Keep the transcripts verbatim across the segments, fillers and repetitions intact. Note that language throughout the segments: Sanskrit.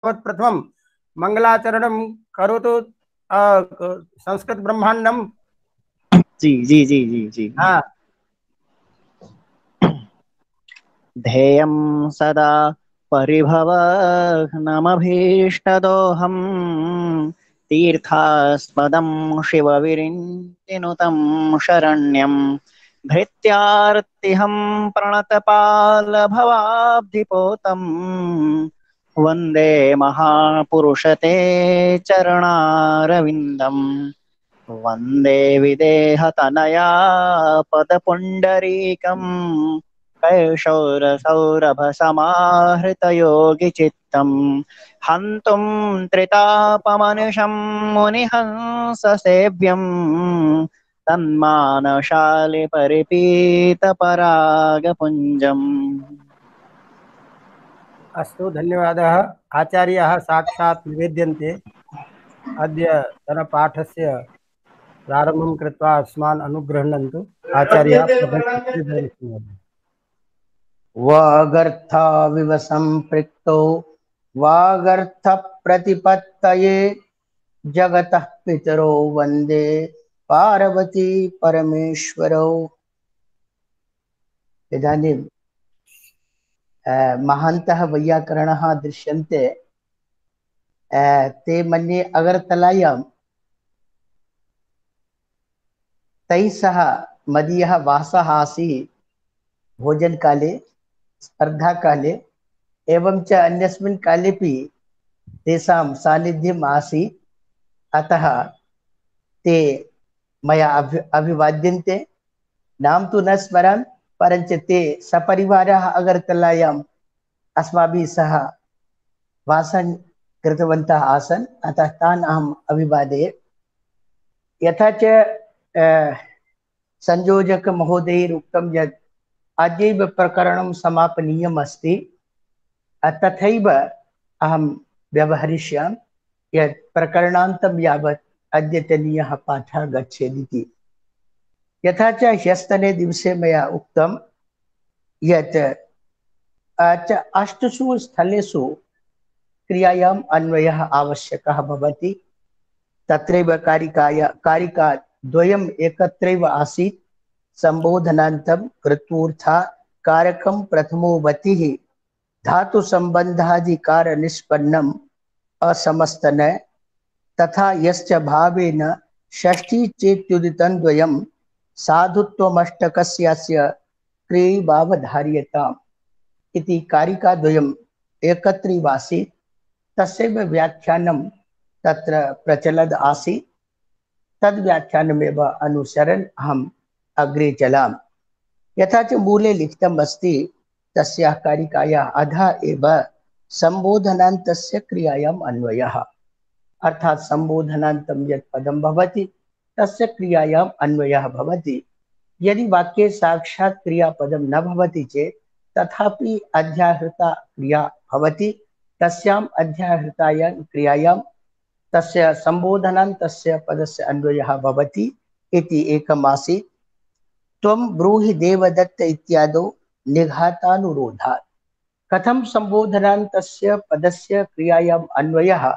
प्रथमं मंगलाचरणं करोतु। अ, संस्कृत ब्रह्मांडम। जी जी जी जी जी। हाँ। ध्येयं सदा परिभवग्नमभीष्टदोहम् तीर्थास्पदं शिवविरिञ्चिनुतं शरण्यं भृत्यार्तिहं प्रणतपालभवाब्धिपोतं वन्दे महापुरुषते चरणारविन्दम् वन्दे विदेहतनया पदपुण्डरीकम् कैशोरसौरभसमाहृतयोगिचित्तम् हन्तुं त्रितापमनिशं मुनिहंससेव्यम् तन्मानशालिपरिपीतपरागपुञ्जम्। अस्तु, धन्यवादः। आचार्याः साक्षात् निवेद्यन्ते। अद्य तनपाठस्य प्रारम्भं कृत्वा अस्मान् अनुगृह्णन्तु। आचार्याः प्रथमं। वागर्थाविव सम्पृक्तौ वागर्थप्रतिपत्तये जगतः पितरौ वन्दे पार्वती परमेश्वरौ। इदानीं महान्तः वैयाकरणः दृश्यन्ते। ते मन्ये अगरतलायां तैः सह मदीयः वासः आसीत् भोजनकाले, स्पर्धाकाले एवं च अन्यस्मिन् कालेपि तेषां सान्निध्यम् आसीत्। अतः ते मया अभि अभिवाद्यन्ते। नाम तु न स्मरामि, परञ्च ते सपरिवारः अगरतलायाम् अस्माभिः सह वासं कृतवन्तः आसन्, अतः तान् अहम् अभिवादये। यथा च संयोजकमहोदयैरुक्तं यत् अद्यैव प्रकरणं समापनीयम् अस्ति, तथैव अहं व्यवहरिष्यामि यत् प्रकरणान्तं यावत् अद्यतनीयः पाठः गच्छेदिति। यथा च ह्यस्तने दिवसे मया उक्तं यत् अष्टसु स्थलेषु क्रियायाम् अन्वयः आवश्यकः भवति। तत्रैव कारिकाय कारिका द्वयम् एकत्रैव आसीत्। संबोधनान्तं कृत्वूर्था कारकं प्रथमो वतिः धातु संबंधाधिकार निष्पन्नम् असमस्तन तथा यश्च भावेन षष्ठी चेत्युदितं द्वयं साधुत्वमष्टकस्यास्य क्रियैवावधार्यताम् इति कारिकाद्वयम् एकत्रैवासीत्। तस्यैव व्याख्यानं तत्र प्रचलद् आसीत्। तद् व्याख्यानमेव अनुसरन् अहम् अग्रे चलामि। यथा च मूले लिखितम् अस्ति, तस्याः कारिकायाः अधः एव संबोधनान्तस्य क्रियायाम् अन्वयः, अर्थात् संबोधनान्तं यत् पदं भवति तस्य क्रियायाम् अन्वयः भवति। यदि वाक्ये साक्षात् क्रियापदं न भवति चेत् तथापि अध्याहृता क्रिया भवति। तस्याम् अध्याहृतायां क्रियायां तस्य संबोधनान्तस्य पदस्य अन्वयः भवति इति एकमासीत्। त्वं ब्रूहि देवदत्त इत्यादौ निघातानुरोधात्। कथं संबोधनान्तस्य पदस्य क्रियायाम् अन्वयः,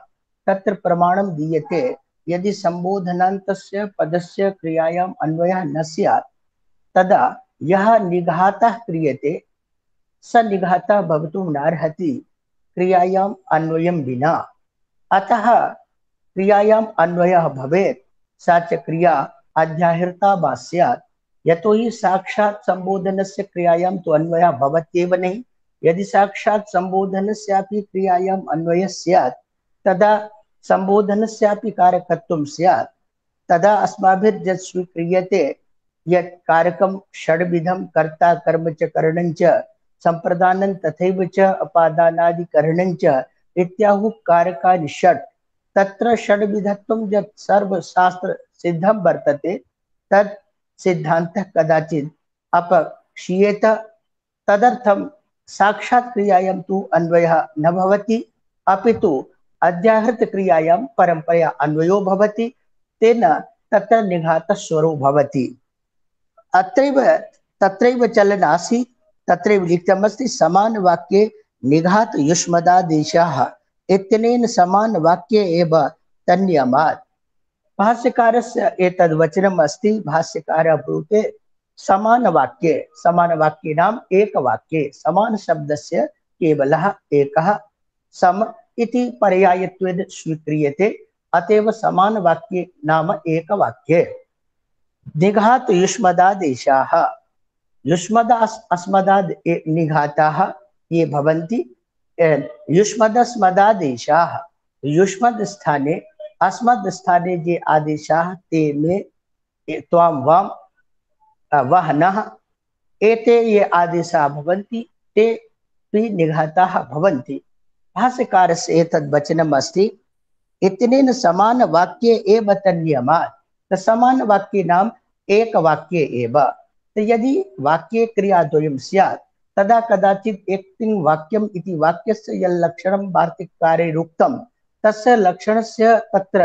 तत्र प्रमाणं दीयते। यदि संबोधनान्तस्य पदस्य क्रियायाम् अन्वयः न स्यात् तदा यः निघातः क्रियते स निघातः भवितुं नार्हति क्रियायाम् अन्वयं विना। अतः क्रियायाम् अन्वयः भवेत्। सा च क्रिया अध्याहृता वा स्यात्। यतो हि साक्षात् संबोधनस्य क्रियायां तु अन्वयः भवत्येव नहीं। यदि साक्षात् संबोधनस्यापि क्रियायाम् अन्वयः स्यात् तदा संबोधनस्यापि कारकत्वं स्यात्। तदा अस्माभिर्यत् स्वीक्रियते यत् कारकं षड्विधं कर्ता कर्म च करणं च संप्रदानं तथैव च अपादानादिकरणं च इत्याहुः कारकानि षट्। तत्र षड्विधत्वं यत् सर्वशास्त्र सिद्धं वर्तते तत् सिद्धान्तः कदाचित् अपक्षीयेत। तदर्थं साक्षात् क्रियायां तु अन्वयः न भवति, अपितु अध्याहृत क्रियायां परंपरया अन्वयो भवति। तेन तत्र निघातस्वरो भवति। अत्रैव तत्रैव चलन् आसीत्। तत्रैव लिखितमस्ति, समानवाक्ये निघात युष्मदादेशाः इत्यनेन समानवाक्ये एव तन्नियमात्। भाष्यकारस्य एतद् वचनम् अस्ति। भाष्यकारः ब्रूते समानवाक्ये, समानवाक्ये नाम एकवाक्ये, समान शब्दस्य केवलः एकः, सम इति पर्यायत्वेन स्वीक्रियते, अतएव समानवाक्ये नाम एकवाक्ये। निघात युष्मदादेशाः, युष्मद अस्मदाद् निघाताः ये भवन्ति। युष्मदस्मदादेशाः, युष्मद् स्थाने अस्मद् स्थाने ये आदेशाः ते मे त्वां वां वह नः, एते ये आदेशाः भवन्ति ते अपि निघाताः भवन्ति। भाष्यकारस्य एतद् वचनम् अस्ति। इत्यनेन समानवाक्ये एव तन्नियमात्, तो समानवाक्ये नाम एकवाक्ये एव। तो यदि वाक्ये क्रियाद्वयं स्यात् तदा कदाचित् एकतिङ् वाक्यम् इति वाक्यस्य यल्लक्षणं वार्तिककारेण उक्तं तस्य लक्षणस्य तत्र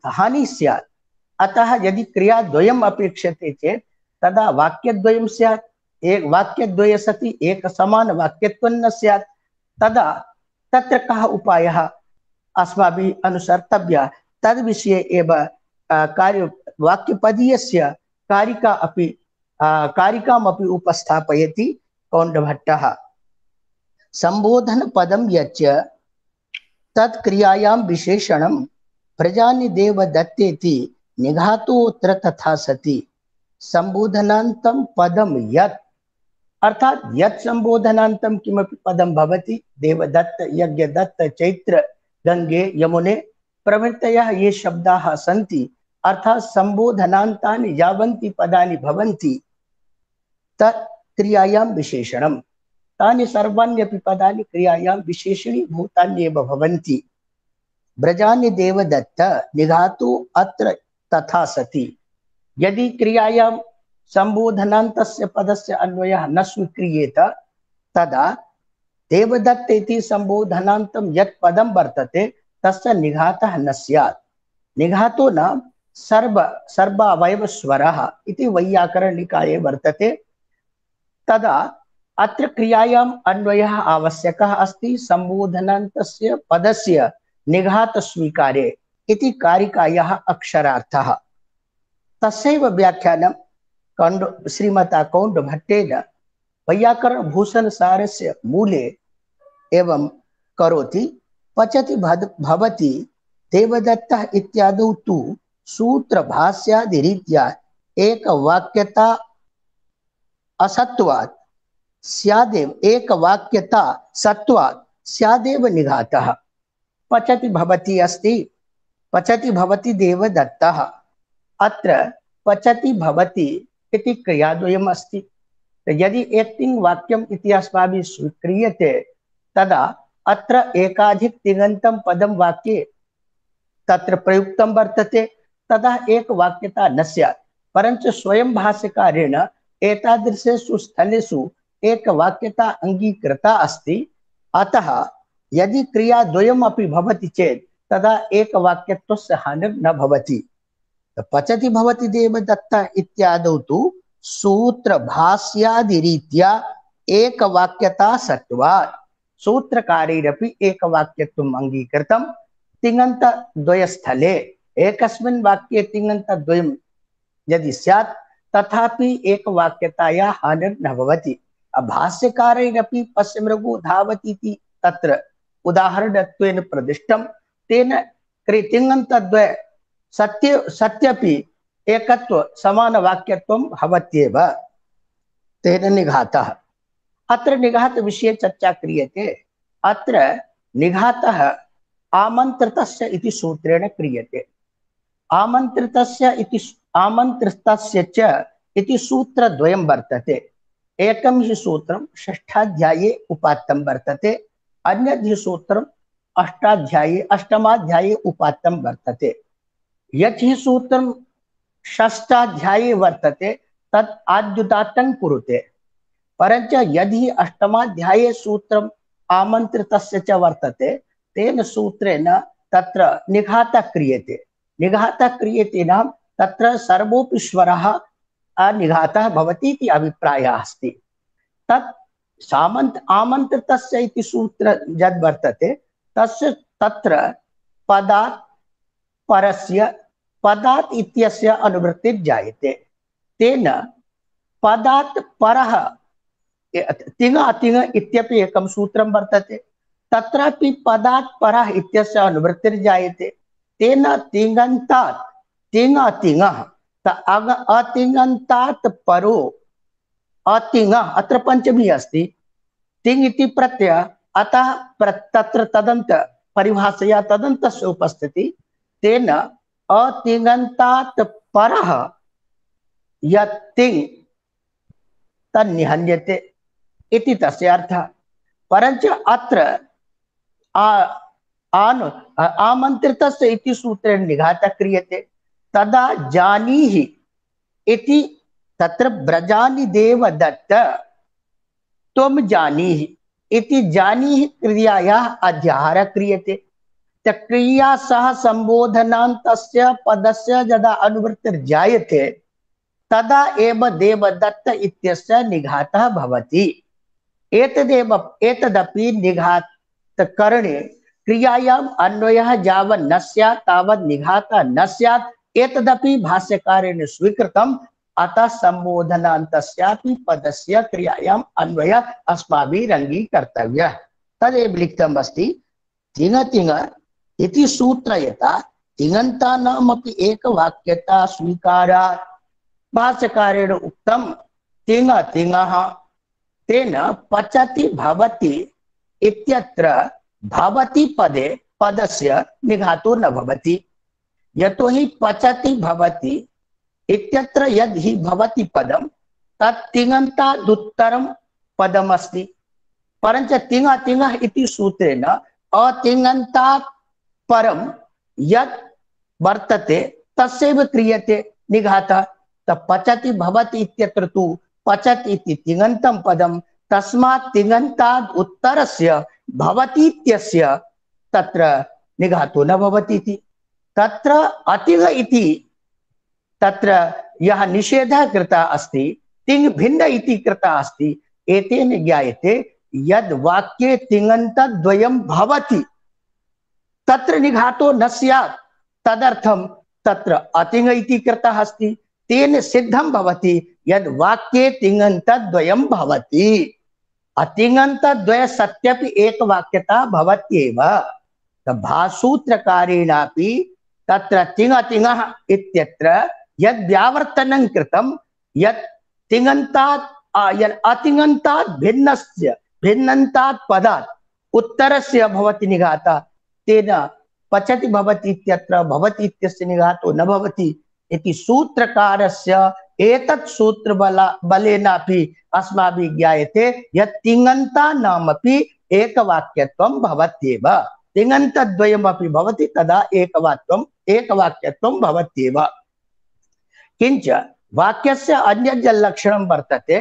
हानिः स्यात्। अतः यदि क्रियाद्वयम् अपेक्षते चेत् तदा वाक्यद्वयं स्यात्। एक वाक्यद्वये सति एक समान वाक्यत्वं न स्यात्। तदा तत्र कः उपायः अस्माभिः अनुसर्तव्यः, तद्विषये एव कार्य वाक्यपदीयस्य कारिका अपि कारिकामपि उपस्थापयति कौण्डभट्टः। संबोधनपदं यच्च तत्क्रियायां विशेषणं प्रजानि देवदत्तेति निघातोऽत्र तथा सति। संबोधनान्तं पदं यत्, अर्थात यत् संबोधनान्तं किमपि पदं भवति, देवदत्त, यज्ञदत्त, चैत्र, गंगे, यमुने प्रभृतयः ये शब्दाः सन्ति, अर्थात संबोधनान्तानि यावन्ति पदानि भवन्ति तत् क्रियायां विशेषणं, तानि सर्वाण्यपि पदानि क्रियायां विशेषणीभूतान्येव भवन्ति। ब्रजानि देवदत्त निघातु अत्र तथा सति। यदि क्रियायां संबोधनान्तस्य पदस्य अन्वयः न स्वीक्रियेत तदा देवदत्त इति संबोधनान्तं यत् पदं वर्तते तस्य निघातः न स्यात्। निघातो नाम सर्व सर्वावयवस्वरः इति वैयाकरणनिकाये वर्तते। तदा अत्र क्रियायाम् अन्वयः आवश्यकः अस्ति संबोधनान्तस्य पदस्य निघात स्वीकारे इति कारिकायाः अक्षरार्थः। तस्यैव व्याख्यानं कौण्ड श्रीमता कौण्डभट्टेन वैयाकरणभूषणसारस्य मूले एवं करोति। पचति भवति देवदत्तः इत्यादौ तु सूत्रभाष्यादिरीत्या एकवाक्यता असत्वात् स्यादेव, एकवाक्यता सत्वात् स्यादेव निघातः। पचति भवति अस्ति, पचति भवति देवदत्तः, अत्र पचति भवति इति क्रियाद्वयम् अस्ति। यदि एकतिङ् वाक्यम् इति अस्माभिः स्वीक्रियते तदा अत्र एकाधिक तिङन्तं पदं वाक्ये तत्र प्रयुक्तं वर्तते, तदा एक वाक्यता न स्यात्। परञ्च स्वयं भाष्यकारेण एतादृशेषु स्थलेषु एक वाक्यता अंगीकृता अस्ति। अतः यदि क्रियाद्वयम् अपि भवति चेत् तदा एक वाक्यत्वस्य हानिर् न भवति। पचति भवति देवदत्त इत्यादौ तु सूत्रभाष्यादिरीत्या एक वाक्यता सत्वात्, सूत्रकारैरपि एक वाक्यत्वम् अंगीकृतं। तिङन्तद्वयस्थले एकस्मिन् वाक्ये तिङन्तद्वयं यदि स्यात् तथापि एक वाक्यतायाः हानिर् न भवति। भाष्यकारैरपि पश्यमृगो धावति इति तत्र उदाहरणत्वेन प्रदिष्टं, तेन तिङन्तद्वय सत्य सत्यपि एकत्व समानवाक्यत्वं भवत्येव, तेन निघातः। अत्र निघात विषये चर्चा क्रियते। अत्र निघातः आमन्त्रितस्य इति सूत्रेण क्रियते। आमन्त्रितस्य इति आमन्त्रितस्य च इति सूत्रद्वयं वर्तते। एकं हि सूत्रं षष्ठाध्याये उपात्तं वर्तते, अन्यद् हि सूत्रम् अष्टाध्याये अष्टमाध्याये उपात्तं वर्तते। यत् हि सूत्रं षष्ठाध्याये वर्तते तत् आद्युदात्तं कुरुते, परञ्च यदि अष्टमाध्याये सूत्रम् आमन्त्रितस्य च वर्तते तेन सूत्रेण तत्र निघातः क्रियते। निघातः क्रियते नाम तत्र सर्वोऽपि स्वरः अनिघातः भवति इति अभिप्रायः अस्ति। तत् सामन्त आमन्त्रितस्य इति सूत्र यद् वर्तते तस्य तत्र पदात् परस्य पदात् इत्यस्य अनुवृत्तिर् जायते। तेन पदात् परः तिङ् अतिङ् इत्यपि एकं सूत्रं वर्तते, तत्रापि पदात् परः इत्यस्य अनुवृत्तिर् जायते। तेन तिङन्तात् तिङ् अतिङः अतिङन्तात् परो अतिङः अत्र पंचमी अस्ति, तिङ् इति प्रत्यय, अतः तत्र तदन्त परिभाषया तदन्तस्य उपस्थिति। तेन अतिङन्तात् परः यत् तिङ् तन्निहन्यते इति तस्य अर्थः। परञ्च अत्र आन् आमन्त्रितस्य इति सूत्रेण निघातः क्रियते। तदा जानीहि इति तत्र ब्रजानि देवदत्त त्वं जानीहि इति जानीहि क्रियायाः अध्याहारः क्रियते। क्रिया सह संबोधनान्तस्य पदस्य यदा अनुवृत्तिर्जायते तदा एव देवदत्त इत्यस्य निघातः भवति। एतदेव एतदपि निघातकरणे क्रियायाम् अन्वयः यावत् न स्यात् तावत् निघातः न स्यात्, एतदपि भाष्यकारेण स्वीकृतम्। अतः संबोधनान्तस्यापि पदस्य क्रियायाम् अन्वयः अस्माभिः अङ्गीकर्तव्यः। तदेव लिखितम् अस्ति तिङ् तिङ् इति सूत्रयता तिङन्तानामपि एकवाक्यता स्वीकारात्। भाष्यकारेण उक्तं तिङ् तिङः तेन पचति भवति इत्यत्र भवति पदे पदस्य निघातो न भवति। यतो हि पचति भवति इत्यत्र यद् हि भवति पदं तत् तिङन्तादुत्तरं पदमस्ति। परञ्च तिङ् तिङः इति सूत्रेण अतिङन्तात् परं यत् वर्तते तस्यैव क्रियते निघातः। पचति भवति इत्यत्र तु पचति इति तिङन्तं पदं, तस्मात् तिङन्ताद् उत्तरस्य भवति इत्यस्य तत्र निघातो न भवति इति। तत्र अतिग इति तत्र यः निषेधः कृतः अस्ति, तिङ् भिन्न इति कृतः अस्ति, एतेन ज्ञायते यद् वाक्ये तिङन्तद्वयं भवति तत्र निघातो न स्यात्, तदर्थं तत्र अतिङ् इति कृतः अस्ति। तेन सिद्धं भवति यद् वाक्ये तिङन्तद्वयं भवति। अतिङन्तद्वय सत्यपि एकवाक्यता भवत्येव। भासूत्रकारेणापि तत्र तिङ् तिङः इत्यत्र यद् व्यावर्तनं कृतं यत् तिङन्तात् यत् अतिङन्तात् भिन्नस्य भिन्नन्तात् पदात् उत्तरस्य भवति निघातः, तेन पचति भवति इत्यत्र भवति इत्यस्य निघातो न भवति इति सूत्रकारस्य एतत् सूत्र बला बलेनापि अस्माभिः ज्ञायते यत् तिङन्तानामपि एकवाक्यत्वं भवत्येव। तिङन्तद्वयमपि भवति तदा एकवाक्यत्वम् एकवाक्यत्वं भवत्येव। किंच वाक्यस्य अन्यत् लक्षणं वर्तते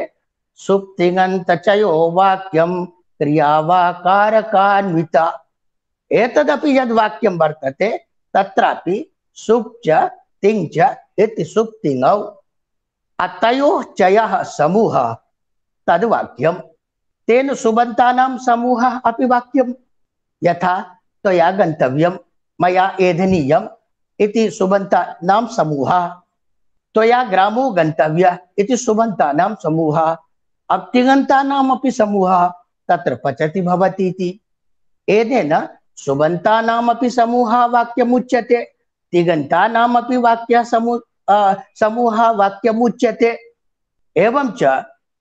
सुप्तिङन्तचयो वाक्यं क्रियावाकारकान्विता। एतदपि यद् वाक्यं वर्तते तत्रापि सुप् च तिङ् च इति सुप्तिङौ अतयोः चयः समूहः तद् वाक्यं। तेन सुबन्तानां समूहः अपि वाक्यं। यथा त्वया गन्तव्यं मया एधनीयम् इति सुबन्तानां समूहः, त्वया ग्रामो गन्तव्यः इति सुबन्तानां समूहः। अब तिङन्तानामपि समूहः तत्र पचति भवति इति। एतेन सुबन्तानामपि समूहः वाक्यमुच्यते, तिङन्तानामपि वाक्यः समूह समूहः वाक्यमुच्यते। एवं च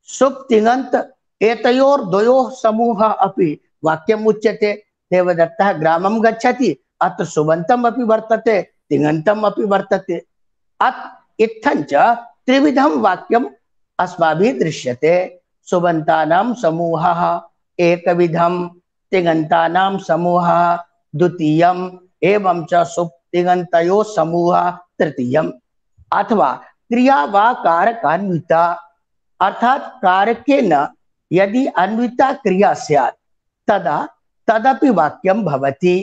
सुप् तिङन्त एतयोर्द्वयोः समूहः अपि वाक्यमुच्यते। देवदत्तः ग्रामं गच्छति, अत्र सुबन्तम् अपि वर्तते तिङन्तम् अपि वर्तते। अत् इत्थं च त्रिविधं वाक्यम् अस्माभिः दृश्यते। सुबन्तानां समूहः एकविधं, तिङन्तानां समूहः द्वितीयम्, एवं च सुप् तिङन्तयोः समूहः तृतीयम्। अथवा क्रिया वा कारकान्विता, अर्थात कारकेन यदि अन्विता क्रिया स्यात् तदा तदपि वाक्यं भवति।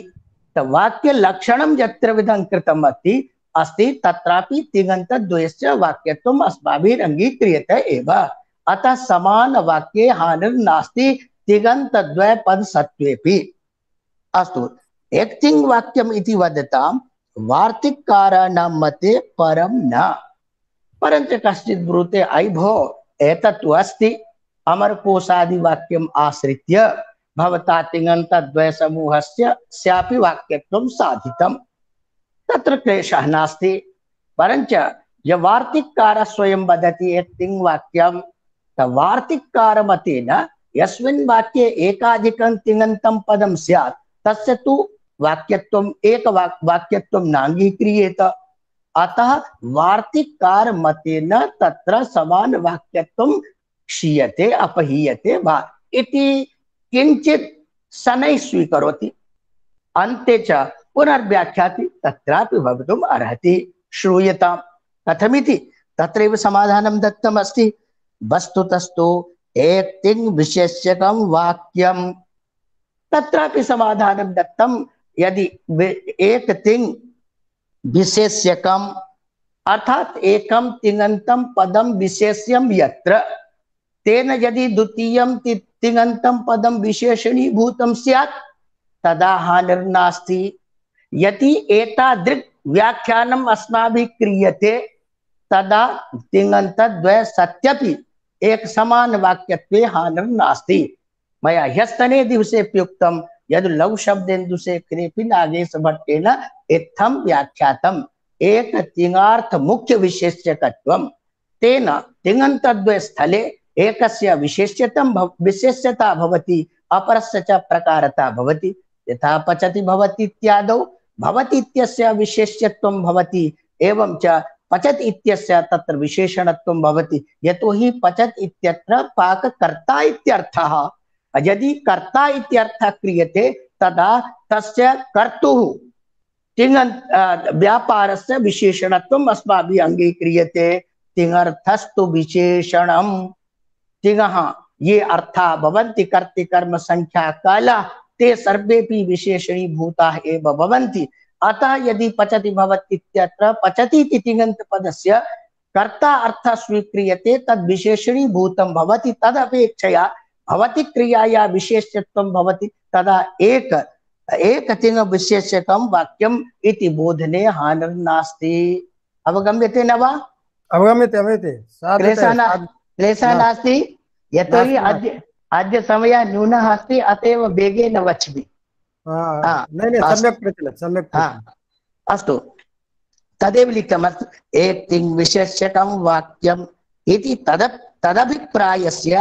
वाक्य लक्षणं यत्र विधं कृतम् अस्ति अस्ति तत्रापि तिङन्तद्वयस्य वाक्यत्वम् अस्माभिः अङ्गीक्रियते एव। अतः समान वाक्ये हानिर्नास्ति तिङन्तद्वय पदसत्त्वेऽपि। अस्तु, एक्तिङ् वाक्यम् इति वदतां वार्तिककाराणां मते परं न। परञ्च कश्चित् ब्रूते अयि भो एतत्तु अस्ति अमरकोशादि वाक्यम् आश्रित्य भवता तिङन्तद्वय समूहस्य स्यापि वाक्यत्वं साधितम्, तत्र क्लेशः नास्ति। परञ्च यः वार्तिककारः स्वयं वदति एक्तिङ् वाक्यं, वार्तिककार मतेन यस्मिन् वाक्ये एकाधिकं तिङन्तं पदं स्यात् तस्य तु वाक्यत्वम् एक वाक्यत्वं नाङ्गीक्रियेत। अतः वार्तिककार मतेन तत्र समान वाक्यत्वं क्षीयते अपहीयते वा इति किंचित शनैः स्वीकरोति। अन्ते च पुनर्व्याख्याति तत्रापि भवितुम् अर्हति। श्रूयताम् कथमिति। तत्रैव समाधानं दत्तम् अस्ति। वस्तुतस्तु एक्तिङ् विशेष्यकं वाक्यं, तत्रापि समाधानं दत्तं। यदि एक्तिङ् विशेष्यकम् अर्थात एकं तिङन्तं पदं विशेष्यं यत्र, तेन यदि द्वितीयं तिङन्तं पदं विशेषणीभूतं स्यात् तदा हानिर्नास्ति। यदि एतादृक् व्याख्यानम् अस्माभिः क्रियते तदा तिङन्तद्वय सत्यपि एक समान वाक्यत्वे हानिर्नास्ति। मया ह्यस्तने दिवसेऽप्युक्तं यद् लघुशब्देन्दुशेखरेऽपि नागेशभट्टेन इत्थं व्याख्यातम् एक तिङार्थ मुख्य विशेष्यकत्वं। तेन तिङन्तद्वय स्थले एकस्य विशेष्यतं विशेष्यता भवति, अपरस्य च प्रकारता भवति। यथा पचति भवति इत्यादौ भवति इत्यस्य विशेष्यत्वं भवति, एवं च पचत् इत्यस्य तत्र विशेषणत्वं भवति। यतोहि पचत् इत्यत्र पाककर्ता इत्यर्थः। यदि कर्ता इत्यर्थः क्रियते तदा तस्य कर्तुः तिङन्त व्यापारस्य विशेषणत्वम् अस्माभिः अङ्गीक्रियते। तिङर्थस्तु विशेषणम्। तिङः ये अर्थाः भवन्ति कर्तृकर्म संख्या कालाः ते सर्वेपि विशेषणीभूताः एव भवन्ति। अतः यदि पचति भवति इत्यत्र पचति इति तिङन्तपदस्य कर्ता अर्थः स्वीक्रियते तद् विशेषणीभूतं भवति। तदपेक्षया भवति क्रियाया विशेष्यत्वं भवति। तदा एक एक तिङ विशेष्यकं वाक्यम् इति बोधने हानिर्नास्ति। अवगम्यते न वा? अवगम्यते अवगम्यते। क्लेशः नास्ति। यतोहि अद्य अद्य समयः न्यूनः अस्ति, अतएव वेगेन वच्मि। सम्यक् प्रचलति सम्यक् प्रचलति। अस्तु, तदेव लिखितमस्ति एक्तिङ् विशेष्यकं वाक्यम् इति तद तदभिप्रायस्य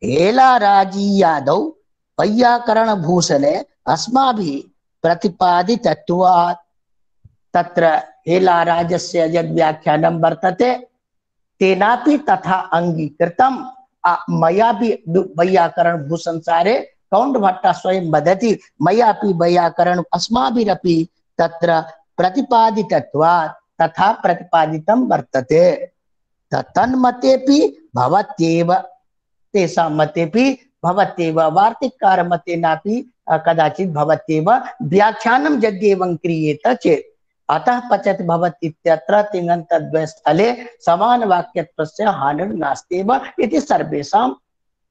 हेलाराजीयादौ वैयाकरणभूषणे अस्माभिः प्रतिपादितत्वात्। तत्र हेलाराजस्य यद् व्याख्यानं वर्तते तेनापि तथा अङ्गीकृतं। मया भी वैयाकरण भूषणसारे कौण्डभट्टः स्वयं वदति मयापि वैयाकरण अस्माभिरपि तत्र प्रतिपादितत्वात् तथा प्रतिपादितं वर्तते। तन्मतेपि भवत्येव, तेषां मतेपि भवत्येव, वार्तिककार मतेनापि कदाचित् भवत्येव व्याख्यानं यद्येवं क्रियेत चेत्। अतः पचत् भवति इत्यत्र तिङन्तद्वय स्थले समान वाक्यत्वस्य हानिर्नास्त्येव इति सर्वेषाम्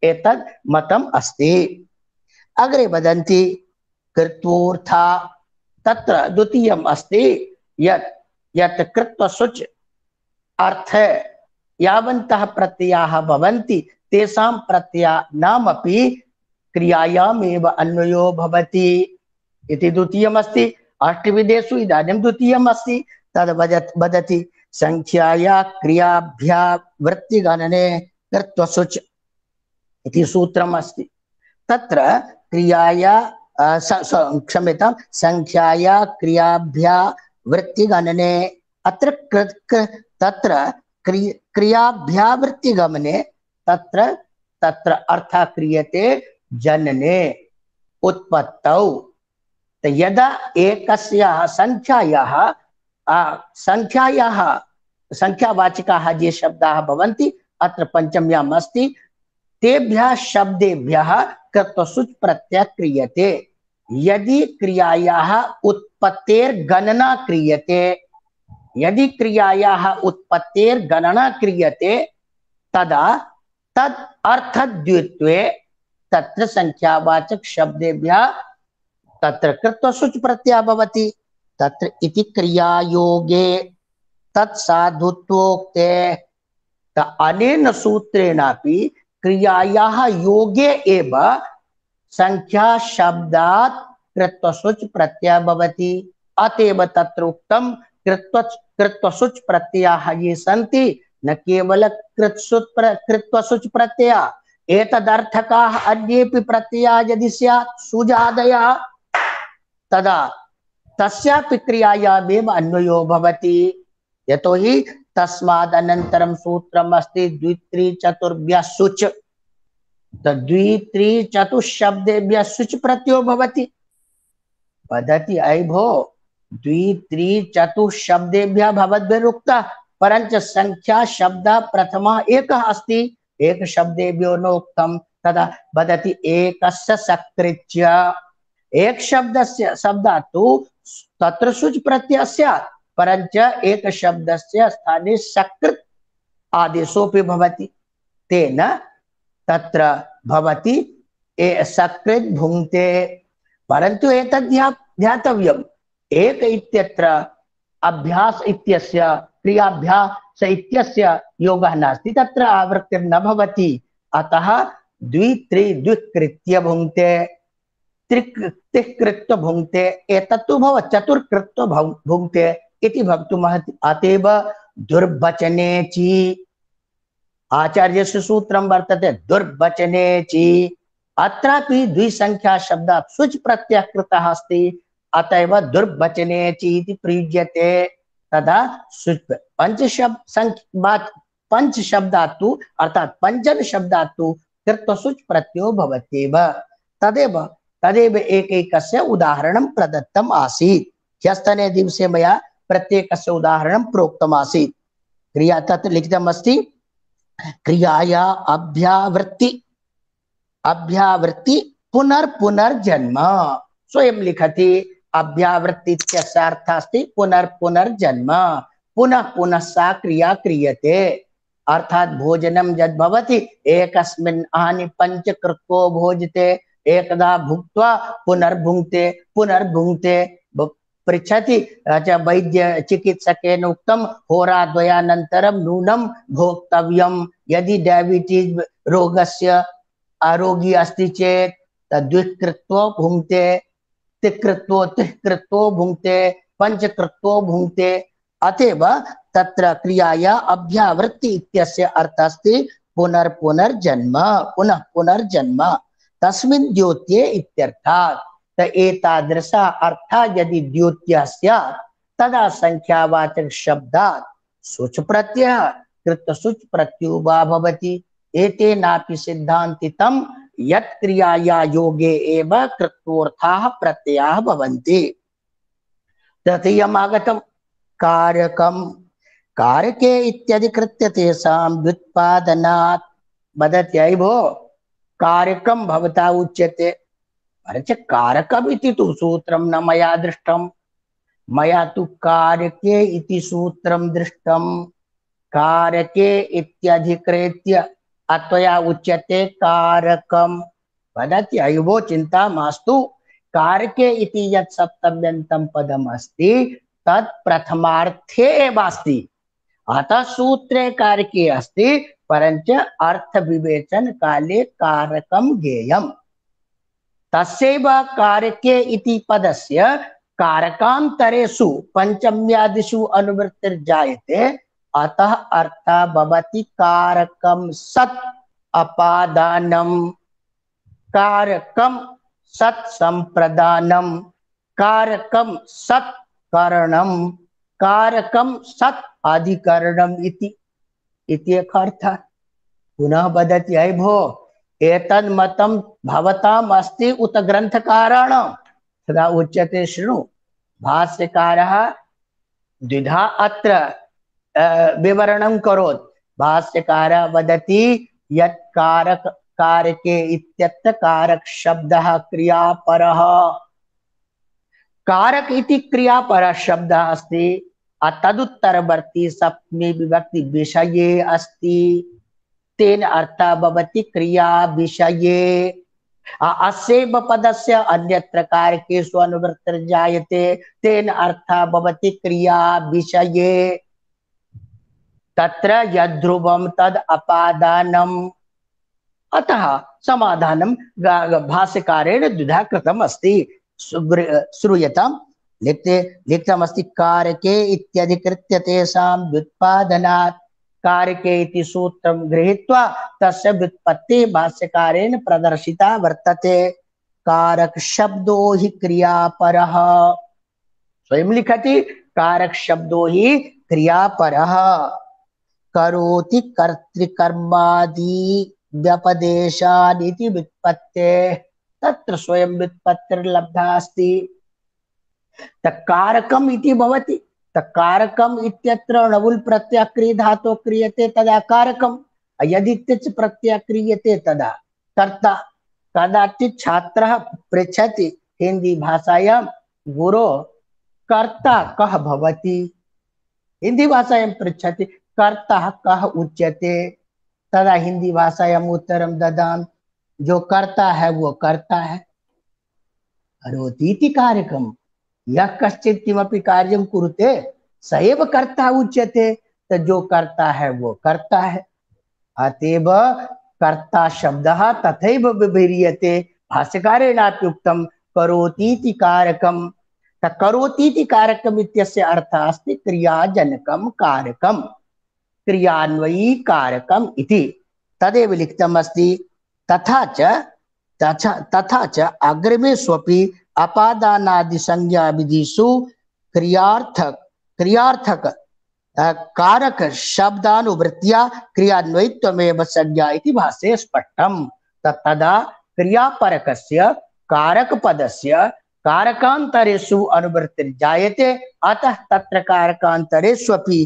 एतद् मतम् अस्ति। अग्रे वदन्ति कृत्वोऽर्था। तत्र द्वितीयम् अस्ति यत् यत् कृत्वसुच अर्थे यावन्तः प्रत्ययाः भवन्ति तेषां प्रत्ययानामपि क्रियायामेव अन्वयो भवति इति द्वितीयम् अस्ति। अष्टविधेषु इदानीं द्वितीयम् अस्ति। तद् वदत् वदति संख्याया क्रियाभ्या वृत्तिगणने कृत्वसुच इति सूत्रम् अस्ति। तत्र क्रियाया क्षम्यतां संख्याया क्रियाभ्या वृत्तिगणने अत्र तत्र क्रियाभ्या वृत्तिगमने तत्र तत्र अर्थः क्रियते जनने उत्पत्तौ। यदा एकस्याः संख्यायाः संख्यायाः संख्यावाचकाः ये शब्दाः भवन्ति अत्र पंचम्याम् अस्ति, तेभ्यः शब्देभ्यः कृत्वसुच प्रत्ययः क्रियते। यदि क्रियायाः उत्पत्तेर्गणना क्रियते यदि क्रियायाः उत्पत्तेर्गणना क्रियते तदा तद अर्थद्वित्वे तत्र संख्यावाचक शब्देभ्यः तत्र कृत्वसुच प्रत्ययः भवति। तत्र इति क्रियायोगे तत्साधुत्वोक्ते त अनेन सूत्रेणापि क्रियायाः योगे एव संख्या शब्दात् कृत्वसुच प्रत्ययः भवति। अतएव तत्र उक्तं कृत्व कृत्वसुच प्रत्ययाः ये सन्ति न केवल कृत्सुच कृत्वसुच प्रत्ययः एतदर्थकाः अन्येपि प्रत्ययाः यदि स्यात् सुजादयः तदा तस्यापि क्रियायामेव अन्वयो भवति। यतोहि तस्माद् अनन्तरं सूत्रम् अस्ति द्वित्रि चतुर्भ्यः सुच। द्वित्रि चतुःशब्देभ्यः सुच प्रत्ययो भवति। वदति अयि भो द्वित्रि चतुःशब्देभ्यः भवद्भिरुक्तः परञ्च संख्या शब्दः प्रथमः एकः अस्ति एक शब्देभ्यो नोक्तं। तदा वदति एकस्य सकृत्य एक शब्दस्य शब्दात् तु तत्र सुच प्रत्ययः स्यात् परञ्च एक शब्दस्य स्थाने सकृत् आदेशोऽपि भवति। तेन तत्र भवति ए सकृत् भुङ्क्ते। परन्तु एतद् ध्यातव्यम् एक इत्यत्र अभ्यास इत्यस्य क्रियाभ्यास इत्यस्य योगः नास्ति तत्र आवृत्तिर्न भवति। अतः द्वित्रि द्विकृत्य भुङ्क्ते त्रिकृत्य भुङ्क्ते एतत्तु भव चतुर्कृत्य भुङ्क्ते इति भवितुमर्हति। अतएव दुर्वचने ची आचार्यस्य सूत्रं वर्तते दुर्वचने ची अत्रापि द्विसंख्या शब्दात् सुच प्रत्ययः कृतः अस्ति अतएव दुर्वचने ची इति प्रयुज्यते। तदा सुच पंच शब्द पंच शब्दात् तु अर्थात् पंचन शब्दात् तु कृत्वसुच प्रत्ययो भवत्येव। तदेव तदेव एकैकस्य उदाहरणं प्रदत्तम् आसीत्। ह्यस्तने दिवसे मया प्रत्येकस्य उदाहरणं प्रोक्तम् आसीत्। क्रिया तत्र लिखितमस्ति क्रियाया अभ्यावृत्ति अभ्यावृत्ति पुनर्पुनर्जन्म। स्वयं लिखति अभ्यावृत्ति इत्यस्य अर्थः अस्ति पुनर्पुनर्जन्म। पुनः पुनः सा क्रिया क्रियते अर्थात भोजनं यद् भवति एकस्मिन् आहानि पञ्चकृत्वो भोजते एकदा भुक्त्वा पुनर्भुङ्क्ते पुनर्भुङ्क्ते। पृच्छति वैद्य चिकित्सकेन उक्तं होराद्वयानन्तरं नूनं भोक्तव्यं। यदि डायबिटीज रोगस्य आरोगी अस्ति चेत् तद्विकृत्वो भुङ्क्ते तिकृत्वो तिकृत्वो भुङ्क्ते पञ्चकृत्वो भुङ्क्ते। अतएव तत्र क्रियाया अभ्यावृत्ति इत्यस्य अर्थः अस्ति पुनर्पुनर्जन्म पुनः पुनर्जन्म तस्मिन् द्योत्ये इत्यर्थात्। त एतादृशः अर्थः यदि द्योत्यः स्यात् तदा संख्यावाचक शब्दात् सुच प्रत्ययः कृत्वसुच प्रत्ययो वा भवति। एतेनापि सिद्धान्तितं यत् क्रियाया योगे एव कृत्वोऽर्थाः प्रत्ययाः भवन्ति। तृतीयम् आगतं कारकं कारके इत्यधिकृत्य तेषां व्युत्पादनात्। वदति अयि भो कारकं भवता उच्यते परञ्च कारकम् इति तु सूत्रं न मया दृष्टं। मया तु कारके इति सूत्रं दृष्टं। कारके इत्यधिकृत्य अत्वया उच्यते कारकं। वदति अयि भो चिन्ता मास्तु कारके इति यत् सप्तम्यन्तं पदम् अस्ति तत् प्रथमार्थे एव अस्ति। अतः सूत्रे कारके अस्ति परञ्च अर्थ विवेचन काले कारकं ज्ञेयम्। तस्यैव कारके इति पदस्य कारकान्तरेषु पंचम्यादिषु अनुवृत्तिर्जायते अतः अर्थः भवति कारकं सत् अपादानं कारकं सत् संप्रदानं कारकं सत् करणं कारकं सत् अधिकरणम् इति इति एक अर्थः। पुनः वदति अयि भो एतन् मतं भवताम् अस्ति उत ग्रन्थकाराणां। तदा उच्यते शृणु भाष्यकारः द्विधा अत्र विवरणं करोति। भाष्यकारः वदति यत् कारक कारके इत्यत्र कारक शब्दः क्रियापरः। कारक इति क्रियापरः शब्दः अस्ति तदुत्तरवर्ती सप्तमी विभक्ति विषये अस्ति। तेन अर्थः भवति क्रिया विषये। अस्यैव पदस्य अन्यत्र कारकेषु अनुवृत्तिर्जायते तेन अर्थः भवति क्रिया विषये। तत्र यद्ध्रुवं तद् अपादानम्। अतः समाधानं भाष्यकारेण द्विधा कृतम् अस्ति। श्रूयताम्। लिखते लिखितमस्ति कारके इत्यधिकृत्य तेषां व्युत्पादनात् कारके इति सूत्रं गृहीत्वा तस्य व्युत्पत्तिः भाष्यकारेण प्रदर्शिता वर्तते। कारक शब्दो हि क्रियापरः। स्वयं लिखति कारक शब्दो हि क्रियापरः। करोति कर्तृकर्मादि व्यपदेशान् इति व्युत्पत्तेः। तत्र स्वयं व्युत्पत्तिर्लब्धा अस्ति। तकारकम् इति भवति। तकारकम् इत्यत्र णवुल् प्रत्ययः क्रिय धातुः क्रियते तदा कारकम्। यदि तिच् प्रत्ययः क्रियते तदा कर्ता। कदाचित् छात्रः पृच्छति हिंदी भाषायां गुरो कर्ता कः भवति। हिंदी भाषायां पृच्छति कर्ता कः उच्यते। तदा हिंदी भाषायां उत्तरं ददामि जो करता है वो करता है। करोति इति कारकम्। यः कश्चित् किमपि कार्यं कुरुते स एव कर्ता उच्यते। तो जो करता है वो करता है। अतएव कर्ता शब्दः तथैव व्यवह्रियते। भाष्यकारेणापि उक्तं करोति इति कारकम्। करोति इति कारकम् इत्यस्य अर्थः अस्ति क्रियाजनकं कारकम्, क्रियान्वयी कारकम् इति। तदेव लिखितम् अस्ति। तथा च तथा तथा च अग्रिमेष्वपि अपादानादि संज्ञा विधिषु क्रियार्थक क्रियार्थक कारक शब्दानुवृत्त्या क्रियान्वयित्वमेव संज्ञा इति भाष्ये स्पष्टम्। तदा क्रियापरकस्य कारक पदस्य कारकान्तरेषु अनुवृत्तिर्जायते। अतः तत्र कारकान्तरेष्वपि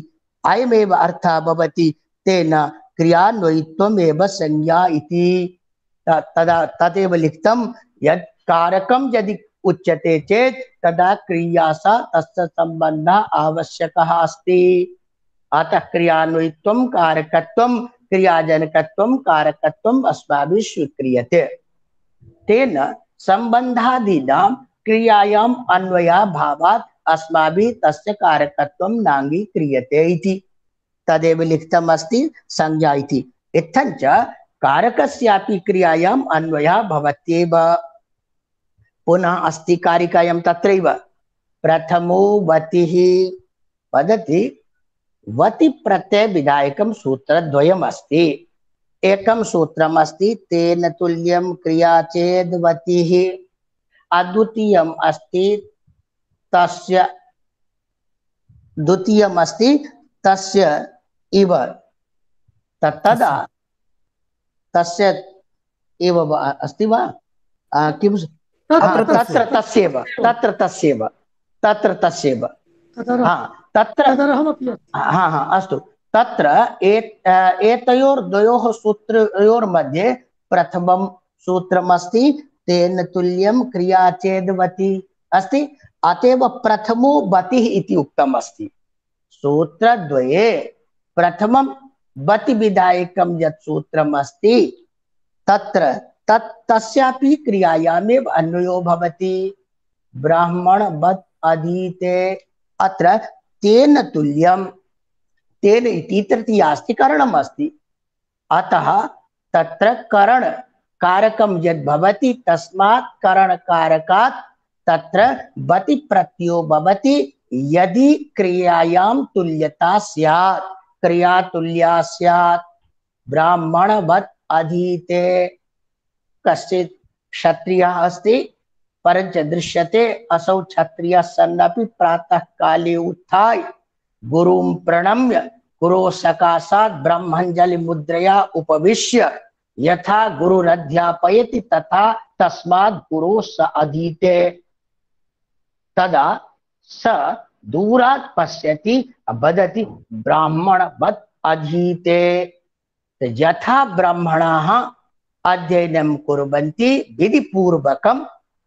अयमेव अर्थः भवति तेन क्रियान्वयित्वमेव संज्ञा इति। तदा तदेव लिखितं यत् कारकं यदि उच्यते चेत् तदा क्रिया सा तस्य सम्बन्धः आवश्यकः अस्ति। अतः क्रियान्वयित्वं कारकत्वं क्रियाजनकत्वं कारकत्वम् अस्माभिः स्वीक्रियते। तेन सम्बन्धादीनां क्रियायाम् अन्वयाभावात् अस्माभिः तस्य कारकत्वं नाङ्गीक्रियते इति। तदेव लिखितम् अस्ति संज्ञा इति। इत्थञ्च कारकस्यापि क्रियायाम् अन्वयः भवत्येव। पुनः अस्ति कारिकायां तत्रैव प्रथमो वतिः वदति। वति प्रत्यय विधायकं सूत्रद्वयम् अस्ति। एकं सूत्रम् अस्ति तेन तुल्यं क्रिया चेद् वतिः। अद्वितीयम् अस्ति तस्य द्वितीयम् अस्ति तस्य इव। तदा तस्य एव अस्ति वा किं तत्र तस्यैव तत्र तस्यैव तत्र तस्यैव हाँ तत्र हाँ हाँ अस्तु। तत्र एतयोर्द्वयोः सूत्रयोर्मध्ये प्रथमं सूत्रमस्ति तेन तुल्यं क्रिया चेद् वति अस्ति। अतएव प्रथमो वतिः इति उक्तम् अस्ति। सूत्रद्वये प्रथमं वति विधायकं यत् सूत्रम् अस्ति तत्र तत् तस्यापि क्रियायामेव अन्वयो भवति। ब्राह्मणवत् अधीते। अत्र तेन तुल्यं तेन इति तृतीयास्ति करणम् अस्ति। अतः तत्र करण कारकं यद् भवति तस्मात् करणकारकात् तत्र वति प्रत्ययो भवति। यदि क्रियायां तुल्यता स्यात् क्रिया तुल्या स्यात्। ब्राह्मणवत् अधीते। कश्चित् क्षत्रियः अस्ति परञ्च दृश्यते असौ क्षत्रियः सन्नपि प्रातः काले उत्थाय गुरुं प्रणम्य गुरोः सकाशात् ब्रह्मञ्जलि मुद्रया उपविश्य यथा गुरुरध्यापयति तथा तस्मात् गुरोः स अधीते। तदा स दूरात् पश्यति वदति ब्राह्मणवत् अधीते। यथा ब्राह्मणाः अध्ययनं कुर्वन्ति विधिपूर्वकं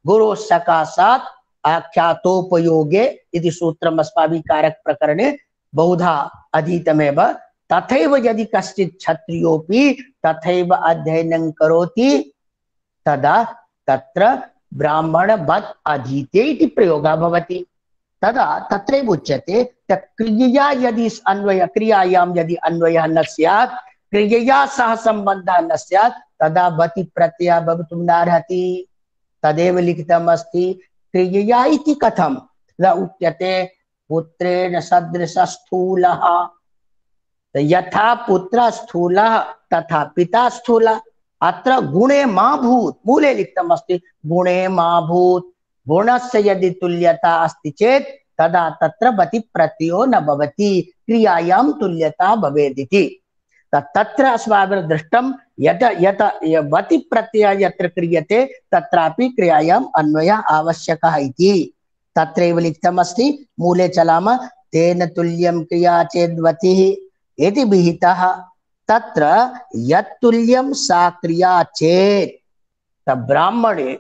गुरोः सकाशात् आख्यातोपयोगे इति सूत्रम् अस्माभिः कारक प्रकरणे बहुधा अधीतमेव। तथैव यदि कश्चित् क्षत्रियोऽपि तथैव अध्ययनं करोति तदा तत्र ब्राह्मणवत् अधीते इति प्रयोगः भवति। तदा तत्रैव उच्यते क्रियया यदि अन्वय क्रियायां यदि अन्वयः न स्यात्, क्रियया सह सम्बन्धः न स्यात्, तदा वति प्रत्ययः भवितुं नार्हति। तदेव लिखितम् अस्ति। क्रियया इति कथं न उच्यते पुत्रेण सदृशः स्थूलः, यथा पुत्रः स्थूलः तथा पिता स्थूलः। अत्र गुणे मा भूत् मूले लिखितम् अस्ति गुणे मा भूत्। गुणस्य यदि तुल्यता अस्ति चेत् तदा तत्र वति प्रत्ययो न भवति, क्रियायां तुल्यता भवेदिति। तत्र अस्माभिः दृष्टं यत यत वति प्रत्ययः यत्र क्रियते तत्रापि क्रियायाम् अन्वयः आवश्यकः इति तत्रैव लिखितम् अस्ति। मूले चलामः। तेन तुल्यं क्रिया चेद्वतिः इति विहितः। तत्र यत्तुल्यं सा क्रिया चेत् ब्राह्मणे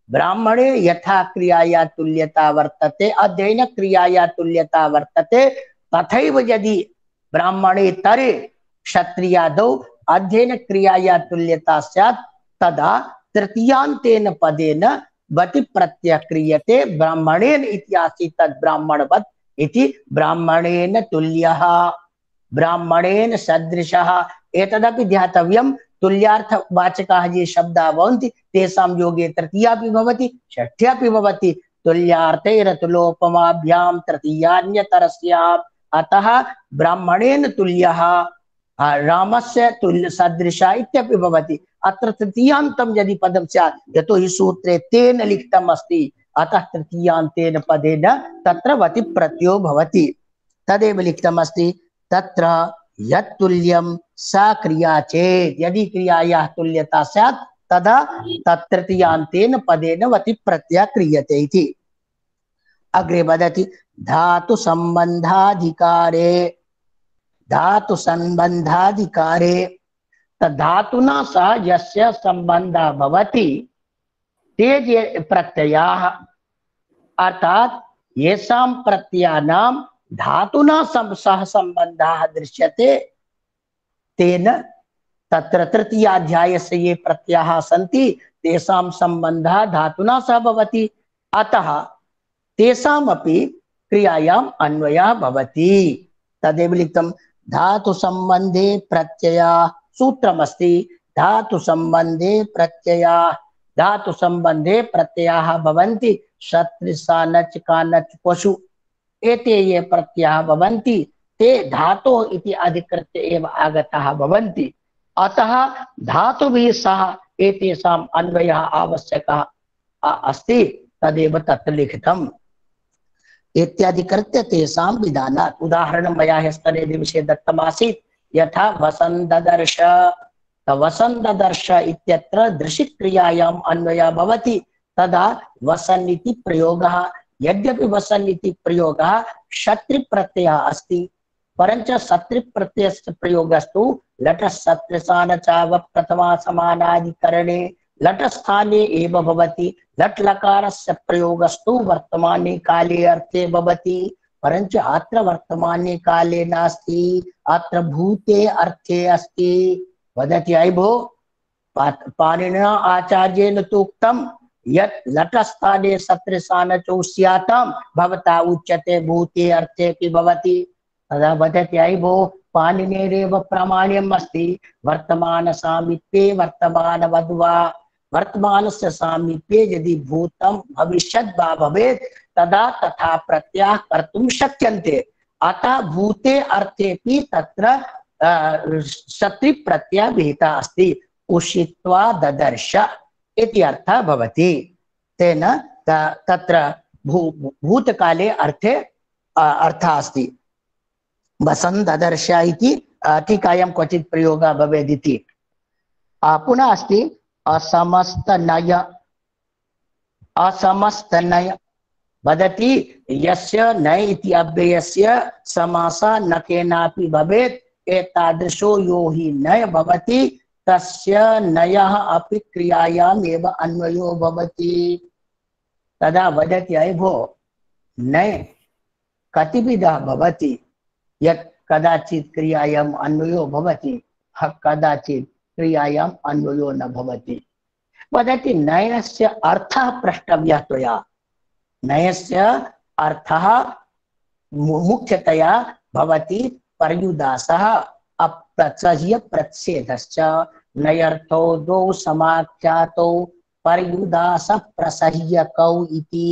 ब्राह्मणे यथा क्रियाया तुल्यता वर्तते, अध्ययन क्रियाया तुल्यता वर्तते, तथैव यदि ब्राह्मणे तरे क्षत्रियादौ अध्ययन क्रियाया तुल्यता स्यात् तदा तृतीयान्तेन पदेन वति प्रत्ययः क्रियते। ब्राह्मणेन इति आसीत् तद् ब्राह्मणवत् इति ब्राह्मणेन तुल्यः ब्राह्मणेन सदृशः। एतदपि ध्यातव्यं। तुल्यार्थवाचकाः ये शब्दाः भवन्ति तेषां योगे तृतीयापि भवति षष्ठ्यापि भवति। तुल्यार्थैरतुलोपमाभ्यां तृतीयान्यतरस्याम्। अतः ब्राह्मणेन तुल्यः रामस्य तुल्य सदृशः इत्यपि भवति। अत्र तृतीयान्तं यदि पदं स्यात्, यतो हि सूत्रे तेन लिखितम् अस्ति, अतः तृतीयान्तेन पदेन तत्र वति प्रत्ययो भवति। तदेव लिखितम् अस्ति। तत्र यत्तुल्यं सा क्रिया चेत्, यदि क्रियायाः तुल्यता स्यात् तदा तत्तृतीयान्तेन पदेन वति प्रत्ययः क्रियते इति। अग्रे वदति धातु संबंधाधिकारे। धातु संबंधाधिकारे धातुना सह यस्य संबंधः भवति ते ये प्रत्ययाः, अर्थात् येषां प्रत्ययानां धातुना सह संबंधः दृश्यते तेन तत्र तृतीयाध्यायस्य ये प्रत्ययाः सन्ति तेषां संबंधः धातुना सह भवति। अतः तेषामपि क्रियायाम् अन्वयः भवति। तदेव लिखितं धातु संबंधे प्रत्यया। सूत्रमस्ति धातु संबंधे प्रत्यया। धातु संबंधे प्रत्ययाः भवन्ति सदृशा नच कानच पशु। एते ये प्रत्ययाः भवन्ति ते धातोः इति अधिकृत्य एव आगताः भवन्ति। अतः धातुभिः सह एतेषाम् अन्वयः आवश्यकः अस्ति। तदेव तत्र लिखितम्। इत्यादिकृत्य तेषां विधानात् उदाहरणं मया ह्यस्तने दिवसे दत्तमासीत्। यथा वसन्ददर्श। वसन्ददर्श इत्यत्र दृशिक्रियायाम् अन्वयः भवति। तदा वसन् इति प्रयोगः। यद्यपि वसन् इति प्रयोगः शत्रुप्रत्ययः अस्ति, परञ्च शत्रुप्रत्ययस्य प्रयोगस्तु लटस्थान चाव प्रथमा समानाधिकरणे लटस्थाने एव भवति। लट् लकारस्य प्रयोगस्तु वर्तमाने काले अर्थे भवति, परञ्च अत्र वर्तमाने काले नास्ति, अत्र भूते अर्थे अस्ति। वदति अयि भो पाणिनिना आचार्येण तोक्तं यत् लटस्थाने सदृशानचौ स्यातां भवता उच्यते भूते अर्थेऽपि भवति। तदा वदति अयि भो पाणिनेरेव प्रामाण्यम् अस्ति वर्तमान सामीप्ये वर्तमानवद् वा। वर्तमानस्य सामीप्ये यदि भूतं भविष्यद् वा भवेत् तदा तथा प्रत्ययः कर्तुं शक्यन्ते। अतः भूते अर्थेऽपि तत्र शत्रुप्रत्ययः विहितः अस्ति। उषित्वा ददर्श इति अर्थः भवति। तेन तत्र भू भूतकाले अर्थे अर्थः अस्ति। वसन् ददर्श इति टीकायां क्वचित् प्रयोगः भवेदिति। पुनः अस्ति असमस्तनय। असमस्तनय वदति यस्य नय इति अव्ययस्य समासः न केनापि भवेत् एतादृशो यो हि नय भवति तस्य नयः अपि क्रियायाम् एव अन्वयो भवति। तदा वदति अयि भो नय कतिविधः भवति। यत् कदाचित् क्रियायाम् अन्वयो भवति, कदाचित् क्रियायाम् अन्वयो न भवति। वदति नयस्य अर्थः प्रष्टव्यः त्वया। नयस्य अर्थः मुख्यतया भवति पर्युदासः अप्रत्यय प्रच्छेदश्च। नयर्थो द्वौ समाख्यातौ पर्युदास प्रसह्यकौ इति।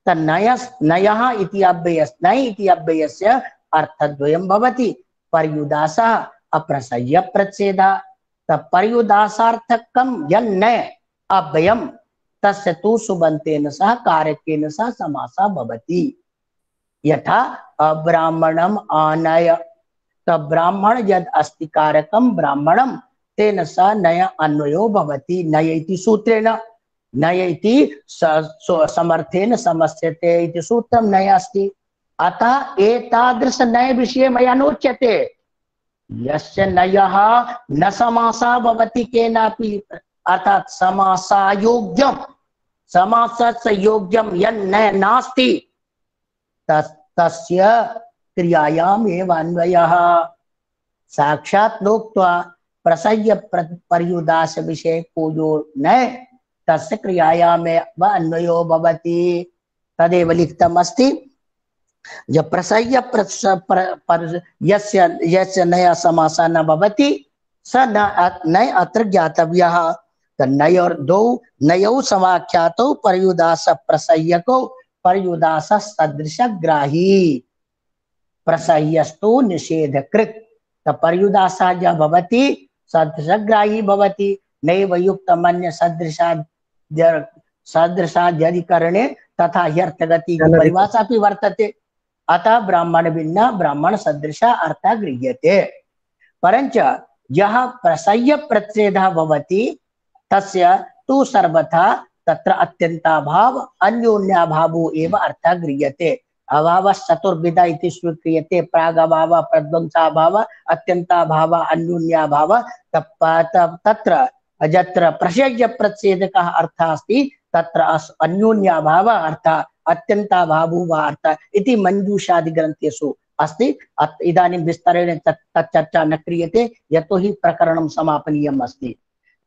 तन्नयस् नयः इति अव्ययस् नय इति अव्ययस्य अर्थद्वयं भवति, पर्युदासः अप्रसह्य प्रच्छेदः। तपर्युदासार्थकं यन्नय अव्ययं तस्य तु सुबन्तेन सह कारकेन सह समासः भवति। यथा अब्राह्मणम् आनय, तब्राह्मण यद् अस्ति कारकं ब्राह्मणं तेन सह नय अन्वयो भवति। नय इति सूत्रेण, नय इति समर्थेन समस्यते इति सूत्रं नय अस्ति। अतः एतादृश नय विषये मया नोच्यते। यस्य नयः न समासः भवति केनापि, अर्थात् समासायोग्यं, समासस्य योग्यं यन्न नास्ति तस्य क्रियायाम् एव अन्वयः। साक्षात् नोक्त्वा प्रसह्य पर्युदास विषये को जो न तस्य क्रियायाम् एव अन्वयो भवति। तदेव लिखितम् अस्ति। जब प्रसह्य पर यस्य यस्य नया समासः न भवति स न नय अत्र ज्ञातव्यः। नयोर दो नयौ समाख्यातौ पर्युदास प्रसह्यकौ पर्युदास सदृशग्राही प्रसह्यस्तु निषेधकृत्। पर्युदासः ज भवति सदृशग्राही भवति। नैव युक्तमन्य सदृशाद् सदृशाद्यधिकरणे तथा ह्यर्थगति परिभाषा अपि वर्तते। अतः ब्राह्मण भिन्न ब्राह्मण सदृश अर्थः गृह्यते। परंच यः प्रसह्य प्रच्छेदः भवति तस्य तु सर्वथा तत्र अत्यन्ताभाव अन्योन्याभावो एव अर्थः गृह्यते। अभावः चतुर्विध इति स्वीक्रियते। प्रागभावः, प्रध्वंसाभावः, अत्यन्ताभावः, अन्योन्याभावः। तत्र यत्र प्रसह्य प्रच्छेदकः अर्थः अस्ति तत्र अन्योन्याभावः अर्थः अत्यन्ताभावो वा अर्थः इति मंजूषादि ग्रंथेषु अस्ति। इदानीं विस्तरेण तच्चर्चा न क्रियते यतोहि प्रकरणं समापनीयम् अस्ति।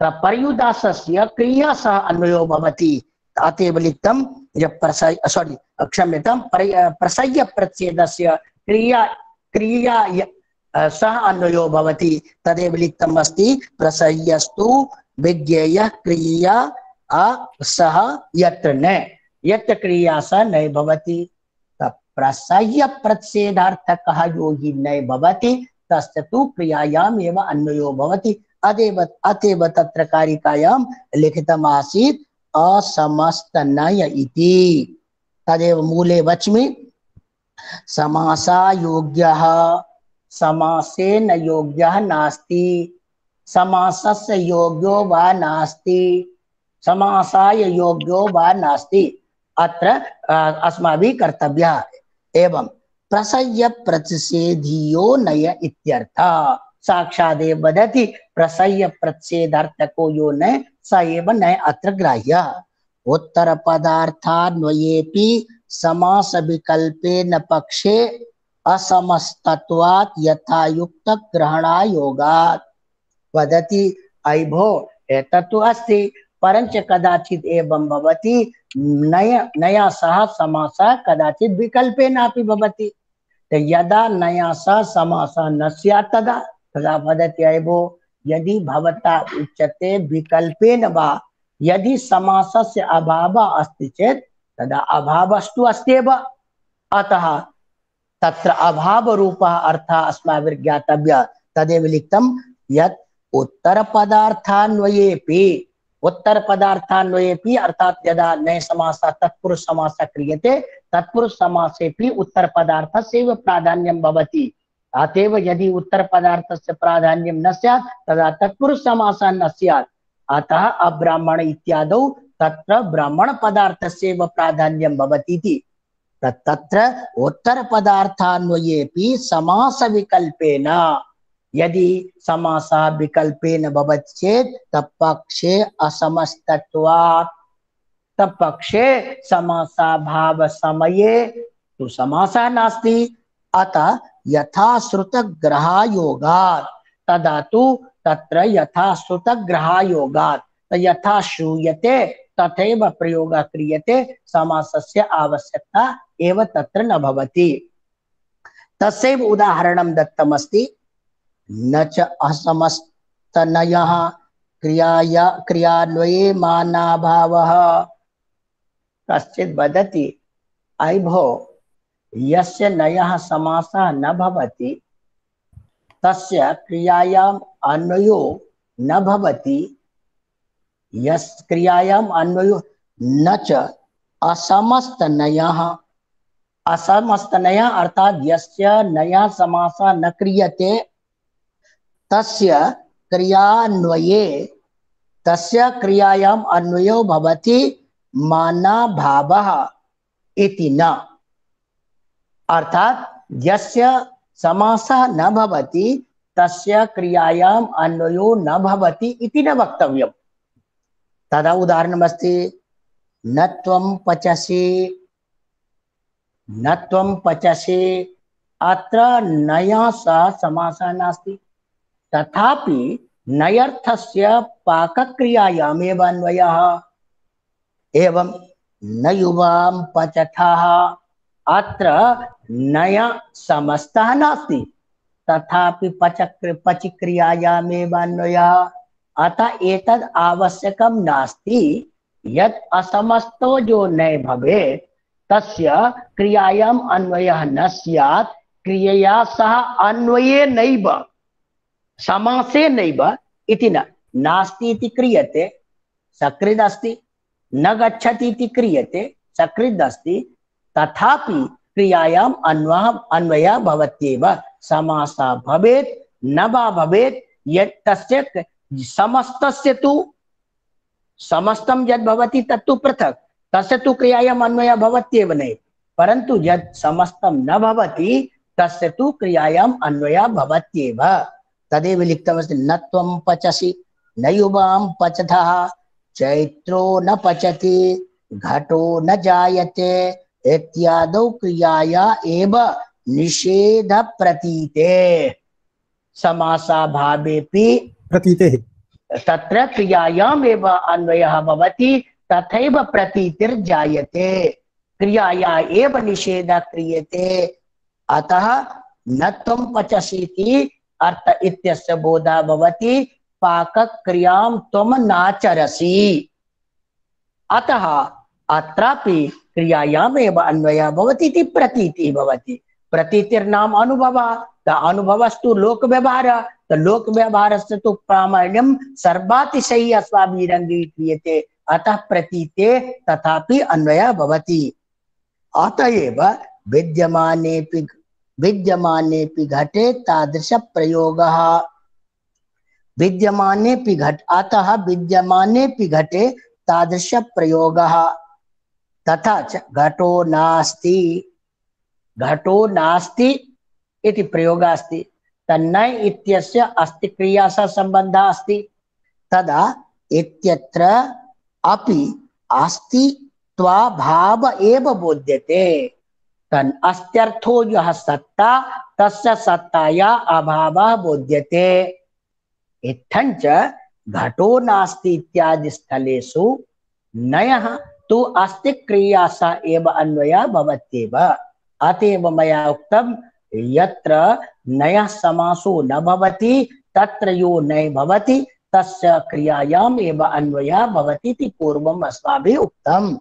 पर्युदासस्य क्रिया सह अन्वयो भवति। अतएव लिखितं प्रसह्य सॉरी क्षम्यतां प्रसह्य प्रच्छेदस्य क्रिया क्रिया सह अन्वयो भवति। तदेव लिखितम् अस्ति। प्रसह्यस्तु विज्ञेयः क्रिया सह यत्र न यत्र क्रिया सह न भवति। प्रसह्य प्रच्छेदार्थकः यो हि न भवति तस्य तु क्रियायाम् एव अन्वयो भवति। अतएव अतएव तत्र कारिकायां लिखितम् आसीत् असमस्त नय इति। तदेव मूले वच्मि समासायोग्यः समासेन योग्यः नास्ति, समासस्य योग्यो वा नास्ति, समासाय योग्यो वा नास्ति। अत्र अस्माभिः कर्तव्यः। एवं प्रसह्य प्रच्छेदीयो नय इत्यर्थः। साक्षादेव वदति प्रसह्य प्रच्छेदार्थको यो न स एव न अत्र ग्राह्यः। उत्तर पदार्थान्वयेपि समास विकल्पेन पक्षे असमस्तत्वात् यथायुक्त ग्रहणायोगात्। वदति अयि भो एतत्तु अस्ति परंच कदाचित् एवं भवति नय नया सह समासः कदाचित् विकल्पेनापि भवति। यदा नया सह समासः न स्यात् तदा तदा वदति अयि भो यदि भवता उच्यते विकल्पेन वा यदि समासस्य अभावः अस्ति चेत् तदा अभावस्तु अस्त्येव। अतः तत्र अभावरूपः अर्थः अस्माभिः ज्ञातव्यः। तदेव लिखितं यत् उत्तर पदार्थान्वयेपि उत्तर पदार्थान्वयेपि अर्थात यदा नय समासः तत्पुरुष समासः क्रियते तत्पुरुष समासेपि उत्तर पदार्थस्य प्राधान्यं भवति। अतएव यदि उत्तर पदार्थस्य प्राधान्यं न स्यात् तदा तत्पुरुष समासः न स्यात्। अतः अब्राह्मण इत्यादौ तत्र ब्राह्मण पदार्थस्य प्राधान्यं भवति इति। तत्र उत्तर पदार्थान्वयेपि समास विकल्पेन यदि समासः विकल्पेन भवति चेत् तत्पक्षे असमस्तत्वात् तत्पक्षे समासाभाव समये तु समासः नास्ति। अतः यथा श्रुतग्रहायोगात् तदा तु तत्र यथा श्रुतग्रहायोगात् यथा श्रूयते तथैव प्रयोगः क्रियते समासस्य आवश्यकता एव तत्र न भवति। तस्यैव उदाहरणं दत्तमस्ति न च असमस्तनयः क्रियाया क्रियान्वये मानाभावः। कश्चित् वदति अयि भो यस्य नयः समासः न भवति तस्य क्रियायाम् अन्वयो न भवति, यस् क्रियायाम् अन्वयो न च असमस्तनयः। असमस्तनयः अर्थात यस्य नया समासः न क्रियते तस्य क्रियान्वये तस्य क्रियायाम् अन्वयो भवति मानाभावः इति न। अर्थात यस्य समासः न भवति तस्य क्रियायाम् अन्वयो न भवति इति न वक्तव्यम्। तदा उदाहरणमस्ति न त्वं पचसि न त्वं पचसि। अत्र नया सह समासः नास्ति, तथापि नयर्थस्य पाकक्रियायामेव अन्वयः। एवं न युवां पचथः। अत्र नय समस्तः नास्ति, तथापि पच पचक्रियायामेव अन्वयः। अतः एतद् आवश्यकं नास्ति यत् असमस्तो जो न भवेत् तस्य क्रियायाम् अन्वयः न स्यात्, क्रियया सह अन्वये नैव समासे नैव इति न। नास्ति इति क्रियते सकृद् अस्ति, न गच्छति इति क्रियते सकृद् अस्ति, तथापि क्रियायाम् अन्वयः अन्वयः भवत्येव। समासः भवेत् न वा भवेत्, यत् तस्य समस्तस्य तु समस्तं यद् भवति तत्तु पृथक्, तस्य तु क्रियायाम् अन्वयः भवत्येव नैव। परन्तु यत् समस्तं न भवति तस्य तु क्रियायाम् अन्वयः भवत्येव। तदेव लिखितमस्ति न त्वं पचसि न युवां पचथः चैत्रो न पचति घटो न जायते इत्यादौ क्रियाया एव निषेध प्रतीते। समासाभावेपि प्रतीतेः तत्र क्रियायाम् एव अन्वयः भवति, तथैव प्रतीतिर्जायते, क्रियाया एव निषेधः क्रियते। अतः न त्वं पचसि इति अर्थ इत्यस्य बोधः भवति पाकक्रियां त्वं नाचरसि। अतः अत्रापि क्रियायामेव अन्वयः भवति इति प्रतीतिः भवति। प्रतीतिर्नाम अनुभवः, अनुभवस्तु लोकव्यवहारः, तो लोकव्यवहारस्य तु प्रामाण्यं सर्वातिशयी अस्माभिः अङ्गीक्रियते। अतः प्रतीते तथापि अन्वयः भवति। अतएव विद्यमानेऽपि विद्यमानेऽपि घटे तादृश प्रयोगः। विद्यमानेऽपि घट अतः विद्यमानेऽपि घटे तादृश प्रयोगः। तथा च घटो नास्ति घटो नास्ति इति प्रयोगः अस्ति, तन्नय इत्यस्य अस्ति क्रिया सह सम्बन्धः अस्ति। तदा इत्यत्र अपि अस्ति त्वाभाव एव बोध्यते। तन् अस्त्यर्थो यः सत्ता तस्य सत्ताया अभावः बोध्यते। इत्थञ्च घटो नास्ति इत्यादि स्थलेषु नयः तु अस्ति क्रिया सह एव अन्वयः भवत्येव। अतएव मया उक्तं यत्र नयः समासो न भवति तत्र यो नय भवति तस्य क्रियायाम् एव अन्वयः भवति इति पूर्वम् अस्माभिः उक्तम्।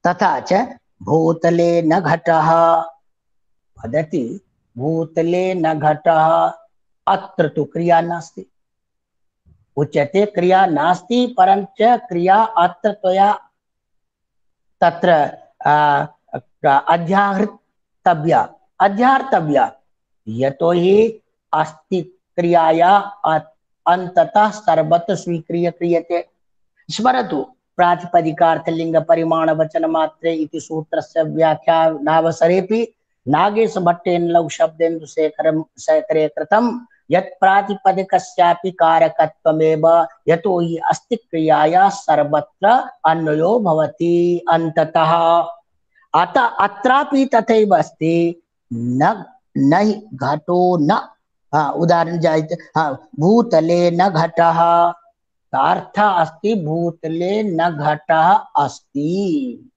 तथा च भूतले न घटः वदति भूतले न घटः, अत्र तु क्रिया नास्ति। उच्यते क्रिया नास्ति परञ्च क्रिया अत्र त्वया तत्र अध्याहृतव्या अध्याहर्तव्या, यतो हि अस्ति क्रियाया अन्ततः सर्वत्र स्वीक्रिय क्रियते। स्मरतु प्रातिपदिकार्थलिंग परिमाण वचन मात्रे इति सूत्रस्य व्याख्यानावसरेऽपि नागेश भट्टेन लघु शब्देन्दु शेखरं शेखरे कृतं यत् प्रातिपदिकस्यापि कारकत्वमेव, यतो हि अस्ति क्रियाया सर्वत्र अन्वयो भवति अन्ततः। अतः अत्रापि तथैव अस्ति न नहि घटो न, हाँ उदाहरण जायते, हाँ भूतले न घटः, अर्थ अस्ति भूतले न घटः अस्ति,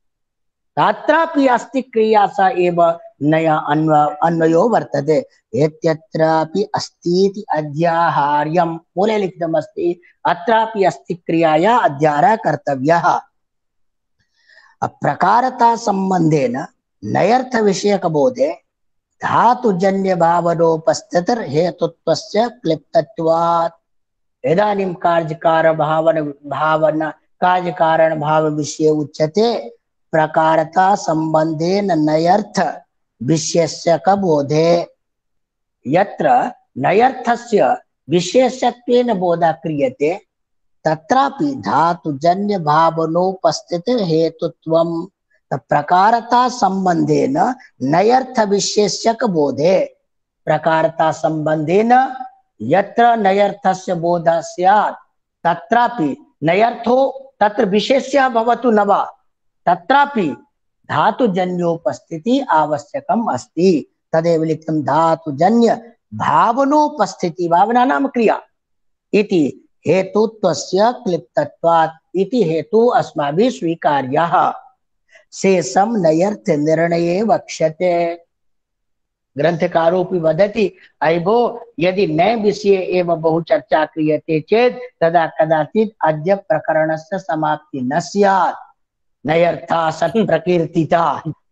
तत्रापि अस्ति क्रिया सा एव नया अन्व अन्वयो वर्तते। एत्यत्रापि अस्ति इति अध्याहार्यं मूले लिखितमस्ति, अत्रापि अस्ति क्रियाया अध्याहारः कर्तव्यः। प्रकारता संबंधेन नयर्थ विषयक बोधे धातुजन्य भावनोपस्थितिर हेतुत्वस्य क्लिप्तत्वात्। इदानीं कार्यकार भावन भावना कार्यकारण भाव विषये उच्यते प्रकारता संबंधेन नयर्थ विशेष्यक बोधे। यत्र नयर्थस्य विशेषत्वेन बोधः क्रियते तत्रापि धातुजन्य भावनोपस्थितिर हेतुत्वम्। प्रकारता संबंधेन नयर्थ विशेष्यक बोधे, प्रकारता संबंधेन यत्र नयर्थस्य बोधः स्यात् तत्रापि नयर्थो तत्र विशेष्यः भवतु न वा, तत्रापि धातुजन्योपस्थिति आवश्यकम् अस्ति। तदेव लिखितं धातुजन्य भावनोपस्थिति, भावना नाम क्रिया इति हेतुत्वस्य क्लिप्तत्वात्, इति हेतु अस्माभिः स्वीकार्यः। शेषं नयर्थ निर्णये वक्ष्यते। ग्रंथकारोपि वदति अयि भो यदि नए विषये एव बहु चर्चा क्रियते चेत् तदा कदाचित् अद्य प्रकरणस्य समाप्ति न स्यात्। नयर्था सत् प्रकीर्तिता,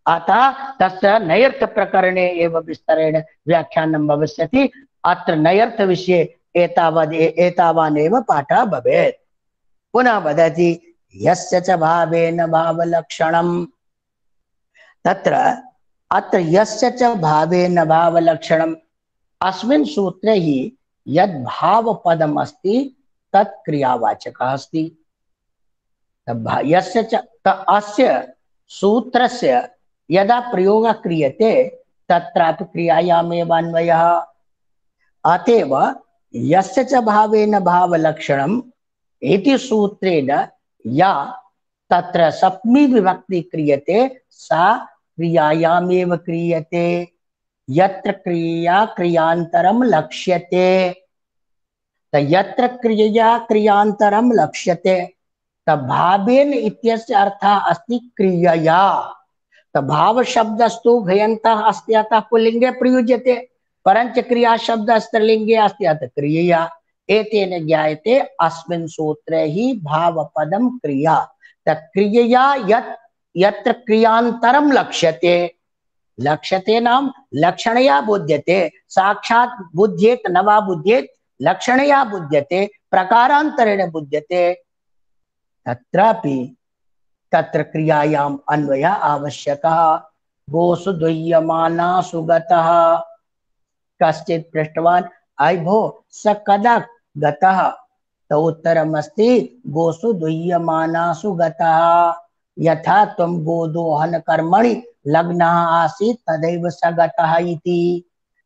अतः तस्य नयर्थ प्रकरणे एव विस्तरेण व्याख्यानं भविष्यति। अत्र नयर्थ विषये एतावद् एतावानेव पाठः भवेत्। पुनः वदति यस्य च भावेन भावलक्षणं, तत्र अत्र यस्य च भावेन भावलक्षणम्, अस्मिन् सूत्रे हि यद् भावपदम् अस्ति तत् क्रियावाचकः अस्ति। यस्य च अस्य सूत्रस्य यदा प्रयोगः क्रियते तत्रापि क्रियायामेव अन्वयः। अतएव यस्य च भावेन भावलक्षणम् इति सूत्रेण या तत्र सप्तमी विभक्ति क्रियते सा क्रियायामेव क्रियते। यत्र क्रिया क्रियान्तरं लक्ष्यते, यत्र क्रिया क्रियान्तरं लक्ष्यते भावेन इत्यस्य अर्थः अस्ति क्रियया। भाव शब्दस्तु भयन्तः अस्ति अतः पुल्लिंगे प्रयुज्यते, परंच क्रिया शब्द स्त्रीलिंगे अस्ति अतः क्रियया। एतेन ज्ञायते अस्मिन् सूत्रे हि भावपदं क्रिया। तत्क्रियया यत् यत्र क्रियान्तरं लक्ष्यते, लक्ष्यते नाम लक्षणया बुध्यते, साक्षात् बुध्येत न वा बुध्येत, लक्षणया बुध्यते, प्रकारान्तरेण बुध्यते, तत्रापि तत्र क्रियायाम् अन्वयः आवश्यकः। गोसु दुह्यमाना सुगतः, कश्चित् पृष्टवान् अयि भो स कदा गतः, तो उत्तरमस्ति गोसु दुह्यमानासु गतः। यथा त्वं गोदोहन कर्मणि लग्नः आसीत् तदैव स गतः इति।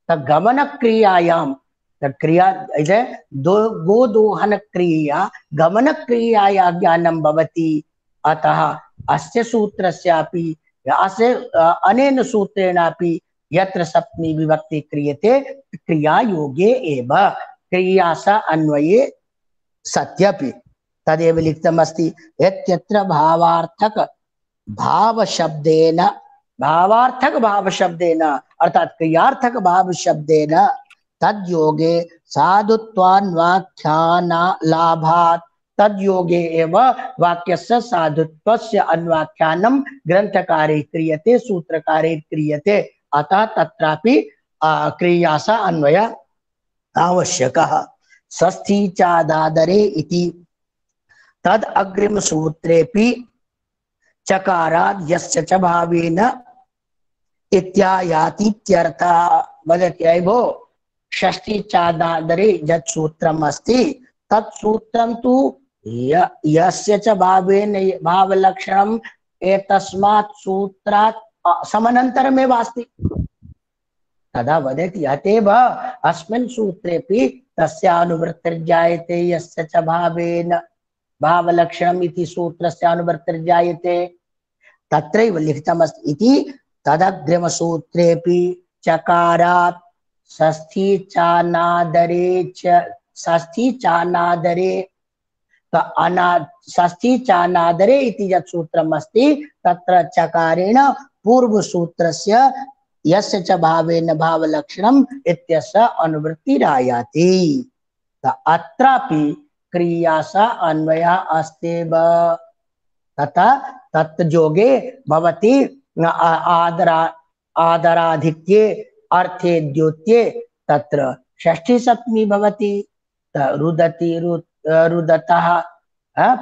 गमन क्रियायां क्रिया दो गोदोहन क्रिया गमन क्रियाया ज्ञानं भवति। अतः अस्य सूत्रस्यापि अस्य अनेन सूत्रेणापि यत्र सप्तमी विभक्ति क्रियते क्रिया योगे एव, क्रिया स अन्वये सत्यपि। तदेव लिखितमस्ति यत्र भावार्थक भाव शब्देन, भावार्थक भाव शब्देन अर्थात क्रियार्थक भाव शब्देन तद्योगे साधुत्वान्वाख्याना लाभात्, तद्योगे एव वाक्यस्य साधुत्वस्य अन्वाख्यानं ग्रंथकारे क्रियते, सूत्रकारे क्रियते। अतः तत्रापि क्रिया स अन्वय आवश्यकः। षष्ठी चादादरे इति तद अग्रिम सूत्रेपि चकाराद् यस्य च भावेन इत्यायातीत्यर्थः। वदति अयि भो षष्ठी चादादरे यत् सूत्रम् अस्ति तत् सूत्रं तु यस्य च भावेन भावलक्षणम् एतस्मात् सूत्रात् समनन्तरमेव अस्ति। तदा वदति अतएव अस्मिन् सूत्रेपि तस्य अनुवृत्तिर्जायते यस्य च भावेन भावलक्षणम् इति सूत्रस्य अनुवृत्तिर्जायते। तत्रैव लिखितमस्ति इति तदग्रिमसूत्रेपि चकारात् षष्ठी चानादरे च षष्ठी चानादरे अना षष्ठी चानादरे इति यत् सूत्रम् अस्ति तत्र चकारेण पूर्वसूत्रस्य यस्य च भावेन भावलक्षणम् इत्यस्य अनुवृत्तिरायाति। अत्रापि क्रियासा अन्वयः अस्त्येव। तथा तत्जोगे भवति आदरा आदराधिक्ये अर्थे द्योत्ये तत्र षष्ठी सप्तमी भवति। रुदति रुद रुदतः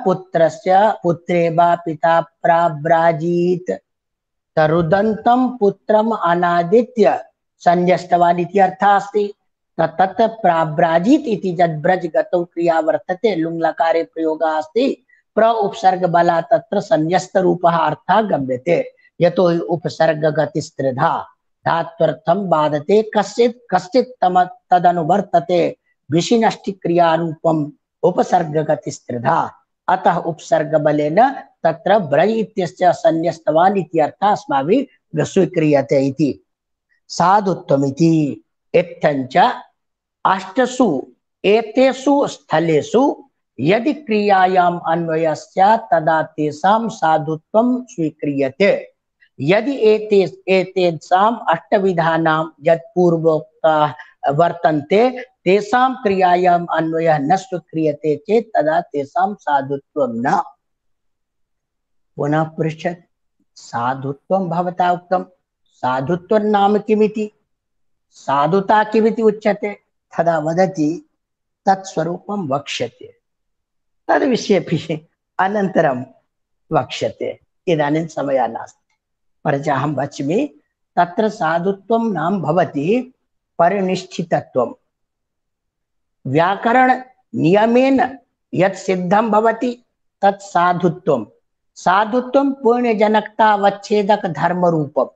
पुत्रस्य पुत्रे वा पिता प्राब्राजीत्। रुदन्तं पुत्रम् अनादित्य संज्ञस्तवान् इति अर्थः अस्ति। तत् प्राब्राजीत् इति यद् ब्रज गतौ क्रिया वर्तते लुङ् लकारे प्रयोगः अस्ति प्र उपसर्ग बला तत्र संज्ञस्त रूपः अर्थः गम्यते। यतो हि उपसर्ग गतिस्त्रिधा धात्वर्थं बाधते कश्चित् कश्चित् तम तदनुवर्तते विशिनष्टि क्रियारूपम् उपसर्ग गतिस्त्रिधा। अतः उपसर्ग बलेन तत्र ब्रज इत्यस्य संन्यस्तवान् इति अर्थः अस्माभिः स्वीक्रियते इति। साधुत्वमिति इत्थञ्च अष्टसु एतेषु स्थलेषु यदि क्रियायाम् अन्वयः स्यात् तदा तेषां साधुत्वं स्वीक्रियते। यदि एते एतेषाम् अष्टविधानां यत् पूर्वोक्ताः वर्तन्ते तेषां क्रियायाम् अन्वयः न स्वीक्रियते चेत् तदा तेषां साधुत्वं न। पुनः पृच्छत् साधुत्वं भवता उक्तं साधुत्वं नाम किमिति साधुता किमिति उच्यते। तदा वदति तत्स्वरूपं वक्ष्यते तद्विषये अनन्तरं वक्ष्यते इदानीं समयः नास्ति। परञ्च अहं वच्मि तत्र साधुत्वं नाम भवति परिनिष्ठितत्वं। व्याकरण नियमेन यत् सिद्धं भवति तत् साधुत्वं। साधुत्वं पुण्यजनकतावच्छेदक धर्मरूपं।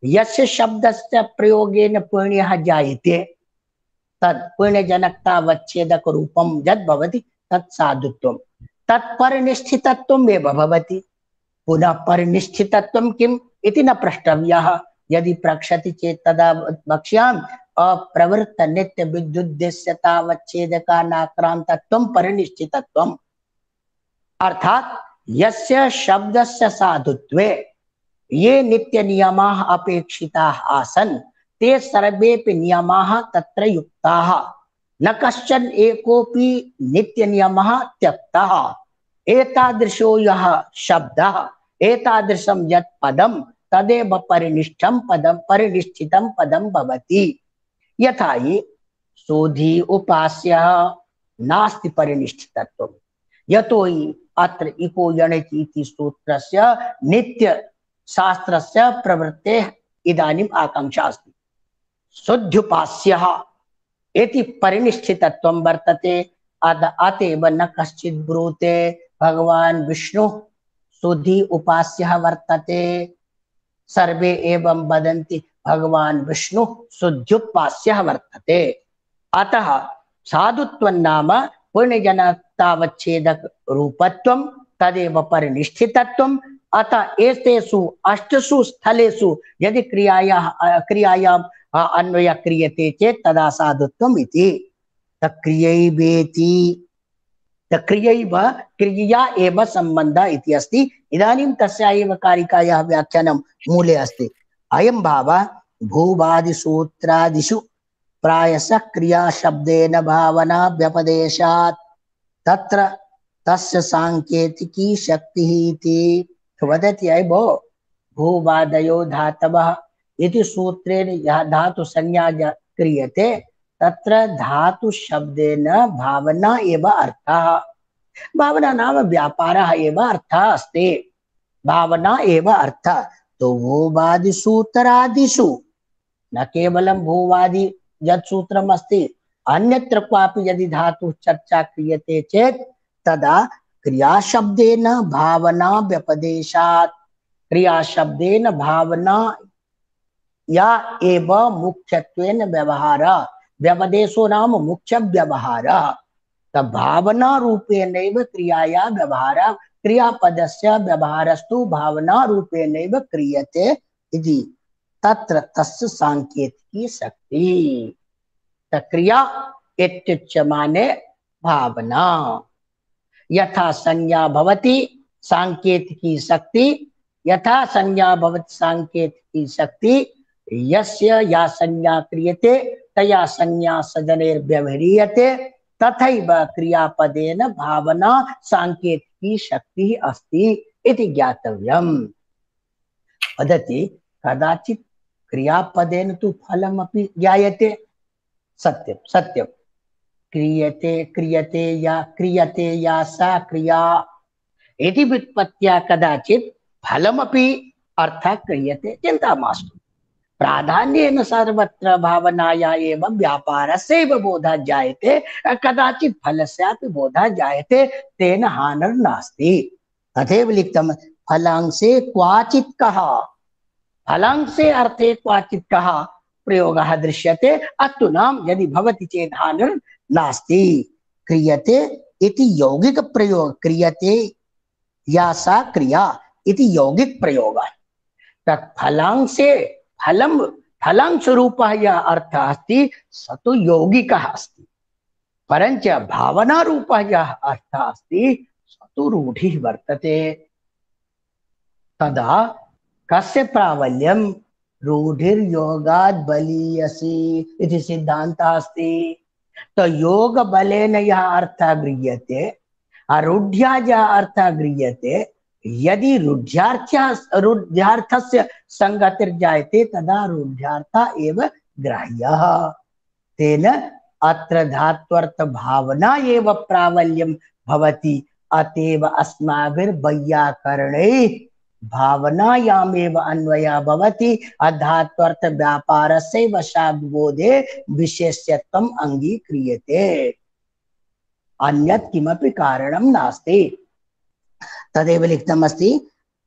यस्य शब्दस्य प्रयोगेन पुण्यः जायते तत् पुण्यजनकतावच्छेदक रूपं यद् भवति तत् साधुत्वं। तत् परिनिष्ठितत्वम् एव भवति। पुनः परिनिष्ठितत्वं किम् इति न प्रष्टव्यः। यदि प्रक्षति चेत् तदा वक्ष्यामि अप्रवृत्त नित्य विद्युद्देश्यतावच्छेदकानाक्रान्तत्वं परिनिष्ठितत्वम्। अर्थात् यस्य शब्दस्य साधुत्वे ये नित्य नियमाः अपेक्षिताः आसन् ते सर्वेपि नियमाः तत्र युक्ताः। न कश्चन एकोपि नित्य नियमः त्यक्तः। एतादृशो यः शब्दः एतादृशं यत् पदं तदेव परिनिष्ठं पदं परिनिष्ठितं पदं भवति। यथा हि शोधी उपास्यः नास्ति परिनिष्ठितत्वं। यतो हि अत्र इको यणचि इति सूत्रस्य नित्य शास्त्रस्य प्रवृत्तेः इदानीम् आकांक्षा अस्ति। शुद्ध्युपास्यः इति परिनिष्ठितत्वं वर्तते। अतएव न कश्चित् ब्रूते भगवान् विष्णुः शुद्धि उपास्यः वर्तते। सर्वे एवं वदन्ति भगवान् विष्णुः शुद्ध्युपास्यः वर्तते। अतः साधुत्वं नाम पुण्यजनकतावच्छेदक रूपत्वं तदेव परिनिष्ठितत्वं। अतः एतेषु अष्टसु स्थलेषु यदि क्रियायाः क्रियायाम् अन्वयः क्रियते चेत् तदा साधुत्वम् इति। तक्रियैवेति तक्रियैव क्रिया एव सम्बन्धः इति अस्ति। इदानीं तस्या एव कारिकायाः व्याख्यानं मूले अस्ति। अयं भावः भूवादिसूत्रादिषु प्रायशः क्रियाशब्देन भावना व्यपदेशात् तत्र तस्य सांकेतिकी शक्तिः इति वदति। अयि भो भूवादयो धातवः इति सूत्रेण यः धातु संज्ञा क्रियते तत्र धातु शब्देन भावना एव अर्थः। भावना नाम व्यापारः एव अर्थः अस्ति। भावना एव अर्थः। तो भूवादि सूत्रादिषु न केवलं भूवादि यत् सूत्रम् अस्ति अन्यत्र क्वापि यदि धातु चर्चा क्रियते चेत् तदा क्रियाशब्देन भावना व्यपदेशात्। क्रियाशब्देन भावना या एव मुख्यत्वेन व्यवहारः। व्यपदेशो नाम मुख्य व्यवहारः। तब भावना रूपेणैव क्रियाया व्यवहारः। क्रियापदस्य व्यवहारस्तु भावना रूपेणैव क्रियते इति। तत्र तस्य सांकेतिकी शक्ति। क्रिया इत्युच्यमाने भावना। यथा संज्ञा भवति सांकेतिकी शक्ति, यथा संज्ञा भवति सांकेतिकी शक्ति, यस्य या संज्ञा क्रियते तया संज्ञा सजनेर्व्यवह्रियते तथैव क्रियापदेन भावना सांकेतिकी शक्ति अस्ति इति ज्ञातव्यम्। वदति कदाचित् क्रियापदेन तु फलमपि ज्ञायते। सत्यं सत्यं। क्रियते क्रियते या क्रियते या सा क्रिया इति व्युत्पत्त्या कदाचित् फलमपि अर्थः क्रियते। चिन्ता मास्तु। प्राधान्येन सर्वत्र भावनाया एव व्यापारस्यैव बोधः जायते, कदाचित् फलस्यापि बोधः जायते, तेन हानिर्नास्ति। तथैव लिखितं फलांशे क्वाचित् कः, फलांशे अर्थे क्वाचित् कः प्रयोगः दृश्यते, अस्तु नाम यदि भवति चेत् हानिर्नास्ति। क्रियते इति यौगिक प्रयोग, क्रियते या सा क्रिया इति यौगिक प्रयोगः। तत् फलांशे फलं फलांश रूपः यः अर्थः अस्ति स तु यौगिकः अस्ति, परञ्च भावना रूपः यः अर्थः अस्ति स तु रूढिः वर्तते। तदा कस्य प्राबल्यं? रूढिर्योगात् बलीयसी इति सिद्धान्तः अस्ति। तो योग बलेन यः अर्थः गृह्यते, अरूढ्या यः अर्थः गृह्यते, यदि रूढ्यार्थस्य रूढ्यार्थस्य संगतिर्जायते तदा रूढ्यार्थः एव ग्राह्यः। तेन अत्र धात्वर्थ भावना एव प्राबल्यं भवति। अतएव अस्माभिर्वैयाकरणैः भावनायामेव अन्वयः भवति। अधात्वर्थ व्यापारस्यैव शाब्दबोधे विशेष्यत्वम् अङ्गीक्रियते, अन्यत् किमपि कारणं नास्ति। तदेव लिखितमस्ति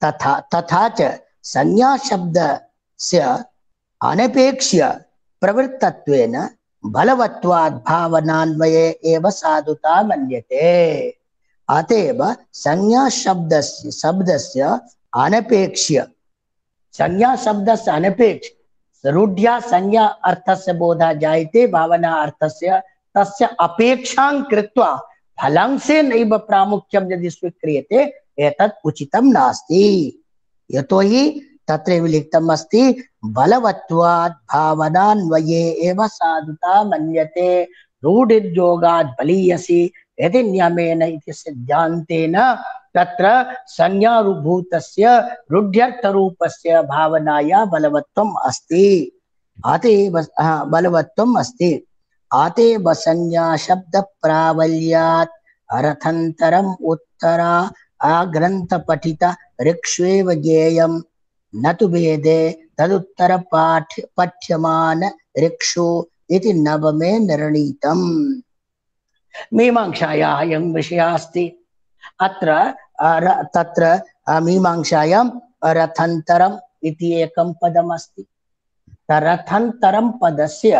तथा तथा च संज्ञा शब्दस्य अनपेक्ष्य प्रवृत्तत्वेन बलवत्वात् भावनान्वये एव साधुता मन्यते। अतएव संज्ञा शब्दस्य शब्दस्य अनपेक्ष्य, संज्ञा शब्दस्य अनपेक्ष रूढ्या संज्ञा अर्थस्य बोधः जायते, भावना अर्थस्य, तस्य अपेक्षां कृत्वा फलांशे नैव प्रामुख्यं यदि स्वीक्रियते एतत् उचितं नास्ति। यतोहि तत्रैव लिखितम् अस्ति बलवत्वात् भावनान्वये एव साधुता मन्यते रूढिर्योगात् बलीयसी यदि नियमेन इति सिद्धान्तेन तत्र संज्ञारूभूतस्य रूढ्यर्थरूपस्य भावनाया बलवत्वम् अस्ति। अतएव बलवत्वम् अस्ति। अतएव संज्ञा शब्द प्राबल्यात् अर्थान्तरम् उत्तरा आग्रन्थ पठिता ऋक्ष्वेव ज्ञेयं न तु वेदे तदुत्तर पाठ्य पठ्यमान ऋक्षु इति नवमे निर्णीतम्। मीमांसायाः अयं विषयः अस्ति। अत्र तत्र मीमांसायां रथान्तरम् इति एकं पदम् अस्ति। रथान्तरं पदस्य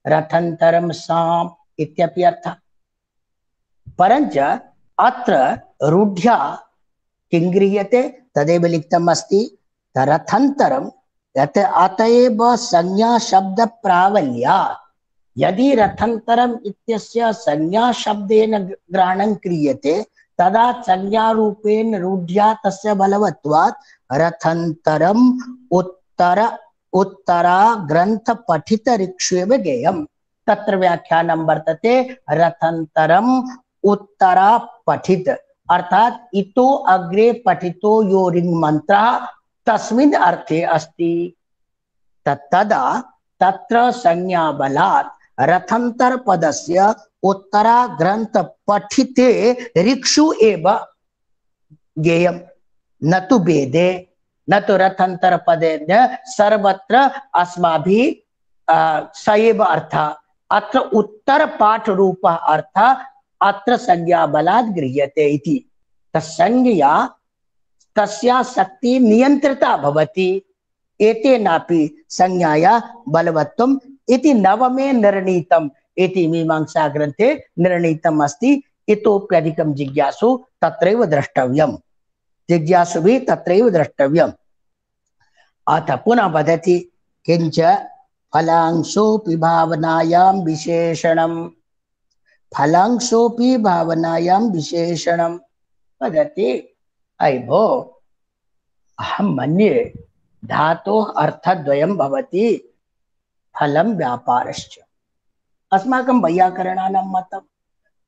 रथान्तरं साम् इत्यपि अर्थः। परञ्च अत्र रूढ्या किं गृह्यते तदेव लिखितम् अस्ति रथान्तरं यत् अतएव संज्ञा शब्द प्राबल्यात्। यदि रथान्तरम् इत्यस्य संज्ञा शब्देन ग्रहणं क्रियते तदा संज्ञारूपेण रूढ्या तस्य बलवत्वात् रथान्तरम् उत्तर उत्तरा ग्रंथ पठित ऋक्ष्वेव ज्ञेयम्। तत्र व्याख्यानं वर्तते रथान्तरम् उत्तरा पठित अर्थात इतो अग्रे पठितो यो ऋङ् मंत्रः तस्मिन् अर्थे अस्ति। तदा तत्र संज्ञा बलात् रथान्तर पदस्य उत्तरा ग्रंथ पठिते ऋक्षु एव ज्ञेयं न तु वेदे न तो रथान्तर पदेन सर्वत्र अस्माभिः स एव अर्थः। अत्र उत्तर पाठ रूप अर्थः अत्र संज्ञा बलात् गृह्यते इति। तस्संज्ञया तस्या शक्ति नियंत्रिता भवति। एतेनापि संज्ञाया बलवत्वम् इति नवमे निर्णीतम् इति मीमांसा ग्रंथे निर्णीतम् अस्ति। इतोप्यधिकं जिज्ञासु तत्रैव द्रष्टव्यम्। जिज्ञासुभिः तत्रैव द्रष्टव्यम्। अथ पुनः वदति किंच फलांशोऽपि भावनायां विशेषणं फलांशोऽपि भावनायां विशेषणं वदति अयि भो अहं मन्ये धातोः अर्थद्वयं भवति फलं व्यापारश्च अस्माकं वैयाकरणानां मतं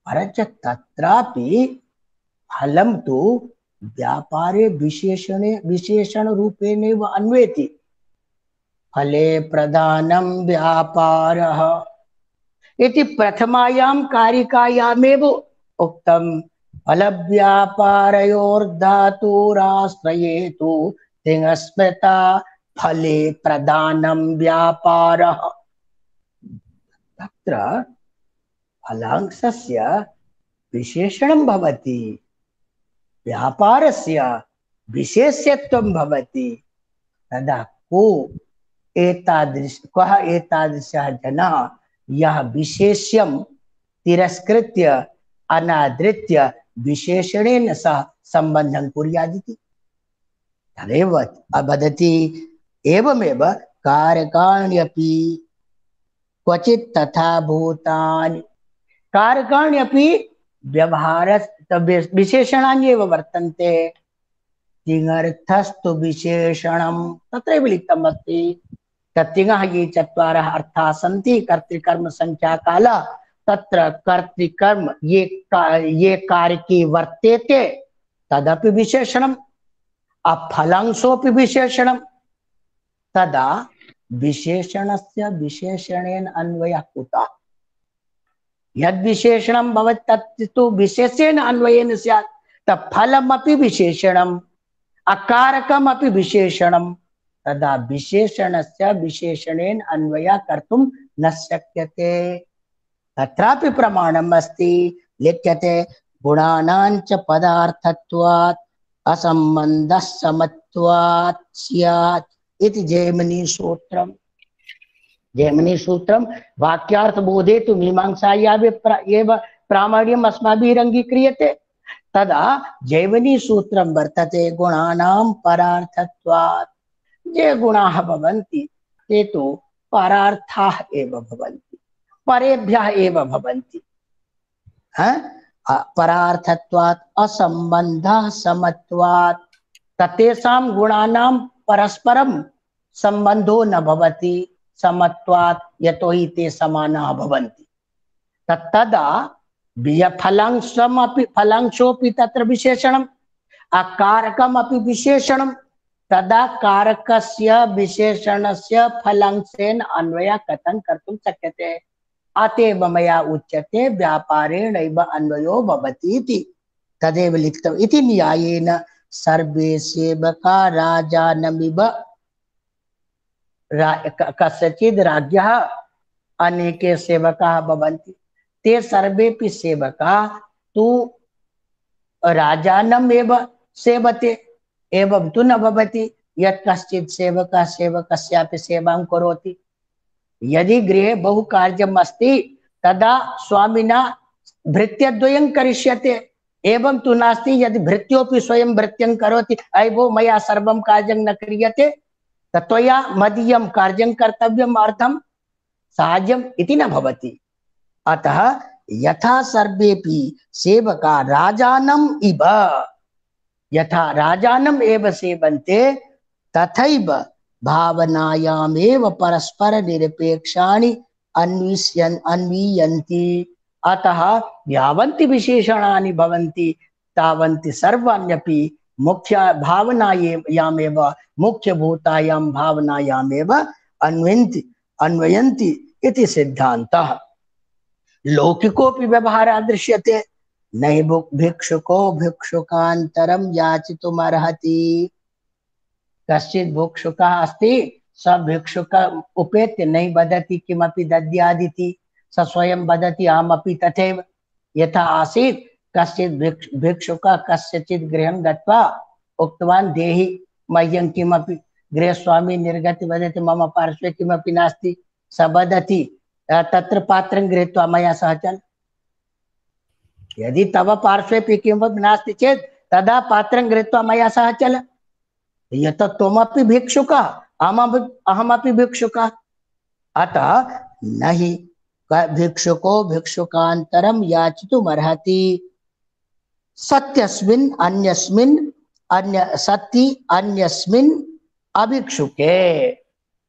परञ्च तत्रापि फलं तु व्यापारे विशेषणे विशेषणरूपेणैव अन्वेति फले प्रधानं व्यापारः इति प्रथमायां कारिकायामेव उक्तं फलव्यापारयोर्धातुराश्रयेतु तिङस्मृता फले प्रधानं व्यापारः तत्र फलांशस्य विशेषणं भवति व्यापारस्य विशेष्यत्वं भवति तदा को एतादृश कः एतादृशः जनः यः विशेष्यं तिरस्कृत्य अनादृत्य विशेषणेन सह सम्बन्धं कुर्यादिति तदेव वदति एवमेव कारकाण्यपि क्वचित् तथा भूतानि कारकाण्यपि व्यवहार विशेषणानि एव वर्तन्ते तिङर्थस्तु विशेषणं तत्रैव लिखितम् अस्ति तत्तिङः ये चत्वारः अर्थाः सन्ति कर्तृकर्म संख्याकाल तत्र कर्तृकर्म ये का, ये कारके वर्तेते तदपि विशेषणम् अफलांशोऽपि विशेषणं तदा विशेषणस्य विशेषणेन अन्वयः कुतः यद् विशेषणं भवति तत्तु विशेषेण अन्वयेन स्यात् तत्फलमपि विशेषणम् अकारकमपि विशेषणं तदा विशेषणस्य विशेषणेन अन्वयः कर्तुं न शक्यते तत्रापि प्रमाणम् अस्ति लिख्यते गुणानां च पदार्थत्वात् असम्बन्धः समत्वात् स्यात् इति जैमिनी सूत्रम् जैमिनी सूत्रं वाक्यार्थबोधे तु मीमांसायाः एव प्रामाण्यम् अस्माभिः अङ्गीक्रियते तदा जैमिनी सूत्रं वर्तते गुणानां परार्थत्वात् ये गुणाः भवन्ति ते तु परार्थाः एव भवन्ति परेभ्यः एव भवन्ति परार्थत्वात् असम्बन्धः समत्वात् ततेषां गुणानां परस्परं सम्बन्धो न भवति समत्वात् यतोहि ते समानाः भवन्ति तदा फलांशमपि फलांशोऽपि तत्र विशेषणम् अकारकमपि विशेषणं तदा कारकस्य विशेषणस्य फलांशेन अन्वयः कथं कर्तुं शक्यते अतएव मया उच्यते व्यापारेणैव अन्वयो भवति इति तदेव लिखितम् इति न्यायेन सर्वे सेवका राजानमिव कस्यचिद् राज्ञः अनेके सेवकाः भवन्ति ते सर्वेपि सेवकाः तु राजानम् एव सेवते एवं तु न भवति यत् कश्चित् सेवकः सेवकस्यापि सेवां करोति यदि गृहे बहु कार्यम् अस्ति तदा स्वामिना भृत्यद्वयं करिष्यते एवं तु नास्ति यदि भृत्योपि स्वयं भृत्यं करोति अयि भो मया सर्वं कार्यं न क्रियते त्वया मदीयं कार्यं कर्तव्यम् अर्थं साहाय्यम् इति न भवति अतः यथा सर्वेपि सेवका राजानम् इव यथा राजानम् एव सेवन्ते तथैव भावनायामेव परस्पर निरपेक्षाणि अन्विष्यन् अन्वीयन्ति अतः यावन्ति विशेषणानि भवन्ति तावन्ति सर्वाण्यपि मुख्य भावनायामेव मुख्यभूतायां भावनायामेव अन्वयन्ति अन्वयन्ति इति सिद्धान्तः लौकिकोऽपि व्यवहारः दृश्यते नहि भिक्षुको भिक्षुकान्तरं याचितुमर्हति कश्चित् भिक्षुकः अस्ति स भिक्षुक उपेत्य नहि वदति किमपि दद्यादिति स स्वयं वदति अहमपि तथैव यथा आसीत् कश्चित् भिक्षुकः कस्यचित् गृहं गत्वा उक्तवान् देहि मह्यं किमपि गृहस्वामी निर्गत्य वदति मम पार्श्वे किमपि नास्ति स वदति तत्र पात्रं गृहीत्वा मया सह चल यदि तव पार्श्वे किमपि नास्ति चेत् तदा पात्रं गृहीत्वा मया सह चल यत् त्वमपि भिक्षुकः अहमपि अहमपि भिक्षुकः, अतः न हि भिक्षुको भिक्षुकान्तरं याचितुमर्हति। सत्यस्मिन् अन्यस्मिन् अन्य सति अन्यस्मिन् अभिक्षुके,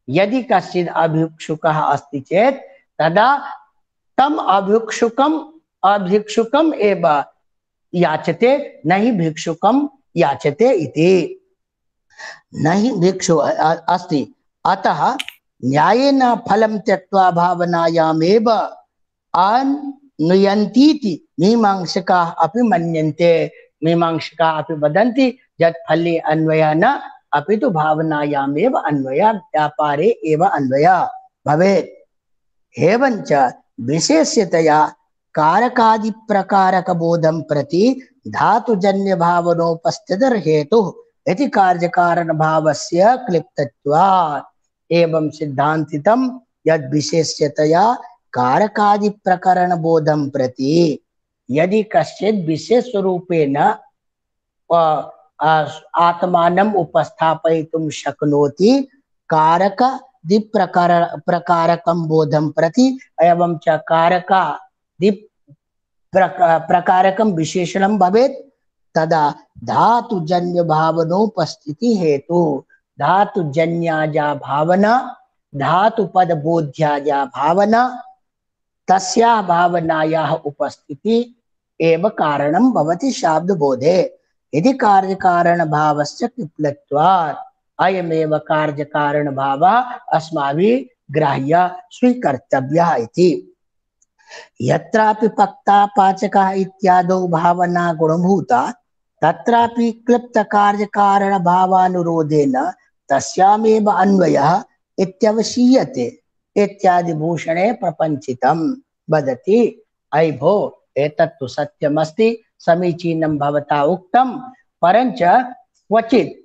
यदि कश्चित् अभिक्षुकः अस्ति चेत् तदा तम अभिक्षुकम अभिक्षुकम एव याचते, न हि भिक्षुकम याचते इति। न हि भिक्षु अस्ति, अतः न्यायेन फलं त्यक्त्वा भावनायामेव अनुयन्तीति मीमांसकाः अपि मन्यन्ते। मीमांसकाः अपि वदन्ति यत् फले अन्वयः न, अपि तु भावनायामेव अन्वयः, व्यापारे एव अन्वयः भवेत्। एवञ्च विशेष्यतया कारकादि प्रकारक बोधं प्रति धातुजन्य भावनोपस्थितिर् हेतुः इति कार्यकारण भावस्य क्लिप्तत्वात्। एवं सिद्धान्तितं यद् विशेष्यतया कारकादि प्रकरण बोधं प्रति यदि कश्चित् विशेष रूपेण आत्मानम् उपस्थापयितुं शक्नोति कारक दिप्रकार प्रकारकं बोधं प्रति, एवं च कारका दिप प्रकारकं विशेषणं भवेत्, तदा धातुजन्य भावनोपस्थिति हेतु, धातुजन्या भावना, धातुपद बोध्या भावना, तस्या भावनायाः उपस्थिति एव कारणं भवति शाब्दबोधे। यदि कार्यकारण भावस्य क्लिप्तत्वात् अयमेव कार्यकारण भावः अस्माभिः ग्राह्य स्वीकर्तव्यः इति। यत्रापि पक्ता पाचकः इत्यादौ भावना गुणभूता तत्रापि क्लिप्त कार्यकारण भावानुरोधेन तस्यामेव अन्वयः इत्यवशीयते इत्यादि भूषणे प्रपंचितं वदति। अयि भो, एतत्तु सत्यमस्ति, समीचीनं भवता उक्तं, परञ्च क्वचित्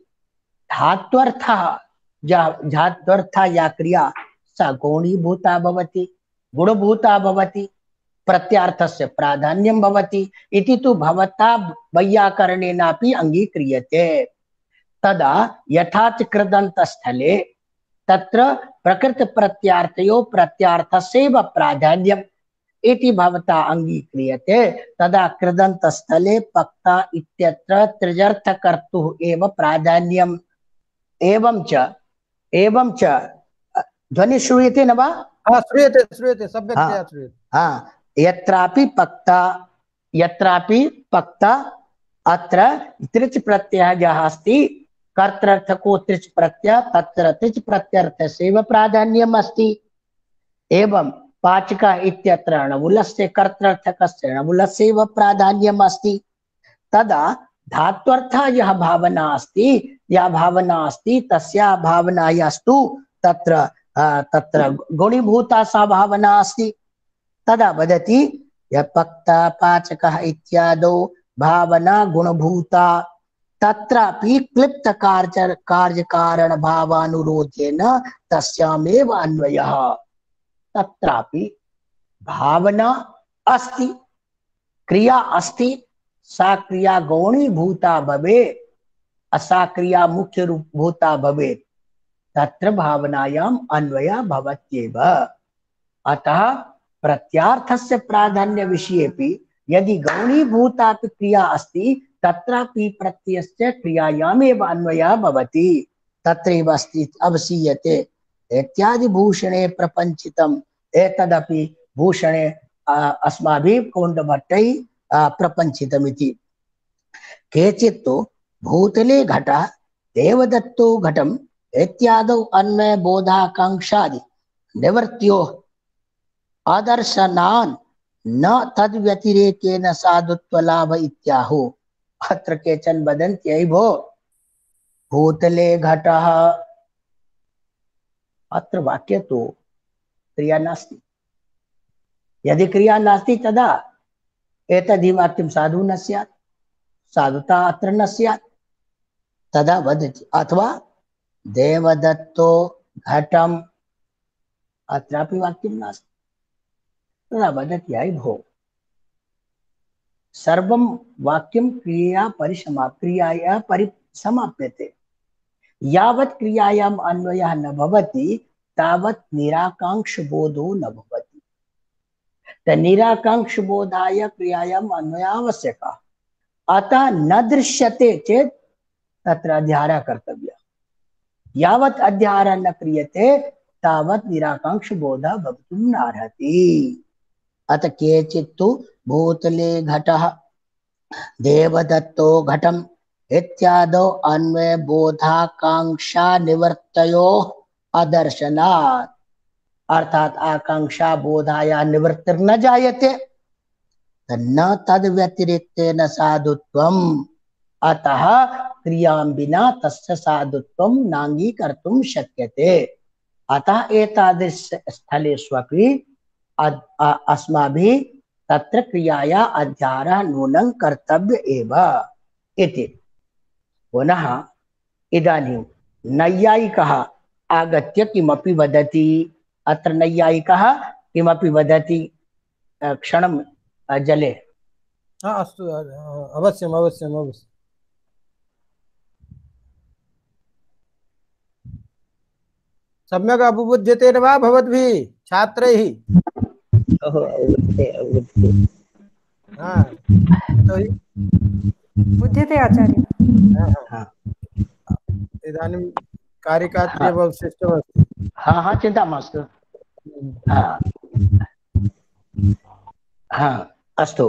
धात्वर्थः धात्वर्थः या क्रिया सा गौणीभूता भवति, गुणभूता भवति, प्रत्यार्थस्य प्राधान्यं भवति इति तु भवता वैयाकरणेनापि अङ्गीक्रियते। तदा यथा च कृदन्तस्थले तत्र प्रकृत प्रत्यार्थयो प्रत्यार्थस्यैव प्राधान्यम् इति भवता अङ्गीक्रियते, तदा कृदन्तस्थले पक्ता इत्यत्र त्रिजर्थकर्तुः एव प्राधान्यम्। एवं च एवं च ध्वनि श्रूयते न वा? हाँ, श्रूयते श्रूयते सम्यक्तया श्रूयते। हाँ, यत्रापि पक्ता यत्रापि पक्ता अत्र त्रिच प्रत्ययः यः अस्ति, कर्तृर्थको त्रिच प्रत्यय, तत्र त्रिच प्रत्यर्थस्यैव प्राधान्यम् अस्ति। एवं पाचकः इत्यत्र णमुलस्य कर्तृर्थकस्य णमुलस्यैव प्राधान्यम् अस्ति। तदा धात्वर्थः यः भावना अस्ति, या भावना अस्ति तस्या भावनायास्तु तत्र तत्र गुणीभूता सा भावना अस्ति। तदा वदति यपक्ता पाचकः इत्यादौ भावना गुणभूता तत्रापि क्लिप्त कार्य कार्यकारण भावानुरोधेन तस्यामेव अन्वयः। तत्रापि भावना अस्ति, क्रिया अस्ति, सा क्रिया गौणीभूता भवेत्, सा क्रिया मुख्य रूप भूता भवेत्, तत्र भावनायाम् अन्वयः भवत्येव। अतः प्रत्यार्थस्य प्राधान्य विषयेपि यदि गौणीभूतापि क्रिया अस्ति तत्रापि प्रत्ययस्य क्रियायामेव अन्वयः भवति, तत्रैव अस्ति अवसीयते इत्यादि भूषणे प्रपंचितम्। एतदपि भूषणे अस्माभिः कौण्डभट्टैः प्रपंचितमिति। केचित् तु भूतले घटः देवदत्तो घटम् इत्यादौ अन्वय बोधाकांक्षादि निवृत्त्योः आदर्शनान् न तद्व्यतिरेकेन साधुत्व लाभ इत्याहुः। अत्र केचन वदन्ति अयि भो, भूतले घटः, अत्र वाक्ये तु क्रिया नास्ति। यदि क्रिया नास्ति तदा एतद्धि वाक्यं साधु न स्यात्, साधुता अत्र न स्यात्। तदा वदति अथवा देवदत्तो घटम्, अत्रापि वाक्यं नास्ति। तदा वदति अयि भो, सर्वं वाक्यं क्रियया परिसमा क्रियाया परिसमाप्यते। यावत् क्रियायाम् अन्वयः न भवति तावत् निराकांक्ष बोधो न भवति। त निराकांक्ष बोधाय क्रियायाम् अन्वयः आवश्यकः। अतः न दृश्यते चेत् तत्र अध्याहारः कर्तव्यः। यावत् अध्याहारः न क्रियते तावत् निराकांक्ष बोधः भवितुं नार्हति। अतः केचित् तु भूतले घटः देवदत्तो घटम् इत्यादौ अन्वय बोधाकांक्षा निवर्तयोः अदर्शनात्, अर्थात आकांक्षा बोधाया निवृत्तिर्न जायते न तद व्यतिरिक्तेन साधुत्वम्, अतः क्रियां विना तस्य साधुत्वं नाङ्गीकर्तुं शक्यते। अतः एतादृश स्थलेष्वपि अस्माभिः तत्र क्रियाया अध्याहारः नूनं कर्तव्य एव इति। पुनः इदानीं नैयायिकः आगत्य किमपि वदति। अत्र नैयायिकः किमपि वदति, क्षणं जले। हाँ अस्तु, अवश्यम् अवश्यम् अवश्यम्। सम्यक् अवबुध्यते वा भवद्भिः छात्रैः? हाँ बुध्यते आचार्य। इदानीं कारिकात्रयम् अवशिष्टमस्ति। हाँ हाँ चिन्ता मास्तु। हाँ हाँ अस्तु।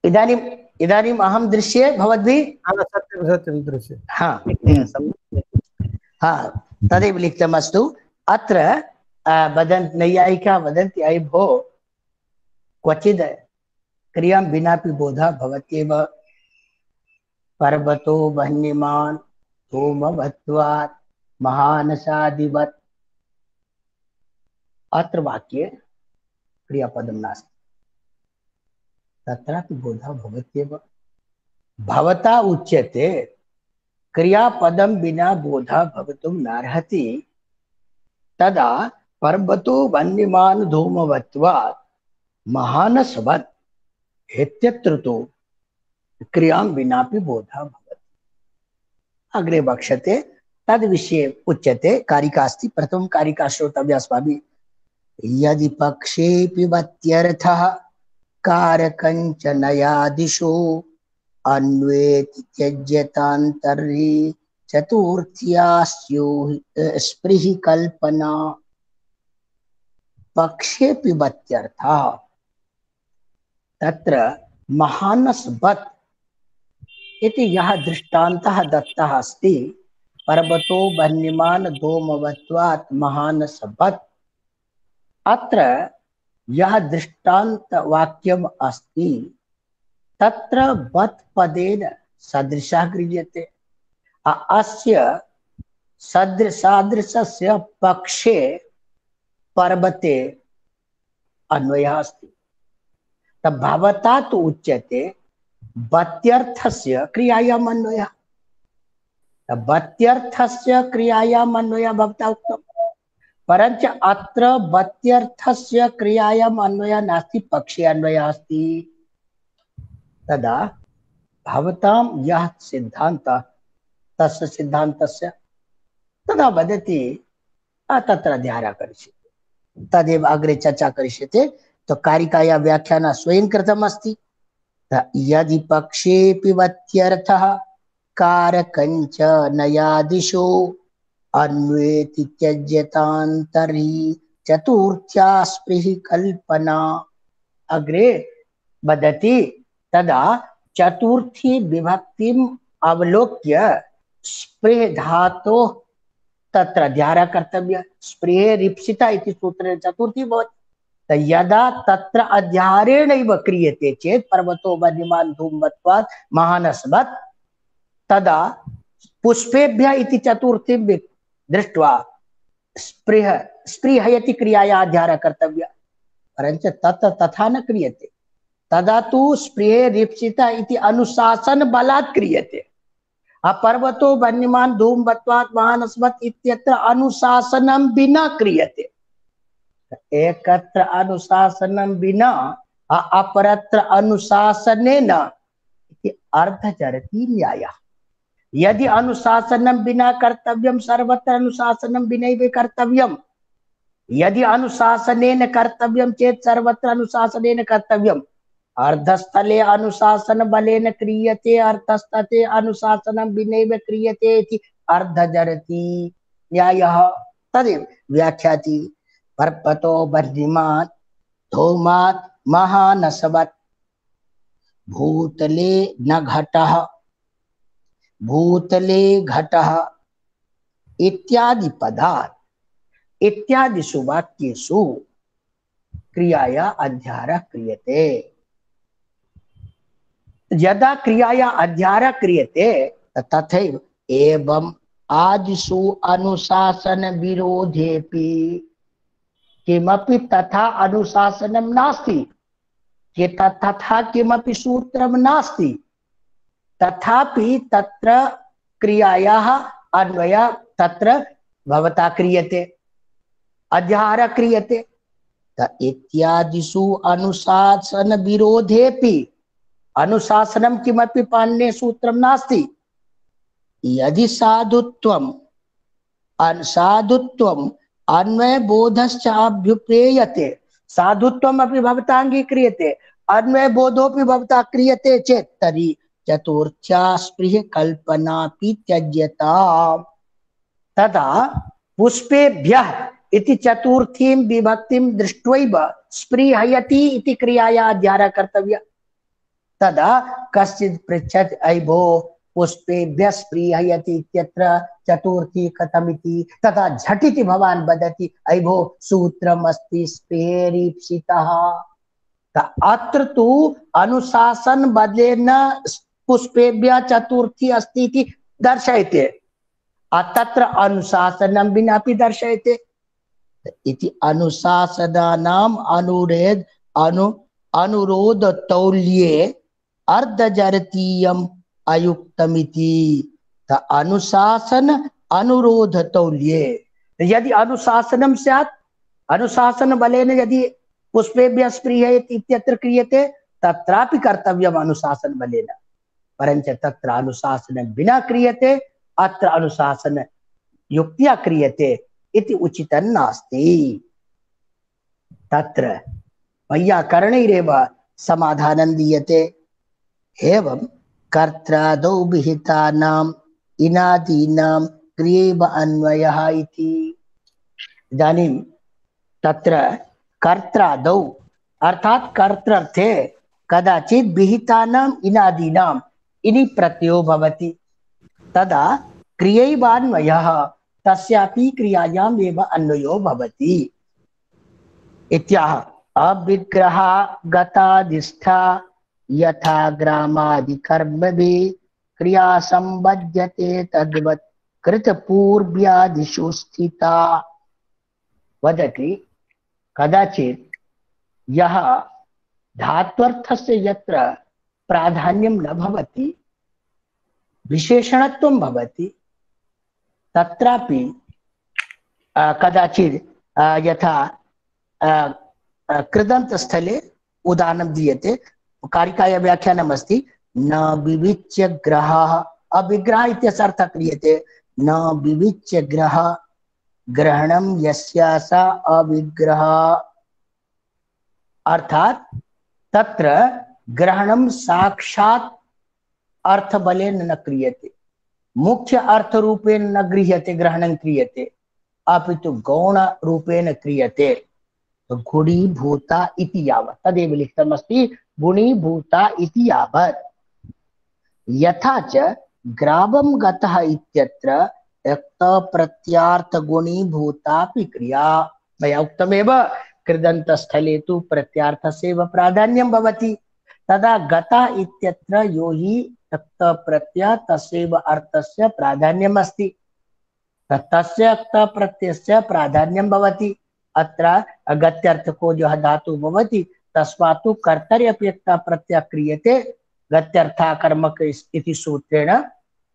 इदानीम् इदानीम् अहं दृश्ये भवद्भिः? हाँ सत्यं सत्यं दृश्ये। हाँ हाँ तदेव लिखितमस्तु। अत्र वदन्ति नैयायिकाः वदन्ति अयि भो क्वचिद् क्रियां विनापि बोधः भवत्येव। पर्वतो वह्निमान् धूमवत्वात् महानसादिवत्। अत्र वाक्ये क्रियापदं नास्ति, तत्रापि बोधः भवत्येव। भवता उच्यते क्रियापदं विना बोधः भवितुं नार्हति, तदा पर्वतो वह्निमान् धूमवत्वात् महानसवत् इत्यत्र तु क्रियां विनापि बोधः भवति। अग्रे वक्ष्यते तद् विषये उच्यते। कारिका अस्ति, प्रथमं कारिका श्रोतव्या अस्माभिः। यदि पक्षेऽपि वत्यर्थः कारकञ्च नयादिषु अन्वेति त्यज्यतान्तर्हि चतुर्थ्या स्पृहि कल्पना। पक्षेऽपि वत्यर्थः, तत्र महानसवत् इति यः दृष्टान्तः दत्तः अस्ति, पर्वतो वह्निमान् धूमवत्वात् महानसवत्, अत्र यः दृष्टान्तवाक्यम् अस्ति तत्र वत् पदेन सदृशः गृह्यते। अस्य सदृशादृशस्य पक्षे पर्वते अन्वयः अस्ति। तब भवता तु उच्यते वत्यर्थस्य क्रियायाम् अन्वयः। तब वत्यर्थस्य क्रियायाम् अन्वयः भवता उक्तम्, परञ्च अत्र वत्यर्थस्य क्रियायाम् अन्वयः नास्ति, पक्षे अन्वयः अस्ति। तदा भवतां यः सिद्धान्तः तस्य सिद्धान्तस्य तदा वदति तत्र अध्याहारः करिष्यते। तदेव अग्रे चर्चा करिष्यते। तो कारिकाया व्याख्यान स्वयं कृतम् अस्ति। यदि पक्षेऽपि वत्यर्थः कारकञ्च नयादिषु अन्वेति त्यज्यतान्तर्हि चतुर्थ्या स्पृहि कल्पना। अग्रे वदति तदा चतुर्थी विभक्तिम् अवलोक्य स्पृह धातोः तत्र अध्याहारः कर्तव्यः। स्पृहे रिप्सिता इति सूत्रेण चतुर्थी भवति। यदा तत्र अध्याहारेणैव क्रियते चेत् पर्वतो वह्निमान् धूमवत्वात् महानसवत्, तदा पुष्पेभ्यः इति चतुर्थीं दृष्ट्वा स्पृह स्पृहयति क्रियाया अध्याहारः कर्तव्यः। परञ्च तत्र तथा न क्रियते। तदा तु स्पृहे रिप्सिता इति अनुशासन बलात् क्रियते। पर्वतो वह्निमान् धूमवत्वात् महानसवत् इत्यत्र अनुशासनं विना क्रियते। एकत्र अनुशासनं विना अपरत्र अनुशासनेन इति अर्धचरति न्यायः। यदि अनुशासनं विना कर्तव्यं सर्वत्र अनुशासनं विनैव कर्तव्यम्। यदि अनुशासनेन कर्तव्यं चेत् सर्वत्र अनुशासनेन कर्तव्यम्। अर्धस्थले अनुशासन बलेन क्रियते अर्थस्थले अनुशासनं विनैव क्रियते इति अर्धजरति न्यायः। तदेव व्याख्याति पर्वतो बर्हिमान् धूमात् महानसवत् भूतले न घटः भूतले घटः इत्यादि पदात् इत्यादिषु वाक्येषु क्रियाया अध्यारः क्रियते। यदा क्रियाया अध्यारः क्रियते तथैव एवं आदिषु अनुशासन विरोधेपि किमपि तथा अनुशासनं नास्ति कि तथा किमपि सूत्रं नास्ति, तथापि तत्र क्रियायाः अन्वयः तत्र भवता क्रियते, अध्यारः क्रियते। इत्यादिषु अनुशासन विरोधेपि अनुशासनं किमपि पाणिनेः सूत्रं नास्ति। यदि साधुत्वम् असाधुत्वम् अन्वयबोधश्च अभ्युपेयते, साधुत्वम् अपि भवता अङ्गीक्रियते अन्वयबोधोऽपि भवता क्रियते चेत् तर्हि चतुर्थ्या स्पृह कल्पनापि त्यज्यताम्। तदा पुष्पेभ्यः इति चतुर्थीं विभक्तिं दृष्ट्वैव स्पृहयति इति क्रियाया अध्यारः कर्तव्यः। तदा कश्चित् पृच्छति अयि भोः पुष्पेभ्यः स्पृहयति इत्यत्र चतुर्थी कथमिति, तदा झटिति भवान् वदति अयि भोः सूत्रम् अस्ति स्पृहेरीप्सितः। अत्र तु अनुशासन बलेन पुष्पेभ्यः चतुर्थी अस्ति इति दर्शयते, तत्र अनुशासनं विना अपि दर्शयते इति अनुशासनानाम् अनुरोध अनु अनुरोध तौल्ये अर्धजरतीयम् अयुक्तमिति। अनुशासन अनुरोध तौल्ये यदि अनुशासनं स्यात्, अनुशासन बलेन यदि पुष्पेभ्यः स्पृहयति इत्यत्र क्रियते तत्रापि कर्तव्यम् अनुशासन बलेन, परञ्च तत्र अनुशासनं विना क्रियते, अत्र अनुशासन युक्त्या क्रियते इति उचितं नास्ति। तत्र वैयाकरणैरेव समाधानं दीयते। एवं कर्त्रादौ विहितानाम् इनादीनां क्रियैव अन्वयः इति। इदानीं तत्र कर्त्रादौ अर्थात कर्तृर्थे कदाचित् विहितानाम् इनादीनाम् इनि प्रत्ययो भवति, तदा क्रियैवान्वयः तस्यापि क्रियायाम् एव अन्वयो भवति इत्याह। अविग्रहा गतादिष्ठा यथा ग्रामादिकर्मभिः क्रिया संबध्यते तद्वत् कृतपूर्व्यादिषु स्थिता। वदति कदाचित् यः धात्वर्थस्य यत्र प्राधान्यं न भवति, विशेषणत्वं भवति, तत्रापि कदाचित् यथा कृदन्त स्थले उदाहरणं दीयते। कारिकाया व्याख्यानम् अस्ति न विविच्य ग्रहः, अविग्रह इत्यस्य अर्थः क्रियते न विविच्य ग्रह ग्रहणं यस्यासा अविग्रह, अर्थात तत्र ग्रहणं साक्षात् अर्थबलेन न क्रियते, मुख्य अर्थ रूपेण न गृह्यते ग्रहणं क्रियते, अपितु गौण रूपेण क्रियते। गुणीभूता इति यावत्, तदेव लिखितमस्ति गुणीभूता इति यावत्। यथा च ग्रामं गतः इत्यत्र प्रत्यार्थ गुणीभूतापि क्रिया। मया उक्तमेव कृदन्तस्थले तु प्रत्यार्थस्यैव प्राधान्यं भवति, तदा गता इत्यत्र यो हि प्रत्यय तस्यैव अर्थस्य प्राधान्यम् अस्ति, तस्य प्रत्ययस्य प्राधान्यं भवति। अत्र गत्यर्थको जो धातु भवति तस्मात् तु कर्तरि अपि प्रत्यय क्रियते गत्यर्था कर्मक इति सूत्रेण,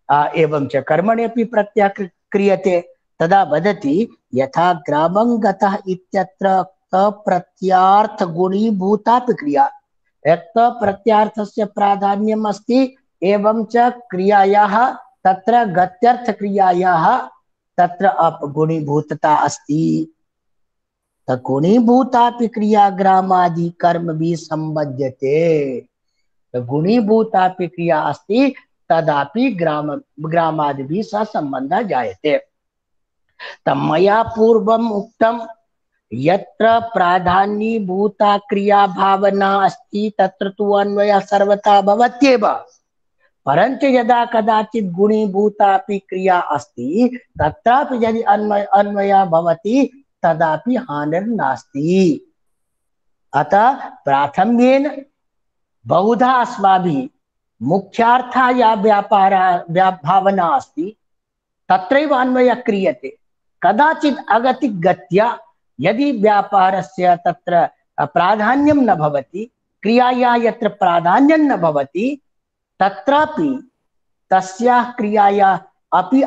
एवं च कर्मणि अपि प्रत्यय क्रियते। तदा वदति यथा ग्रामं गतः इत्यत्र प्रत्यार्थ गुणीभूतापि क्रिया, एक प्रत्यार्थस्य प्राधान्यम् अस्ति, एवं च क्रियायाः तत्र गत्यर्थक्रियायाः तत्र अपगुणीभूतता अस्ति। गुणीभूतापि क्रिया ग्रामादि कर्म भी संबध्यते। गुणीभूतापि क्रिया अस्ति तदापि ग्राम ग्रामादि भी सह संबंधः जायते। तमया पूर्वम् उक्तम् यत्र प्राधान्यभूता क्रिया भावना अस्ति तत्र तु अन्वयः सर्वथा भवत्येव, परंच यदा कदाचित् गुणीभूतापि क्रिया अस्ति तत्रापि यदि अन्वय अन्वयः भवति तदापि हानिर्नास्ति। अतः प्राथम्येन बहुधा अस्माभिः मुख्यार्थः या व्यापारः भावना अस्ति तत्रैव अन्वयः क्रियते। कदाचित् अगतिक गत्या यदि व्यापारस्य तत्र प्राधान्यं न भवति, क्रियाया यत्र प्राधान्यं न भवति तत्रापि तस्याः क्रियाया अपि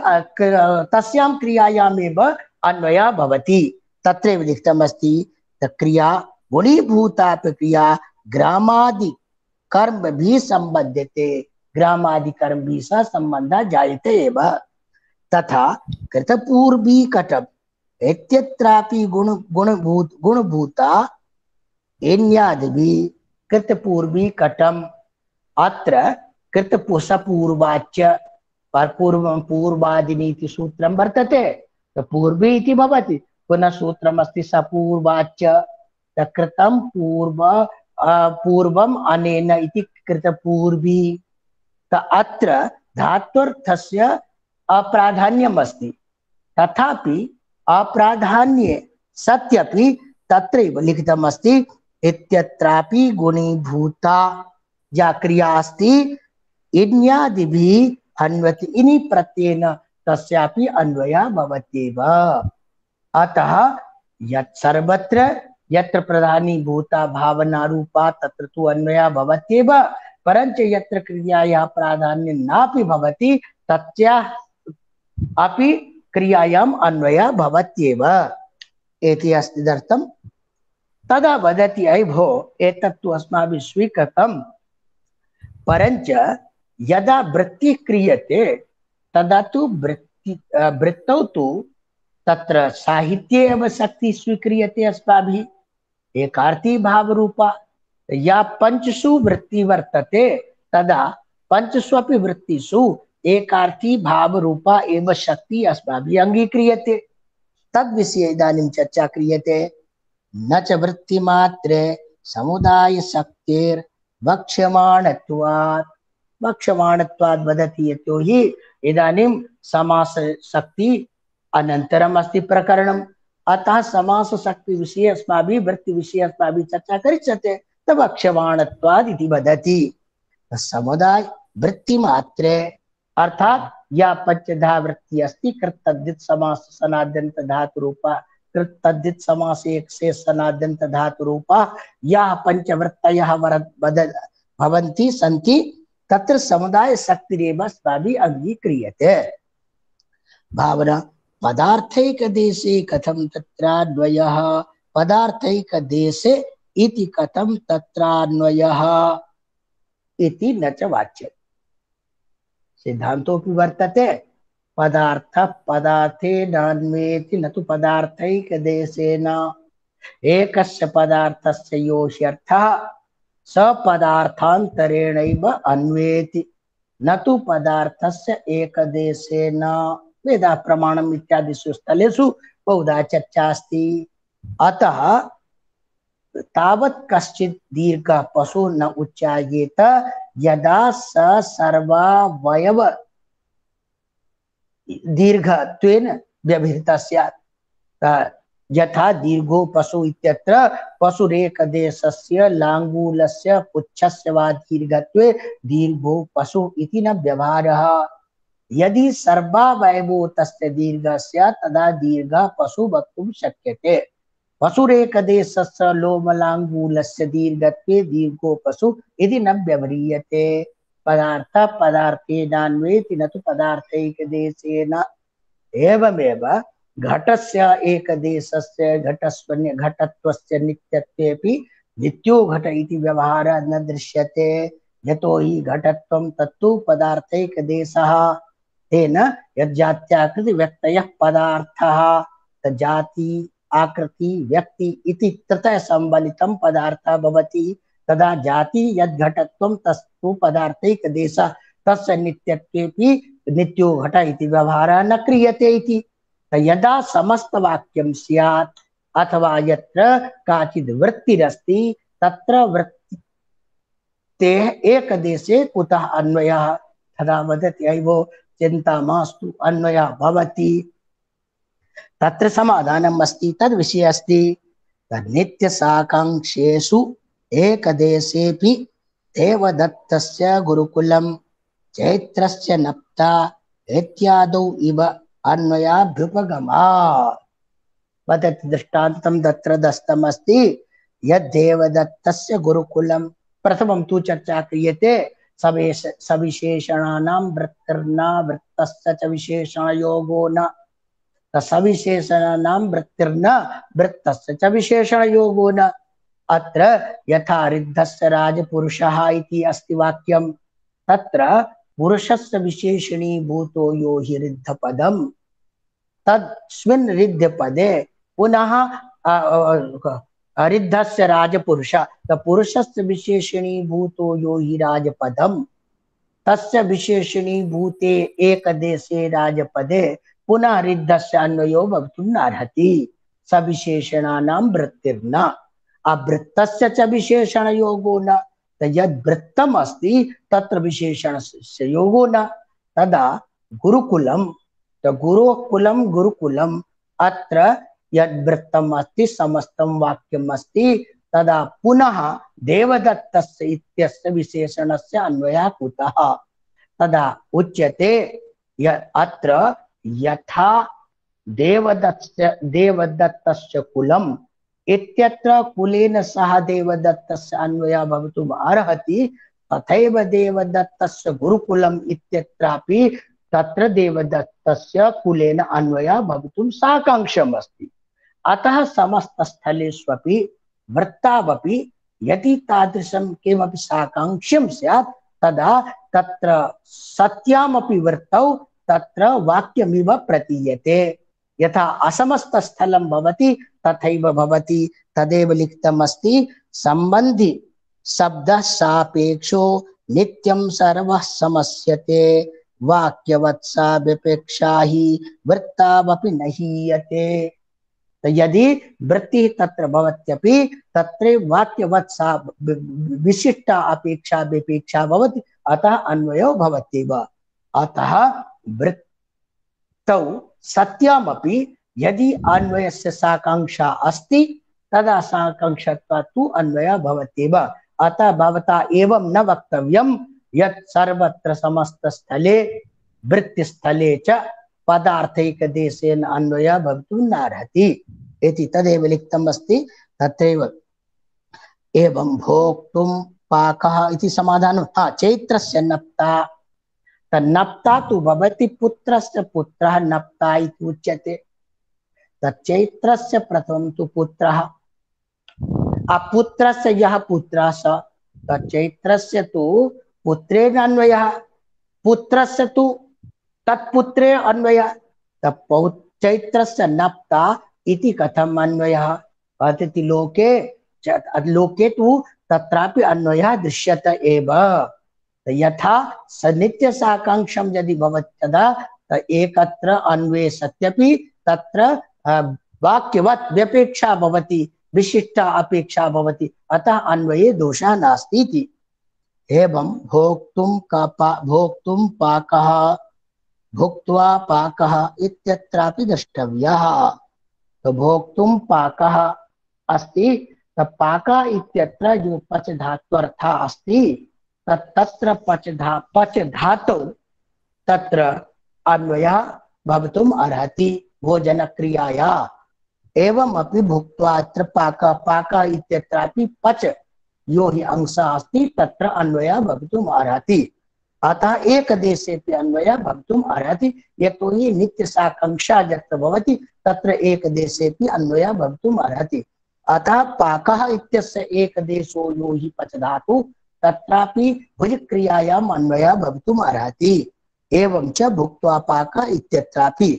तस्यां क्रियायामेव अन्वयः भवति। तत्रैव लिखितमस्ति क्रिया गुणीभूता क्रिया ग्रामादि कर्म भी संबध्यते, ग्रामादि कर्म भी सह संबंधः जायते एव। तथा कृतपूर्वी कटम इत्यत्रापि गुण गुणभूत गुणभूता एन्यादिभि कृतपूर्वी कटम। अत्र कृतपुसपूर्वाच्य पूर्वं पूर्वादिनीति सूत्रं वर्तते, तो पूर्वी इति भवति, पुनः सूत्रमस्ति सपूर्वाच्य कृतं पूर्व पूर्वम् अनेन इति कृतपूर्वी। अत्र धात्वर्थस्य अप्राधान्यम् अस्ति, तथापि अप्राधान्ये सत्यपि तत्रैव लिखितमस्ति इत्यत्रापि गुणीभूता या क्रिया अस्ति इन्यादिभिः अन्वति इनि प्रत्ययेन तस्यापि अन्वयः भवत्येव। अतः यत् सर्वत्र यत्र प्रधानीभूता भावना रूपा तत्र तु अन्वयः भवत्येव, परंच यत्र क्रियायाः प्राधान्यं नापि भवति तस्याः अपि क्रियायाम् अन्वयः भवत्येव इति अस्ति दर्शनम्। तदा वदति अयि भो एतत्तु अस्माभिः स्वीकृतं, परंच यदा वृत्तिः क्रियते तदा तु वृत्ति वृत्तौ तु तत्र साहित्ये एव शक्ति स्वीक्रियते अस्माभिः एकार्थी भाव रूपा। या पंचसु वृत्ति वर्तते तदा पंचस्वपि वृत्तिषु एकार्थी भाव रूपा एव शक्ति अस्माभिः अंगीक्रियते। तद विषये इदानीं चर्चा क्रियते। न च वृत्तिमात्रे समुदाय शक्तेर् वक्ष्यमाणत्वात्। वक्ष्यमाणत्वात् वदति यतो हि इदानीं समास शक्ति अनन्तरम् अस्ति प्रकरणम्, अतः समास शक्ति विषये अस्माभिः वृत्ति विषये अस्माभिः चर्चा करिष्यते। तब वक्ष्यमाणत्वात् इति वदति। समुदाय वृत्ति मात्रे अर्थात या पंचधा वृत्ति अस्ति कृतद्धित समास सनाद्यंत धातु रूपा, कृतद्धित समास एक से सनाद्यंत धातु रूपा या पंचवृत्तयः भवन्ति सन्ति तत्र समुदाय शक्तिरेव अस्माभिः अंगीक्रियते। भावना पदार्थैक देशे कथम तत्रान्वयः, पदार्थैक देशे इति कथम तत्रान्वयः इति न च वाच्यते। सिद्धांतोऽपि वर्तते पदार्थ पदार्थे नान्वेति न तु पदार्थैक देशेन। एकस्य पदार्थस्य योऽर्थः स पदार्थान्तरेणैव अन्वेति न तु पदार्थस्य एकदेशेन। वेदा प्रमाणम् इत्यादिषु स्थलेषु बहुधा चर्चा अस्ति। अतः तावत् कश्चित् दीर्घः पशु न उच्चार्येत यदा स सर्वावयव दीर्घत्वेन व्यवहृतः स्यात्। यथा दीर्घो पशु इत्यत्र पशुरेकदेशस्य लाङ्गूलस्य पुच्छस्य वा दीर्घत्वे दीर्घो पशु इति न व्यवहारः। यदि सर्वावयवो तस्य दीर्घः स्यात् तदा दीर्घः पशु वक्तुं शक्यते। पशुरेकदेशस्य लोमलाङ्गूलस्य दीर्घत्वे दीर्घो पशु इति न व्यवह्रियते। पदार्थ पदार्थेनान्वेति न तु पदार्थैकदेशेन। एवमेव घटस्य एकदेशस्य घटस्वन्य घटत्वस्य नित्यत्वेपि नित्यो घट इति व्यवहारः न दृश्यते। यतो हि घटत्वं तत्तु पदार्थैकदेशः। तेन यज्जात्याकृति व्यक्तयः पदार्थः जाति आकृति व्यक्ति इति ततः संबलितं पदार्थः भवति तदा जाति यद्घटत्वं तस्तु पदार्थैकदेशः तस्य नित्यत्वेपि नित्यो घट इति व्यवहारः न क्रियते इति। यदा समस्तवाक्यं स्यात् अथवा यत्र काचिद् वृत्तिरस्ति तत्र वृत्तेः एकदेशे कुतः अन्वयः तदा वदति अय्वो चिन्ता मास्तु अन्वयः भवति। तत्र समाधानम् अस्ति तद् विषये अस्ति नित्यसाकाङ्क्षेषु एकदेशेऽपि देवदत्तस्य गुरुकुलं चैत्रस्य नप्ता इत्यादौ इव अन्वयाभ्युपगमात्। वदति दृष्टान्तं तत्र दत्तमस्ति यद्देवदत्तस्य गुरुकुलं प्रथमं तु चर्चा क्रियते सवेश सविशेषणानां वृत्तिर्न वृत्तस्य च विशेषणयोगो न सविशेषणानां वृत्तिर्न वृत्तस्य च विशेषणयोगो न। अत्र यथा रिद्धस्य राजपुरुषः इति अस्ति वाक्यं तत्र पुरुषस्य विशेषणीभूतो यो हि रिद्धपदं तस्मिन् रिद्धपदे पुनः रिद्धस्य राजपुरुष पुरुषस्य विशेषणीभूतो यो हि राजपदं तस्य विशेषणीभूते एकदेशे राजपदे पुनः रिद्धस्य अन्वयो भवितुं नार्हति सविशेषणानां वृत्तिर्न अवृत्तस्य च विशेषणयोगो न यद्वृत्तम् अस्ति तत्र विशेषणस्य योगो न। तदा गुरुकुलं गुरुकुलं गुरुकुलम् अत्र यद्वृत्तम् अस्ति समस्तं वाक्यम् अस्ति तदा पुनः देवदत्तस्य इत्यस्य विशेषणस्य अन्वयः कुतः तदा उच्यते अत्र यथा देवदत्तस्य देवदत्तस्य कुलम् इत्यत्र कुलेन सह देवदत्तस्य अन्वयः भवितुम् अर्हति तथैव देवदत्तस्य गुरुकुलम् इत्यत्रापि तत्र देवदत्तस्य कुलेन अन्वयः भवितुं साकाङ्क्षम् अस्ति। अतः समस्तस्थलेष्वपि वृत्तावपि यदि तादृशं किमपि साकाङ्क्ष्यं स्यात् तदा तत्र सत्यामपि वृत्तौ तत्र वाक्यमिव प्रतीयते। यथा असमस्तस्थलं भवति तथैव भवति तदेव लिखितम् अस्ति सम्बन्धि शब्दः सापेक्षो नित्यं सर्वः समस्यते वाक्यवत्सा विपेक्षा हि वृत्तावपि न हीयते। यदि वृत्तिः तत्र भवत्यपि तत्र वाक्यवत्सा विशिष्टा अपेक्षा विपेक्षा भवति अतः अन्वयो भवत्येव। अतः वृत्तौ सत्यामपि यदि अन्वयस्य साकाङ्क्षा अस्ति तदा साकाङ्क्षत्वात् तु अन्वयः भवत्येव। अतः भवता एवं न वक्तव्यं यत् सर्वत्र समस्तस्थले वृत्तिस्थले च पदार्थैकदेशेन अन्वयः भवितुं नार्हति इति तदेव लिखितम् अस्ति। तत्रैव एवं भोक्तुं पाकः इति समाधानं हा चैत्रस्य नप्ता तन्नप्ता तु भवति पुत्रस्य पुत्रः नप्ता इति उच्यते। तच्चैत्रस्य प्रथमं तु पुत्रः अपुत्रस्य यः पुत्रः स तच्चैत्रस्य तु पुत्रेण अन्वयः पुत्रस्य तु तत्पुत्रे अन्वयः चैत्रस्य नप्ता इति कथम् अन्वयः अतिथि लोके लोके तु तत्रापि अन्वयः दृश्यते एव। यथा सनित्य साकाङ्क्षं यदि भवति तदा एकत्र अन्वये सत्यपि तत्र वाक्यवत् व्यपेक्षा भवति विशिष्टा अपेक्षा भवति अतः अन्वये दोषः नास्ति इति। एवं भोक्तुं का भोक्तुं पाकः भुक्त्वा पाकः इत्यत्रापि द्रष्टव्यः। तो भोक्तुं पाकः अस्ति पाकः इत्यत्र जो पच धात्वर्थः अस्ति तत्र पच धा पच धातौ तत्र अन्वयः भवितुम् अर्हति भोजन क्रियाया। एवमपि भुक्त्वा अत्र पाकः पाकः इत्यत्रापि पच यो हि अंशः अस्ति तत्र अन्वयः भवितुम् अर्हति। अतः एकदेशेऽपि अन्वयः भवितुम् अर्हति यतोहि नित्यसाकाङ्क्षा यत्र भवति तत्र एकदेशेऽपि अन्वयः भवितुम् अर्हति। अतः पाकः इत्यस्य एकदेशो यो हि पच धातु तत्रापि भुजक्रियायाम् अन्वयः भवितुम् अर्हति। एवं च भुक्त्वा पाक इत्यत्रापि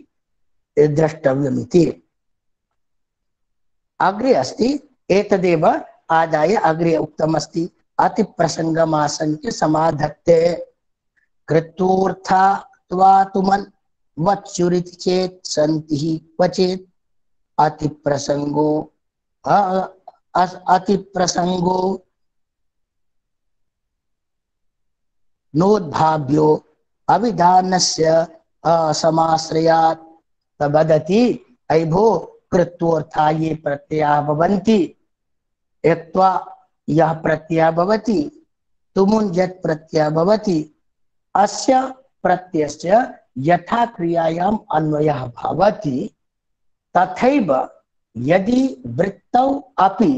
द्रष्टव्यमिति। अग्रे अस्ति एतदेव आदाय अग्रे उक्तमस्ति अतिप्रसङ्गमाशङ्क्य समाधत्ते कृत्वोऽर्था त्वातुमन् वत्सुरिति चेत् सन्ति हि क्वचित् अतिप्रसङ्गो अतिप्रसङ्गो नोद्भाव्यो अविधानस्य असमाश्रयात् वदति अयि भो कृत्वोऽर्था ये प्रत्यया भवन्ति एक्त्वा यः प्रत्यय भवति तुमुन् यत् प्रत्यय भवति अस्य प्रत्ययस्य यथा क्रियायाम् अन्वयः भवति तथैव यदि वृत्तौ अपि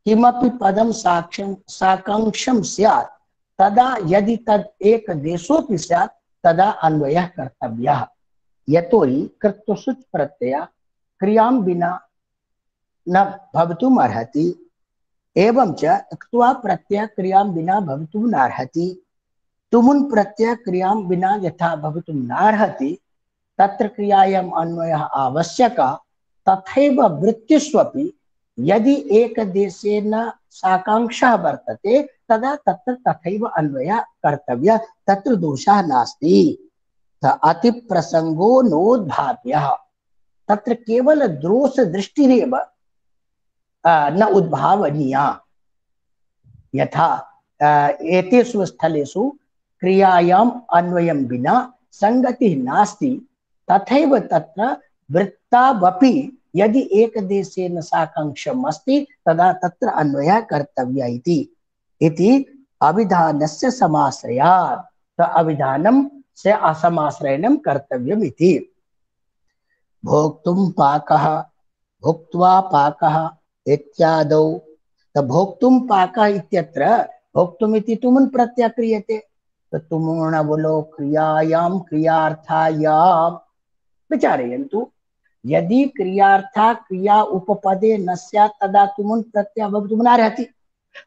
किमपि पदं साक्ष्यं साकांक्षं स्यात् तदा यदि तद् एक देशोऽपि स्यात् तदा अन्वयः कर्तव्यः। यतोहि कृत्वसुच् प्रत्यय क्रियां विना न भवितुम् अर्हति एवं च क्त्वा प्रत्यय क्रियां विना भवितुं नार्हति। तुमुन् प्रत्यय क्रियां विना यथा भवितुं नार्हति तत्र क्रियायाम् अन्वयः आवश्यकः तथैव वृत्तिष्वपि यदि एकदेशेन साकांक्षः वर्तते तदा तत्र तथैव अन्वयः कर्तव्यः, तत्र दोषः नास्ति। अतिप्रसङ्गो नोद्भाव्यः, तत्र केवल दोष दृष्टिरेव न उद्भावनीया। यथा एतेषु स्थलेषु क्रियायाम् अन्वयं विना संगतिः नास्ति तथैव तत्र वृत्तावपि यदि एकदेशेन साकांक्षम् अस्ति तदा तत्र अन्वयः कर्तव्यः इति इति अविधानस्य समाश्रयात्। तो अविधानं से असमाश्रयणं कर्तव्यम् इति। भोक्तुं पाकः भुक्त्वा पाकः इत्यादौ। तो भोक्तुं पाकः इत्यत्र भोक्तुम् इति तुमुन् प्रत्यय क्रियते। तो तुमुन् बोलो क्रियायां क्रियार्थायां विचारयन्तु। यदि क्रियार्था क्रिया उपपदे न स्यात् तदा तुमुन् प्रत्यय भवितुं नार्हति।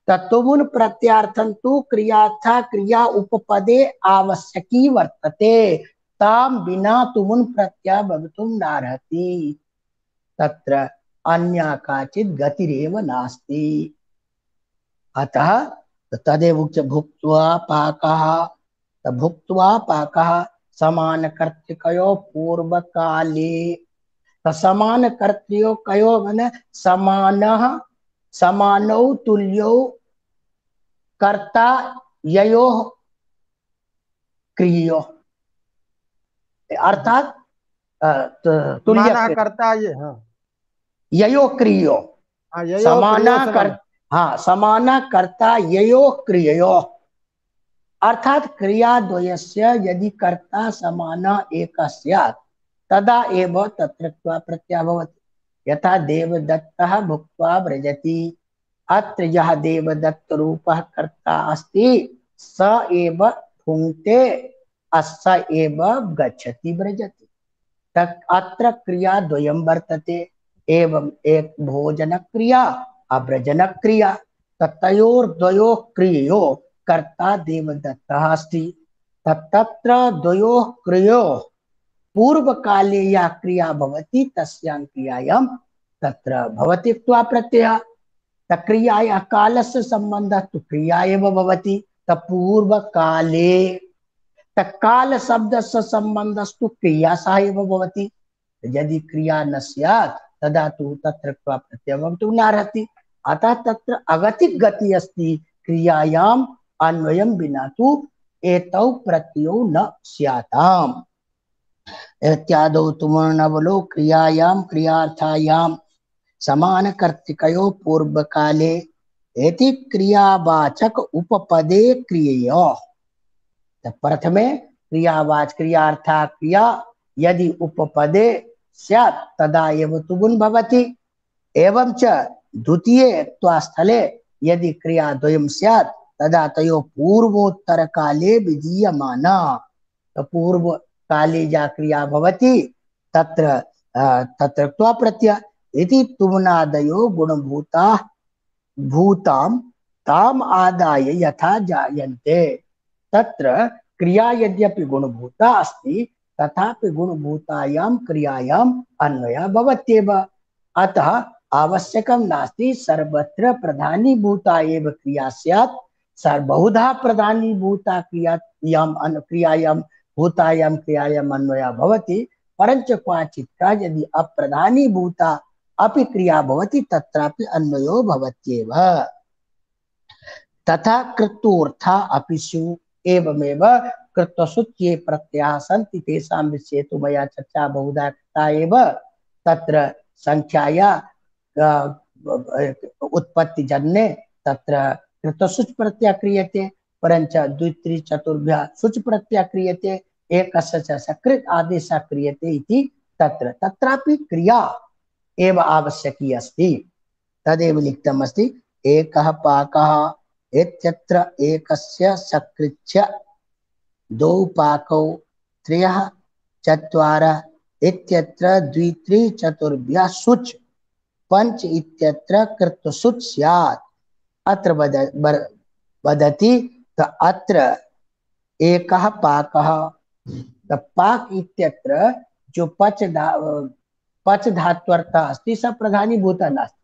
तुमुन् प्रत्यार्थं तु क्रियार्था क्रिया उपपदे आवश्यकी वर्तते, तां विना तुमुन् प्रत्यय भवितुं नार्हति। तत्र अन्या काचित् गतिरेव नास्ति। अतः तदेव उच्य भुक्त्वा पाकः। भुक्त्वा पाकः समानकर्तृकयोः पूर्वकाले। समानकर्तृयो कयो माने समानः समानौ तुल्यौ कर्ता ययोः क्रियोः, अर्थात तुल्य कर्ता ये हाँ ययो क्रियो समाना कर हाँ समाना कर्ता ययो क्रियो, अर्थात क्रिया द्वयस्य यदि कर्ता समाना एक स्यात् तदा एव तत्र प्रत्यय भवति। यथा देवदत्तः भुक्त्वा व्रजति, अत्र यः देवदत्त रूपः कर्ता अस्ति स एव भुङ्क्ते अस्य एव गच्छति व्रजति। तत् अत्र क्रिया द्वयं वर्तते, एवं एक भोजन क्रिया अव्रजन क्रिया। तयोर्द्वयोः क्रियोः कर्ता देवदत्तः अस्ति। तत्र द्वयोः क्रियोः पूर्व काले या क्रिया भवति तस्यां क्रियायां तत्र भवति क्त्वा प्रत्ययः। तक्रियायाः कालस्य संबन्धः तु क्रिया एव भवति। पूर्व काले तत्काल शब्दस्य संबन्धस्तु क्रिया सह एव भवति। यदि क्रिया न स्यात् तदा तु तत्र क्त्वा प्रत्ययः भवितुं नार्हति। अतः तत्र अगतिक गति अस्ति, क्रियायाम् अन्वयं विना तु एतौ प्रत्ययौ न स्याताम्। इत्यादौ तुमुर्नवलो क्रियायां क्रियार्थायां समानकर्तृकयोः पूर्वकाले इति क्रियावाचक उपपदे क्रिययोः। प्रथमे क्रियावाच क्रियार्था क्रिया यदि उपपदे स्यात् तदा एव तुमुन् भवति। एवं च द्वितीये त्वास्थले यदि क्रिया द्वयं स्यात् तदा तयोः पूर्वोत्तर काले विधीयमाना। पूर्व काले या क्रिया भवति तत्र तत्र त्वा प्रत्यय इति तुमुनादयो गुणभूता भूतां ताम आदाय यथा जायन्ते। तत्र क्रिया यद्यपि गुणभूता अस्ति तथापि गुणभूतायां क्रियायाम् अन्वयः भवत्येव। अतः आवश्यकं नास्ति सर्वत्र प्रधानीभूता एव क्रिया स्यात्। सर्वबहुधा प्रधानीभूता क्रियायाम् अन् क्रियायां भूतायां क्रियायाम् अन्वयः भवति, परञ्च क्वचित् यदि अप्रधानीभूता अपि क्रिया भवति तत्रापि अन्वयो भवत्येव। तथा कृत्वोऽर्था अपि स्युः। एवमेव कृत्वसुच ये प्रत्ययाः सन्ति तेषां विषये तु मया चर्चा बहुधा कृता एव। तत्र संख्याया उत्पत्तिजन्ये तत्र कृत्वसुच प्रत्ययः क्रियते, परञ्च द्वित्रि चतुर्भ्यः सुच प्रत्ययः क्रियते, एकस्य च सकृत् आदेशः क्रियते इति तत्र तत्रापि क्रिया एव आवश्यकी अस्ति। तदेव लिखितमस्ति एकः पाकः इत्यत्र एकस्य सकृच्च द्वौ पाकौ त्रयः चत्वारः इत्यत्र द्वित्रि चतुर्भ्यः सुच पंच इत्यत्र कृत्वसुच स्यात्। अत्र वदति त अत्र एकः पाकः, त पाक इत्यत्र जो पच धा पच धात्वर्थः अस्ति स प्रधानीभूतः नास्ति।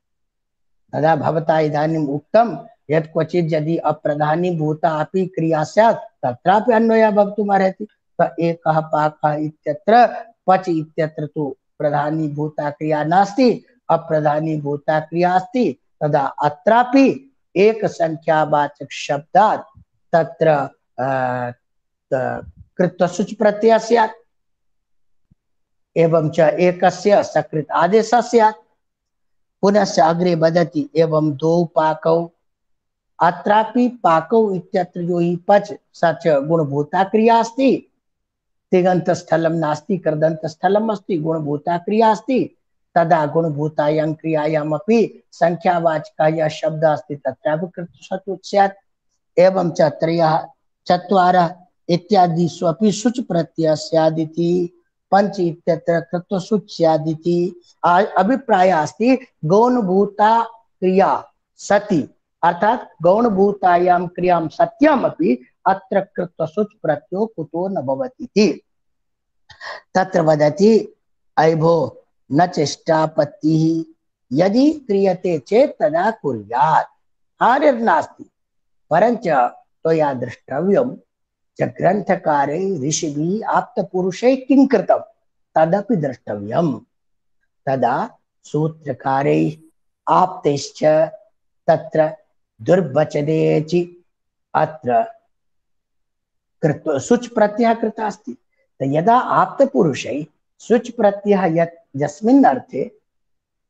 तदा भवता इदानीम् उक्तं यत् क्वचित् यदि अप्रधानीभूता अपि क्रिया स्यात् तत्रापि अन्वयः भवितुमर्हति। त एकः पाकः इत्यत्र पच इत्यत्र तु प्रधानीभूता क्रिया नास्ति, अप्रधानीभूता क्रिया अस्ति। तदा अत्रापि एक संख्यावाचक शब्दात् तत्र कृत्वसुच प्रत्ययः स्यात्, एवं च एकस्य सकृत् आदेशः स्यात्। पुनश्च अग्रे वदति एवं द्वौ पाकौ, अत्रापि पाकौ इत्यत्र जो हि पच स च गुणभूता क्रिया अस्ति। तिङन्त स्थलं नास्ति, कृदन्त स्थलम् अस्ति, गुणभूता क्रिया अस्ति। तदा गुणभूतायां क्रियायामपि संख्यावाचकः यः शब्दः अस्ति तत्रापि कृत्वसुच स्यात्। एवं च त्रयः चत्वारः इत्यादिषु अपि सुच प्रत्ययः स्यादिति, पंच इत्यत्र कृत्वसुच स्यादिति अभिप्रायः अस्ति। गौणभूता क्रिया सति अर्थात गौणभूतायां क्रियां सत्यामपि अत्र कृत्वसुच प्रत्ययो कुतो न भवति। तत्र वदति अयभो न चेष्टापत्तिः, यदि क्रियते चेत् तदा कुर्यात्, हानिर्नास्ति। परञ्च त्वया द्रष्टव्यं च ग्रन्थकारे ऋषिभिः आप्तपुरुषैः किं कृतं तदपि द्रष्टव्यम्। तदा सूत्रकारैः आप्तैश्च तत्र दुर्वचनेचि अत्र कृत्व सुच प्रत्ययः कृतः अस्ति। यदा आप्तपुरुषैः सुच प्रत्ययः यत् यस्मिन् अर्थे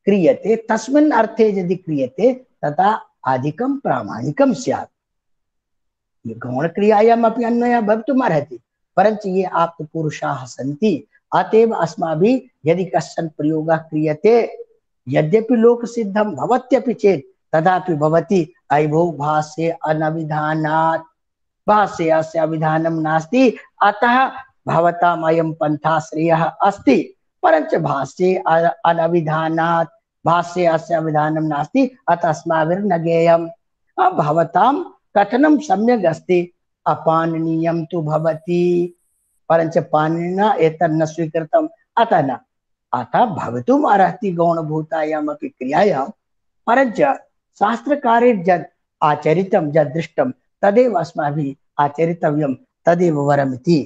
क्रियते तस्मिन् अर्थे यदि क्रियते तदा अधिकं प्रामाणिकं स्यात्। गौणक्रियायाम् अपि अन्वयः भवितुमर्हति, परञ्च ये आप्तपुरुषाः सन्ति अतएव अस्माभिः यदि कश्चन प्रयोगः क्रियते यद्यपि लोकसिद्धं भवत्यपि चेत् तदापि भवति अयभो भाष्ये अनविधानात्, भाष्ये अस्य अविधानं नास्ति, अतः भवताम् अयं पन्था श्रेयः अस्ति। परञ्च भाष्ये अनविधानात्, भाष्ये अस्य अविधानं नास्ति, अतः अस्माभिर्न ज्ञेयम्। भवतां कथनं सम्यक् अस्ति, अपाणनीयं तु भवति, परञ्च पाणिनिना एतन्न स्वीकृतम्, अतः न। अतः भवितुम् अर्हति गौणभूतायामपि क्रियायां, परञ्च शास्त्रकारे यद् आचरितं यद् दृष्टं तदेव अस्माभिः आचरितव्यं, तदेव वरमिति।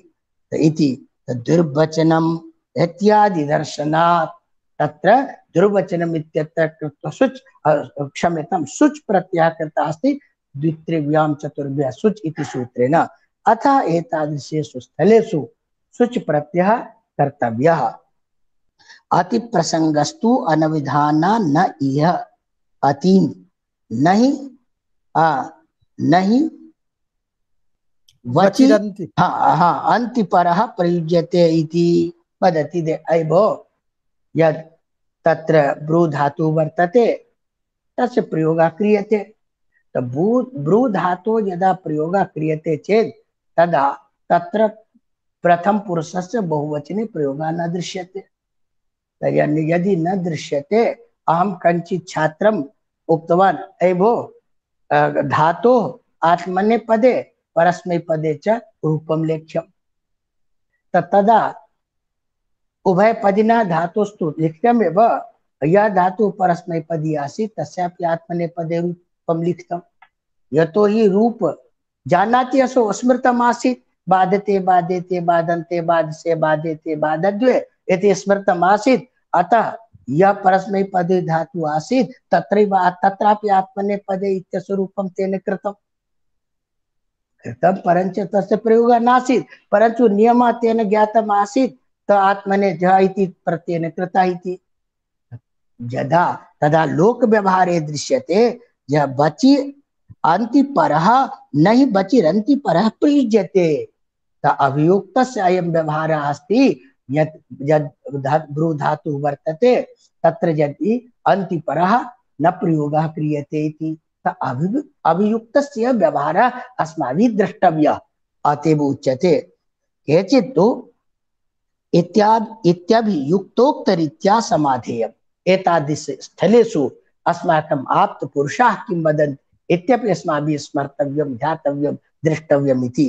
इति दुर्वचनम् इत्यादि दर्शनात् तत्र दुर्वचनम् इत्यत्र कृत्वसुच क्षम्यतां सुच प्रत्ययः कृतः अस्ति द्वित्रिभ्यां चतुर्भ्यः सुच इति सूत्रेण। अतः एतादृशेषु स्थलेषु सुच प्रत्ययः कर्तव्यः। अतिप्रसंगस्तु अनविधाना न इह अति नहीं आ नहीं वचि हाँ हाँ अंतिपरः प्रयुज्यते इति वदति। दे अयभो यद् तत्र ब्रू धातु वर्तते तस्य प्रयोगः क्रियते। तो ब्रू धातु यदा प्रयोगः क्रियते चेत् तदा तत्र प्रथम पुरुषस्य बहुवचने प्रयोगः न दृश्यते। यदि न दृश्यते, अहं कञ्चित् छात्रम् उक्तवान् अयभो धातोः आत्मनेपदे परस्मैपदे च रूपं लेख्यम् तदा उभयपदिना धातुस्तु लिखितमेव यः धातुः परस्मैपदी आसीत् तस्यापि आत्मनेपदे रूपं लिखितं यतो हि रूप जानाति असौ स्मृतमासीत् बाधते बाधेते बाधन्ते बाधसे बाधेते बाधद्वे इति स्मृतमासीत् अतः यह परस्मैपदी धातु आसीत् तत्रैव तत्रापि आत्मनेपदे इत्यस्य रूपं तेन कृतं कृतं परञ्च तस्य प्रयोगः नासीत् परन्तु नियमः तेन ज्ञातम् आसीत् त आत्मने ज इति प्रत्ययेन कृतः इति यदा तदा लोक व्यवहारे दृश्यते यह बचि अन्तिपरः न हि बचिरन्तिपरः प्रयुज्यते त अभियुक्तस्य अयं व्यवहारः अस्ति यत् यद् भ्रू धातुः वर्तते तत्र यदि अन्तिपरः न प्रयोगः क्रियते इति त अभियुक्तस्य व्यवहारः अस्माभिः द्रष्टव्यः अतएव उच्यते केचित् तु इत्यादि इत्यभियुक्तोक्तरीत्या समाधेयम् एतादृश स्थलेषु अस्माकम् आप्तपुरुषाः किं वदन्ति इत्यपि अस्माभिः स्मर्तव्यं ध्यातव्यं द्रष्टव्यम् इति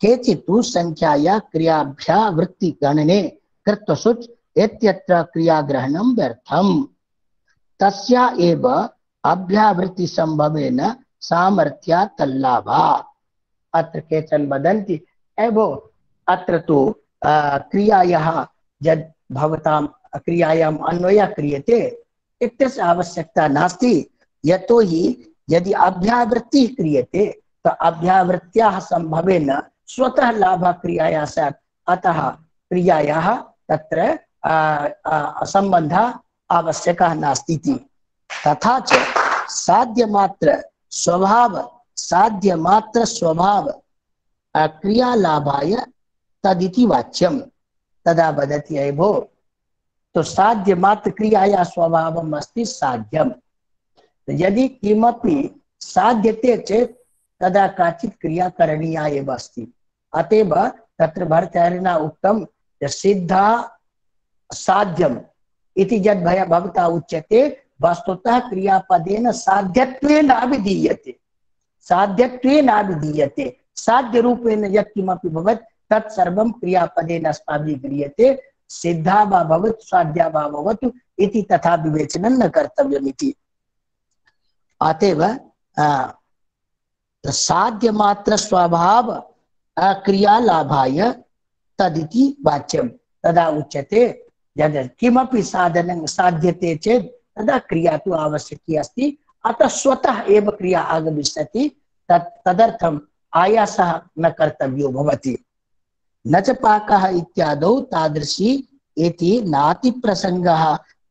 केचित् तु संख्याया क्रियाभ्याः वृत्तिगणने कृत्वसुच् इत्यत्र क्रियाग्रहणं व्यर्थम् तस्या एव अभ्यावृत्ति संभवेन सामर्थ्यात् तल्लाभात् अत्र केचन वदन्ति एवो अत्र तु क्रियायाः यद् भवतां क्रियायाम् अन्वयः क्रियते इत्यस्य आवश्यकता नास्ति यतो हि यदि अभ्यावृत्तिः क्रियते तो अभ्यावृत्त्याः संभवेन स्वतः लाभः क्रियायाः स्यात् अतः क्रियायाः तत्र सम्बन्धः आवश्यकः नास्ति इति तथा च साध्यमात्र स्वभाव साध्यमात्र स्वभाव क्रियालाभाय तदिति वाच्यम तदा वदति अय भो तो साध्य मात्र क्रियाया स्वभावम् अस्ति साध्यम यदि किमपि साध्यते चेत् तदा काचित् क्रिया करणीया एव अस्ति अतएव तत्र भर्तृहरिणा उक्तं सिद्धा साध्यम इति यद् भवता उच्यते वस्तुतः क्रियापदेन साध्यत्वेन अभिधीयते साध्यत्वेन अभिधीयते साध्य रूपेण यत् किमपि भवत् तत्सर्वं क्रियापदेन अस्माभिः क्रियते सिद्धा वा भवतु साध्या वा भवतु इति तथा विवेचनं न कर्तव्यम् इति अतएव साध्य मात्र स्वभाव क्रियालाभाय तदिति वाच्यं तदा उच्यते यद् किमपि साधनं साध्यते चेत् तदा क्रिया तु आवश्यकी अस्ति अतः स्वतः एव क्रिया आगमिष्यति तत् तदर्थम् आयासः न कर्तव्यो भवति न च पाकः इत्यादौ तादृशी इति नाति प्रसंगः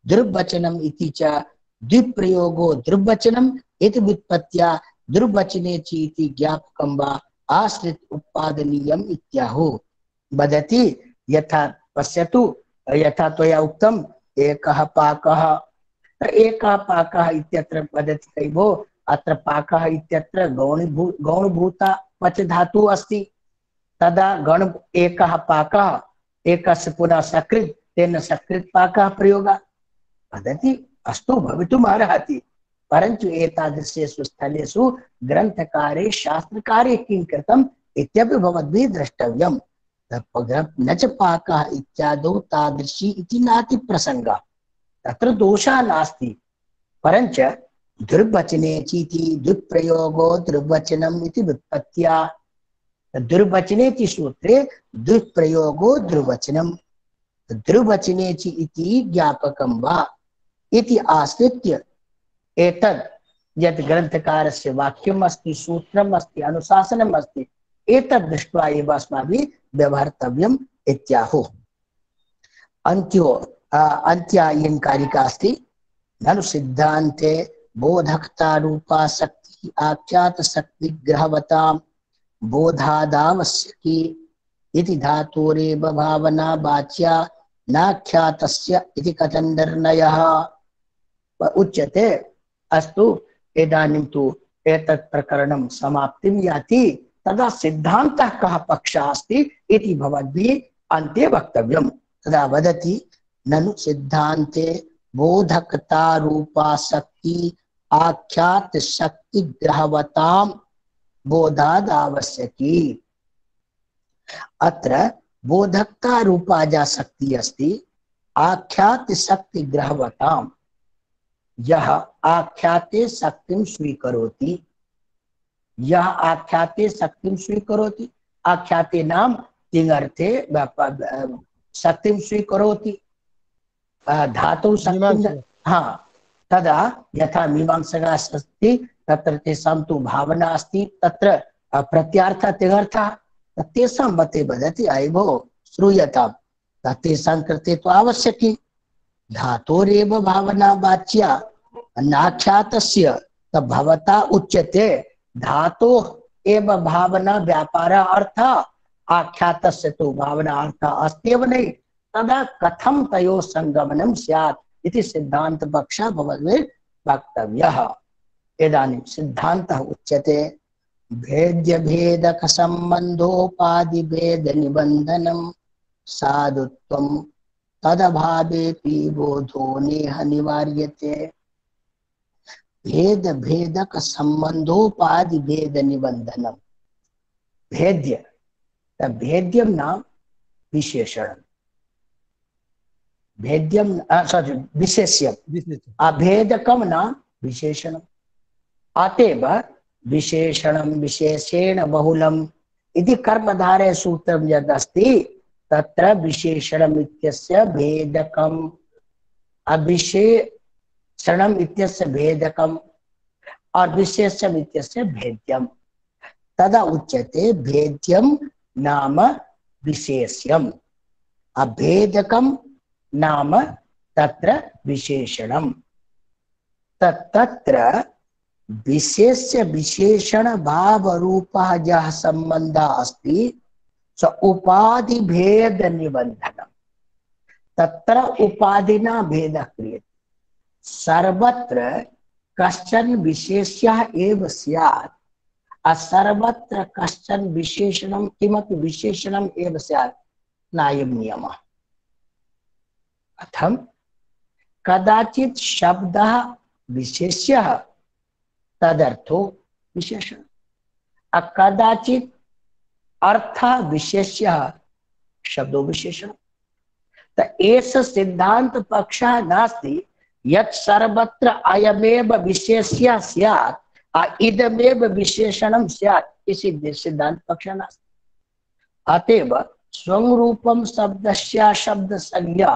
दुर्वचनम् इति च द्विप्रयोगो दुर्वचनम् इति व्युत्पत्त्या दुर्वचने च इति ज्ञापकं वा आश्रित उत्पादनीयम् इत्याहुः वदति यथा पश्यतु यथा त्वया उक्तम् एकः पाकः एकः पाकः इत्यत्र वदति कैवो अत्र पाकः इत्यत्र गौणभू गौणभूता पच धातुः अस्ति तदा गण एकः पाकः एकस्य पुनः सकृत् तेन सकृत् पाकः प्रयोगः वदति अस्तु भवितुम् अर्हति परन्तु एतादृशेषु स्थलेषु ग्रन्थकारे शास्त्रकारे किं कृतम् इत्यपि भवद्भिः द्रष्टव्यम् न च पाकः इत्यादौ तादृशी इति नाति प्रसंगः तत्र दोषः नास्ति परञ्च दुर्वचने चीति दुष्प्रयोगो दुर्वचनम् इति व्युत्पत्त्या दुर्वचने च सूत्रे दुष्प्रयोगो दुर्वचनम् दुर्वचने च इति ज्ञापकं वा इति आश्रित्य एतद् यत् ग्रन्थकारस्य वाक्यम् अस्ति सूत्रम् अस्ति अनुशासनम् अस्ति एतद् दृष्ट्वा एव अस्माभिः व्यवहर्तव्यम् इत्याहुः अन्त्यो अन्त्यायन कारिका अस्ति ननु सिद्धान्ते बोधकता रूपा शक्ति आख्यात शक्ति ग्रहवतां बोधादावश्यकी इति धातोरेव भावना वाच्या नाख्यातस्य इति कथन निर्णयः उच्यते अस्तु इदानीं तु एतत् प्रकरणं समाप्तिं याति तदा सिद्धान्तः कः पक्षः अस्ति इति भवद्भिः अन्ते वक्तव्यम् तदा वदति ननु सिद्धान्ते बोधकता रूपा शक्ति आख्यात शक्ति ग्रहवतां बोधाद आवश्यकी। अत्र बोधकता रूपाजा शक्ति अस्ति आख्यात शक्ति ग्रहवताम। यह आख्याते शक्तिं स्वीकरोति, यह आख्याते शक्तिं स्वीकरोति। आख्याते नाम तिङर्थे शक्तिं स्वीकरोति धातु शक्तिं। हाँ, तदा यथा मीमांसका अस्ति तत्र तेषां तु भावना अस्ति, तत्र प्रत्यार्थः तिङर्थः, तेषां मते वदति अयि भो श्रूयतां, तेषां कृते तु आवश्यकी धातोरेव भावना वाच्या नाख्यातस्य भवता उच्यते धातो एव भावना व्यापार अर्थ आख्यातस्य तु भावना अर्थ अस्त्येव नहीं, तदा कथं तयोः संगमनं स्यात् इति सिद्धांत पक्षः भवद्भिः वक्तव्यः। इदानीं सिद्धान्तः उच्यते भेद्य भेदक संबंधोपाधि भेद निबंधनम साधुत्वम तदभावेपि बोधो नेह निवार्यते। भेद भेदक संबंधोपाधि भेद निबंधनम। भेद्य भेद्यम नाम विशेषण, भेद्यम सॉरी विशेष्यम, अभेदकम नाम विशेषणम। अतएव विशेषणम विशेषेण बहुलम इति कर्मधारय सूत्रम यद् अस्ति तत्र विशेषणम इत्यस्य भेदकम अविशेषणम इत्यस्य भेदकम और विशेषम इत्यस्य भेद्यम। तदा उच्यते भेद्यम नाम विशेष्यम अभेदकम नाम तत्र विशेषणम। तत्र विशेष्य विशेषण भाव रूपः यः संबंधः अस्ति स उपाधि भेद निबंधनम। तत्र उपाधिना भेदः क्रियते। सर्वत्र कश्चन विशेष्यः एव स्यात्, सर्वत्र कश्चन विशेषणं किमपि विशेषणम् एव स्यात्, नायं नियमः। कथं? कदाचित् शब्दः विशेष्यः तदर्थो विशेषण, कदाचित् अर्थ विशेष्यः शब्दो विशेषण। त एष सिद्धांत पक्षः नास्ति यत् सर्वत्र अयमेव विशेष्यः स्यात् इदमेव विशेषणं स्यात्, इसी सिद्धांत पक्षः नास्ति। अतएव स्वं रूपं शब्दस्य शब्द संज्ञा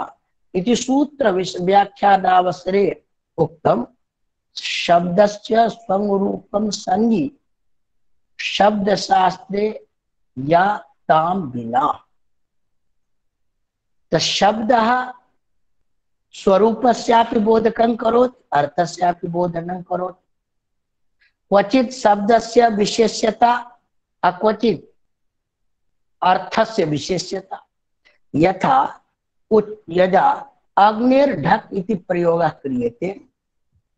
इति सूत्र व्याख्यानावसरे उक्तम्। शब्दस्य स्वं रूपं संज्ञी शब्द शास्त्रे या ताम विना। तो शब्दः स्वरूपस्यापि बोधकं करोति अर्थस्यापि बोधनं करोति। क्वचित् शब्दस्य विशेष्यता अक्वचित् अर्थस्य विशेष्यता। यथा यदा अग्निर्ढक् इति प्रयोगः क्रियते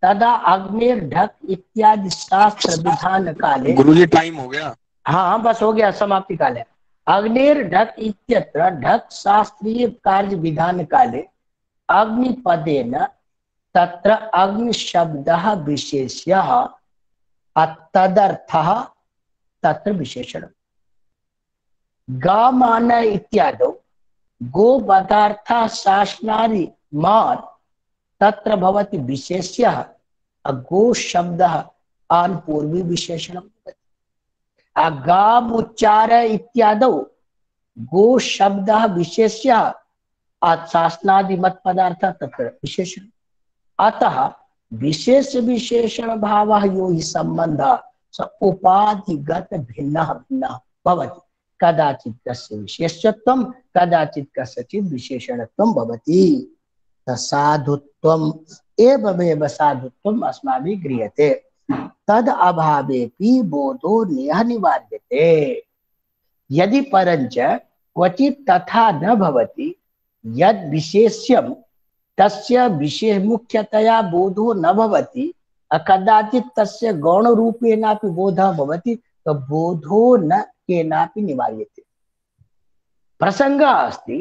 तदा अग्निर्ढक् इत्यादि शास्त्र विधान काले। गुरुजी टाइम हो गया। हाँ हाँ बस हो गया, समाप्ति काले। अग्निर्ढक् इत्यत्र ढक् शास्त्रीय कार्य विधान काले अग्निपदेन तत्र अग्नि शब्दः विशेष्यः तदर्थः तत्र विशेषणम्। गामान इत्यादौ गो पदार्थः शासनादि मान तत्र भवति विशेष्यः गो शब्दः आन पूर्वी विशेषणं भवति। गाम उच्चार इत्यादौ गो शब्दः विशेष्यः शासनादि मत पदार्थ तत्र विशेषण। अतः विशेष विशेषण भावः यो हि सम्बन्धः स उपाधिगत भिन्नः भिन्नः भवति। कदाचित् कस्य विशेषत्वं कदाचित् कस्यचित् विशेषणत्वं भवति। साधुत्वम् एवमेव साधुत्वम् अस्माभिः गृह्यते। तद अभावेपि बोधो नेह निवार्यते। यदि परञ्च क्वचित् तथा न भवति यद् विशेष्यं तस्य विशेष मुख्यतया बोधो न भवति कदाचित् तस्य गौणरूपेणापि बोधः भवति तो बोधो न केनापि निवार्यते। प्रसंगः अस्ति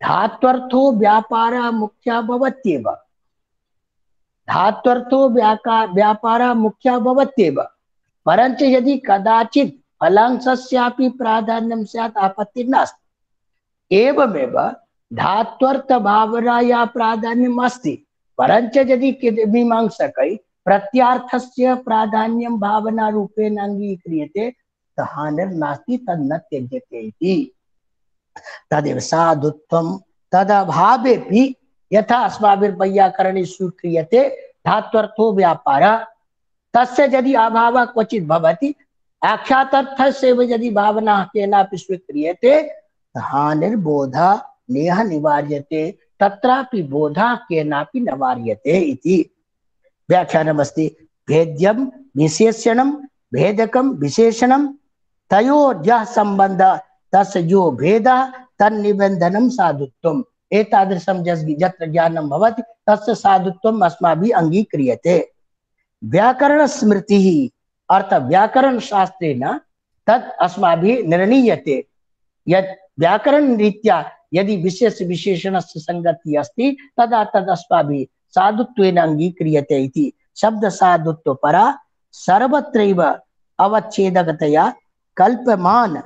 धात्वर्थो व्यापारः मुख्यः भवत्येव। धात्वर्थो व्यापारः मुख्यः भवत्येव परंच यदि कदाचित् फलांशस्यापि प्राधान्यं स्यात् आपत्तिः नास्ति। एवमेव धात्वर्थ भावनाया प्राधान्यम् अस्ति, परंच यदि मीमांसकै प्रत्यार्थस्य प्राधान्यं भावना रूपेण अंगीक्रियते हानिर्नास्ति, तन्न त्यज्यते इति। तदेव साधुत्वं तदभावेपि यथा अस्माभिर्वैयाकरणे स्वीक्रियते धात्वर्थो व्यापारः, तस्य यदि अभावः क्वचित् भवति आख्यातार्थस्य यदि भावना केनापि स्वीक्रियते हानिर्बोधा नेह निवार्यते, तत्रापि बोधा केनापि न वार्यते इति। व्याख्यानमस्ति भेद्यं विशेषणं भेदकं विशेषणं तयोर्यः सम्बन्धः तस्य यो भेदः तन्निबन्धनं साधुत्वम्। एतादृशं यत्र ज्ञानं भवति तस्य साधुत्वम् अस्माभिः अङ्गीक्रियते। व्याकरण स्मृतिः अर्थात् व्याकरण शास्त्रेण तत् अस्माभिः निर्णीयते यत् व्याकरण रीत्या यदि विशेष विशेषणस्य संगति अस्ति तदा तद् अस्माभिः साधुत्वेन अङ्गीक्रियते इति। शब्द साधुत्व परा सर्वत्रैव अवच्छेदकतया कल्पमान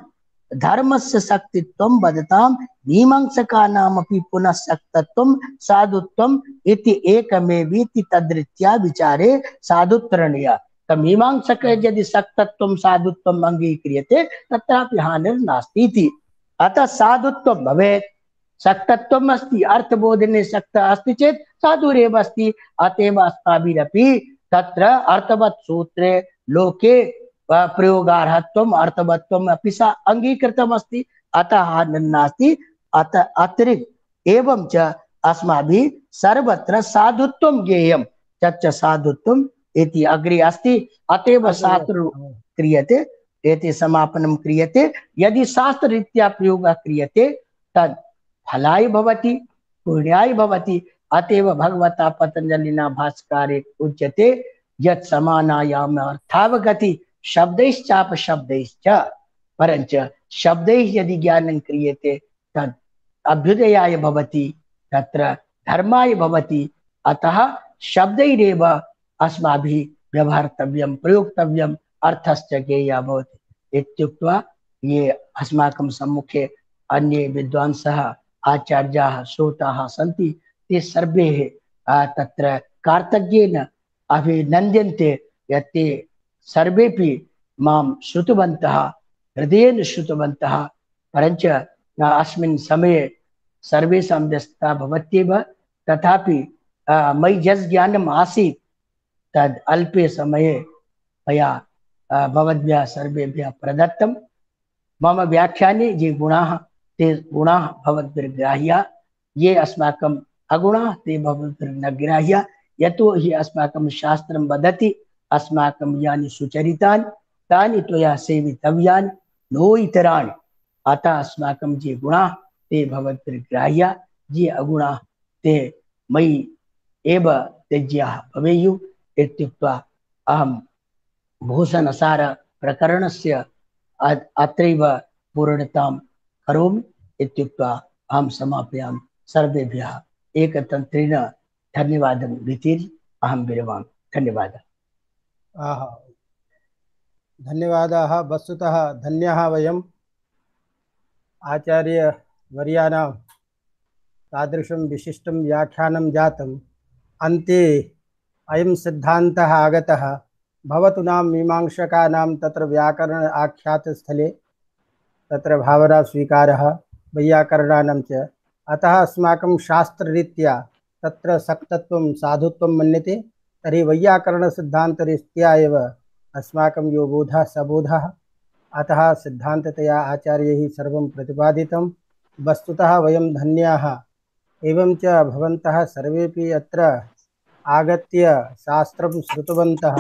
धर्मस्य शक्तित्वं वदतां मीमांसकानामपि पुनः शक्तत्वं साधुत्वम् इति एकमेवेति तद्रीत्या विचारे साधुत्रणीय। तो मीमांसक यदि शक्तत्वं साधुत्वम् अंगीक्रियते तत्रापि हानिर्नास्ति इति। अतः साधुत्वं भवेत्, शक्तत्वम् अस्ति अर्थबोधने शक्तः अस्ति चेत् साधुरेव अस्ति। अतएव अस्माभिरपि तत्र अर्थवत् सूत्रे लोके प्रयोगार्हत्वम् अर्थवत्वम् अपि सा अंगीकृतम् अस्ति, अतः हानिर्नास्ति। अतः अतिरिक्त एवं च अस्माभिः सर्वत्र साधुत्वं ज्ञेयं तच्च साधुत्वम् इति अग्रे अस्ति। अतएव शास्त्र क्रियते एते समापनं क्रियते। यदि शास्त्ररीत्या प्रयोगः क्रियते तद् फलाय भवति पुण्याय भवति। अतएव भगवता पतंजलिना भाष्यकारे उच्यते यत् समानायाम अर्थावगति शब्दैश्चाप शब्दैश्च, परंच शब्दैः यदि ज्ञानं क्रियते तद् अभ्युदयाय भवति, तत्र धर्माय भवति। अतः शब्दैरेव अस्माभिः व्यवहर्तव्यं प्रयोक्तव्यम् अर्थश्च ज्ञेयः भवति इत्युक्त्वा ये अस्माकं सम्मुखे अन्ये विद्वांसः आचार्याः श्रोताः सन्ति ते सर्वे तत्र कार्तज्ञेन अभिनन्द्यन्ते यत् ते सर्वेपि मां श्रुतवन्तः हृदयेन श्रुतवन्तः। परञ्च अस्मिन् समये सर्वेषां व्यस्तता भवत्येव, तथापि मयि यत् ज्ञानम् आसीत् तद् अल्पे समये मया भवद्भ्यः सर्वेभ्यः प्रदत्तं। मम व्याख्याने ये गुणाः ते गुणाः भवद्भिर्ग्राह्याः, ये अस्माकम् अगुणाः ते भवद्भिर्न ग्राह्याः। यतो हि अस्माकं शास्त्रं वदति अस्माकं यानि सुचरितानि तानि त्वया सेवितव्यानि नो इतराणि। अतः अस्माकं ये गुणाः ते भवद्भिर्ग्राह्याः, ये अगुणाः ते मयि एव त्यज्याः भवेयुः इत्युक्त्वा अहं भूषणसार प्रकरणस्य अत्रैव पूर्णतां करोमि इत्युक्त्वा अहं समापयामि। सर्वेभ्यः एकतन्त्रेण धन्यवादं वितीर्य अहं विरमामि। धन्यवादः। आहा, धन्यवादाः। वस्तुतः धन्याः वयम् आचार्यवर्याणां तादृशं विशिष्टं व्याख्यानं जातम्। अन्ते अयं सिद्धान्तः आगतः भवतु नाम मीमांसकानां तत्र व्याकरण आख्यातस्थले तत्र भावना स्वीकारः वैयाकरणानां च। अतः अस्माकं शास्त्ररीत्या तत्र सक्तत्वं साधुत्वं मन्यते, तर्हि वैयाकरणसिद्धान्तरीत्या एव अस्माकं यो बोधः सबोधः। अतः सिद्धान्ततया आचार्यैः सर्वं प्रतिपादितं। वस्तुतः वयं धन्याः। एवं च भवन्तः सर्वेपि अत्र आगत्य शास्त्रं श्रुतवन्तः।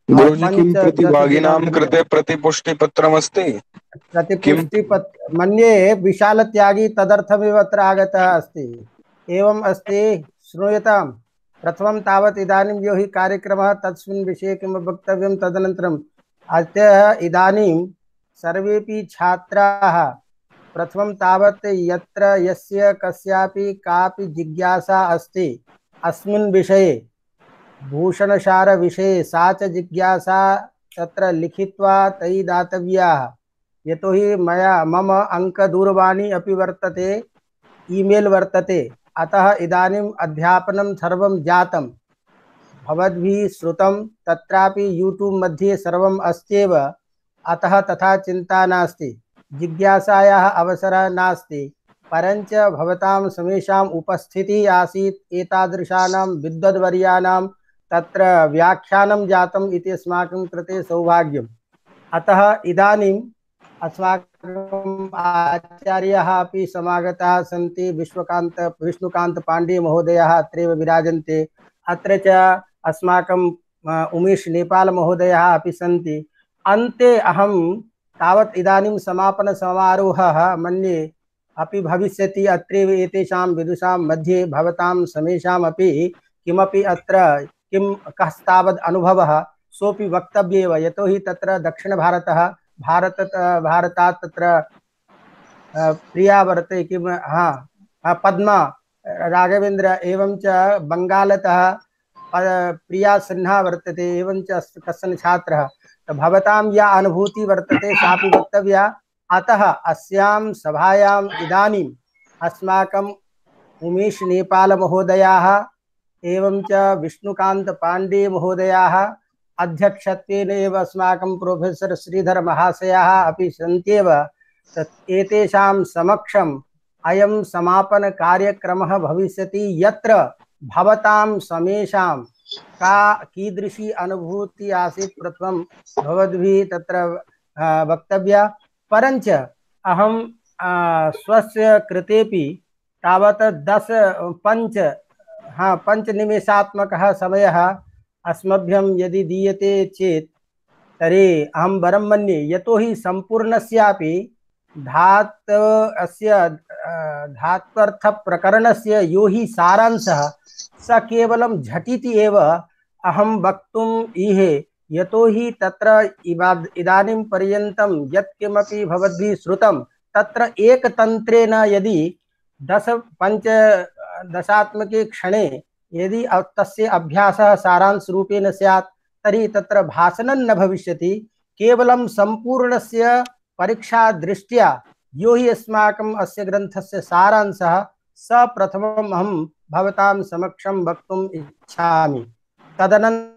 गुरुजी किं प्रतिभागिनां कृते प्रतिपुष्टिपत्रमस्ति? प्रतिपुष्टिपत्र मन्ये विशालत्यागी तदर्थमेव अत्र आगतः अस्ति। एवम् अस्ति, श्रूयतां। प्रथमं तावत् इदानीं यो हि कार्यक्रमः तस्मिन् विषये किं वक्तव्यं, तदनन्तरम् अद्य इदानीं सर्वेपि छात्राः प्रथमं तावत् यत्र यस्य कस्यापि कापि जिज्ञासा अस्ति अस्मिन् विषये भूषणसार विषये, सा च जिज्ञासा तत्र लिखित्वा तैः दातव्याः। यतोहि मया मम अङ्कदूरवाणी अपि वर्तते, ईमेल् वर्तते, अतः इदानीम् अध्यापनं सर्वं जातं। भवद्भिः श्रुतं, तत्रापि यूट्यूब् मध्ये सर्वम् अस्त्येव, अतः तथा चिन्ता नास्ति, जिज्ञासायाः अवसरः नास्ति। परञ्च भवतां समेषाम् उपस्थितिः आसीत्, एतादृशानां विद्वद्वर्याणां तत्र व्याख्यानं जातम् इति अस्माकं कृते सौभाग्यम्। अतः इदानीम् अस्माकम् आचार्याः अपि समागताः सन्ति। विश्वकान्त विष्णुकान्त पाण्डे महोदयः अत्रैव विराजन्ते। अत्र च अस्माकं उमेश नेपाल महोदयः अपि सन्ति। अन्ते अहं तावत् इदानीं समापन समारोहः मन्ये अपि भविष्यति। अत्रैव एतेषां विदुषां मध्ये भवतां समेषामपि किमपि अत्र किं कस्तावद् अनुभवः सोऽपि वक्तव्येव। यतोहि तत्र दक्षिणभारतः भारत भारतात् तत्र प्रिया वर्तते किं हाँ पद्मा राघवेन्द्र, एवं च बङ्गालतः प्रिया सिन्हा वर्तते, एवं च कश्चन छात्रः। भवतां या अनुभूतिः वर्तते सापि वक्तव्या। अतः अस्यां सभायाम् इदानीम् अस्माकम् उमेश नेपाल महोदयाः एवं च विष्णुकान्त पाण्डे महोदयाः, अध्यक्षत्वेन एव अस्माकं प्रोफेसर् श्रीधर महाशयाः अपि सन्त्येव। एतेषां समक्षम् अयं समापन कार्यक्रमः भविष्यति, यत्र भवतां समेषां का कीदृशी अनुभूतिः आसीत् प्रथमं भवद्भिः तत्र वक्तव्या। परञ्च अहं स्वस्य कृतेपि तावत् दश पञ्च हाँ पञ्चनिमेषात्मकः समयः अस्मभ्यं यदि दीयते चेत् तर्हि अहं वरं मन्ये। यतोहि सम्पूर्णस्यापि धात् अस्य धात्वर्थप्रकरणस्य यो हि सारांशः स केवलं झटिति एव अहं वक्तुम् ईहे। यतोहि तत्र इदानीं पर्यन्तं यत्किमपि भवद्भिः श्रुतं तत्र एकतन्त्रेण यदि दश पञ्च दशात्मके क्षणे यदि तस्य अभ्यासः सारांशरूपेण स्यात् तर्हि तत्र भाषणं न भविष्यति। केवलं सम्पूर्णस्य परीक्षा दृष्ट्या यो हि अस्माकम् अस्य ग्रन्थस्य सारांशः स प्रथमम् अहं भवतां समक्षं वक्तुम् इच्छामि। तदनन्तरं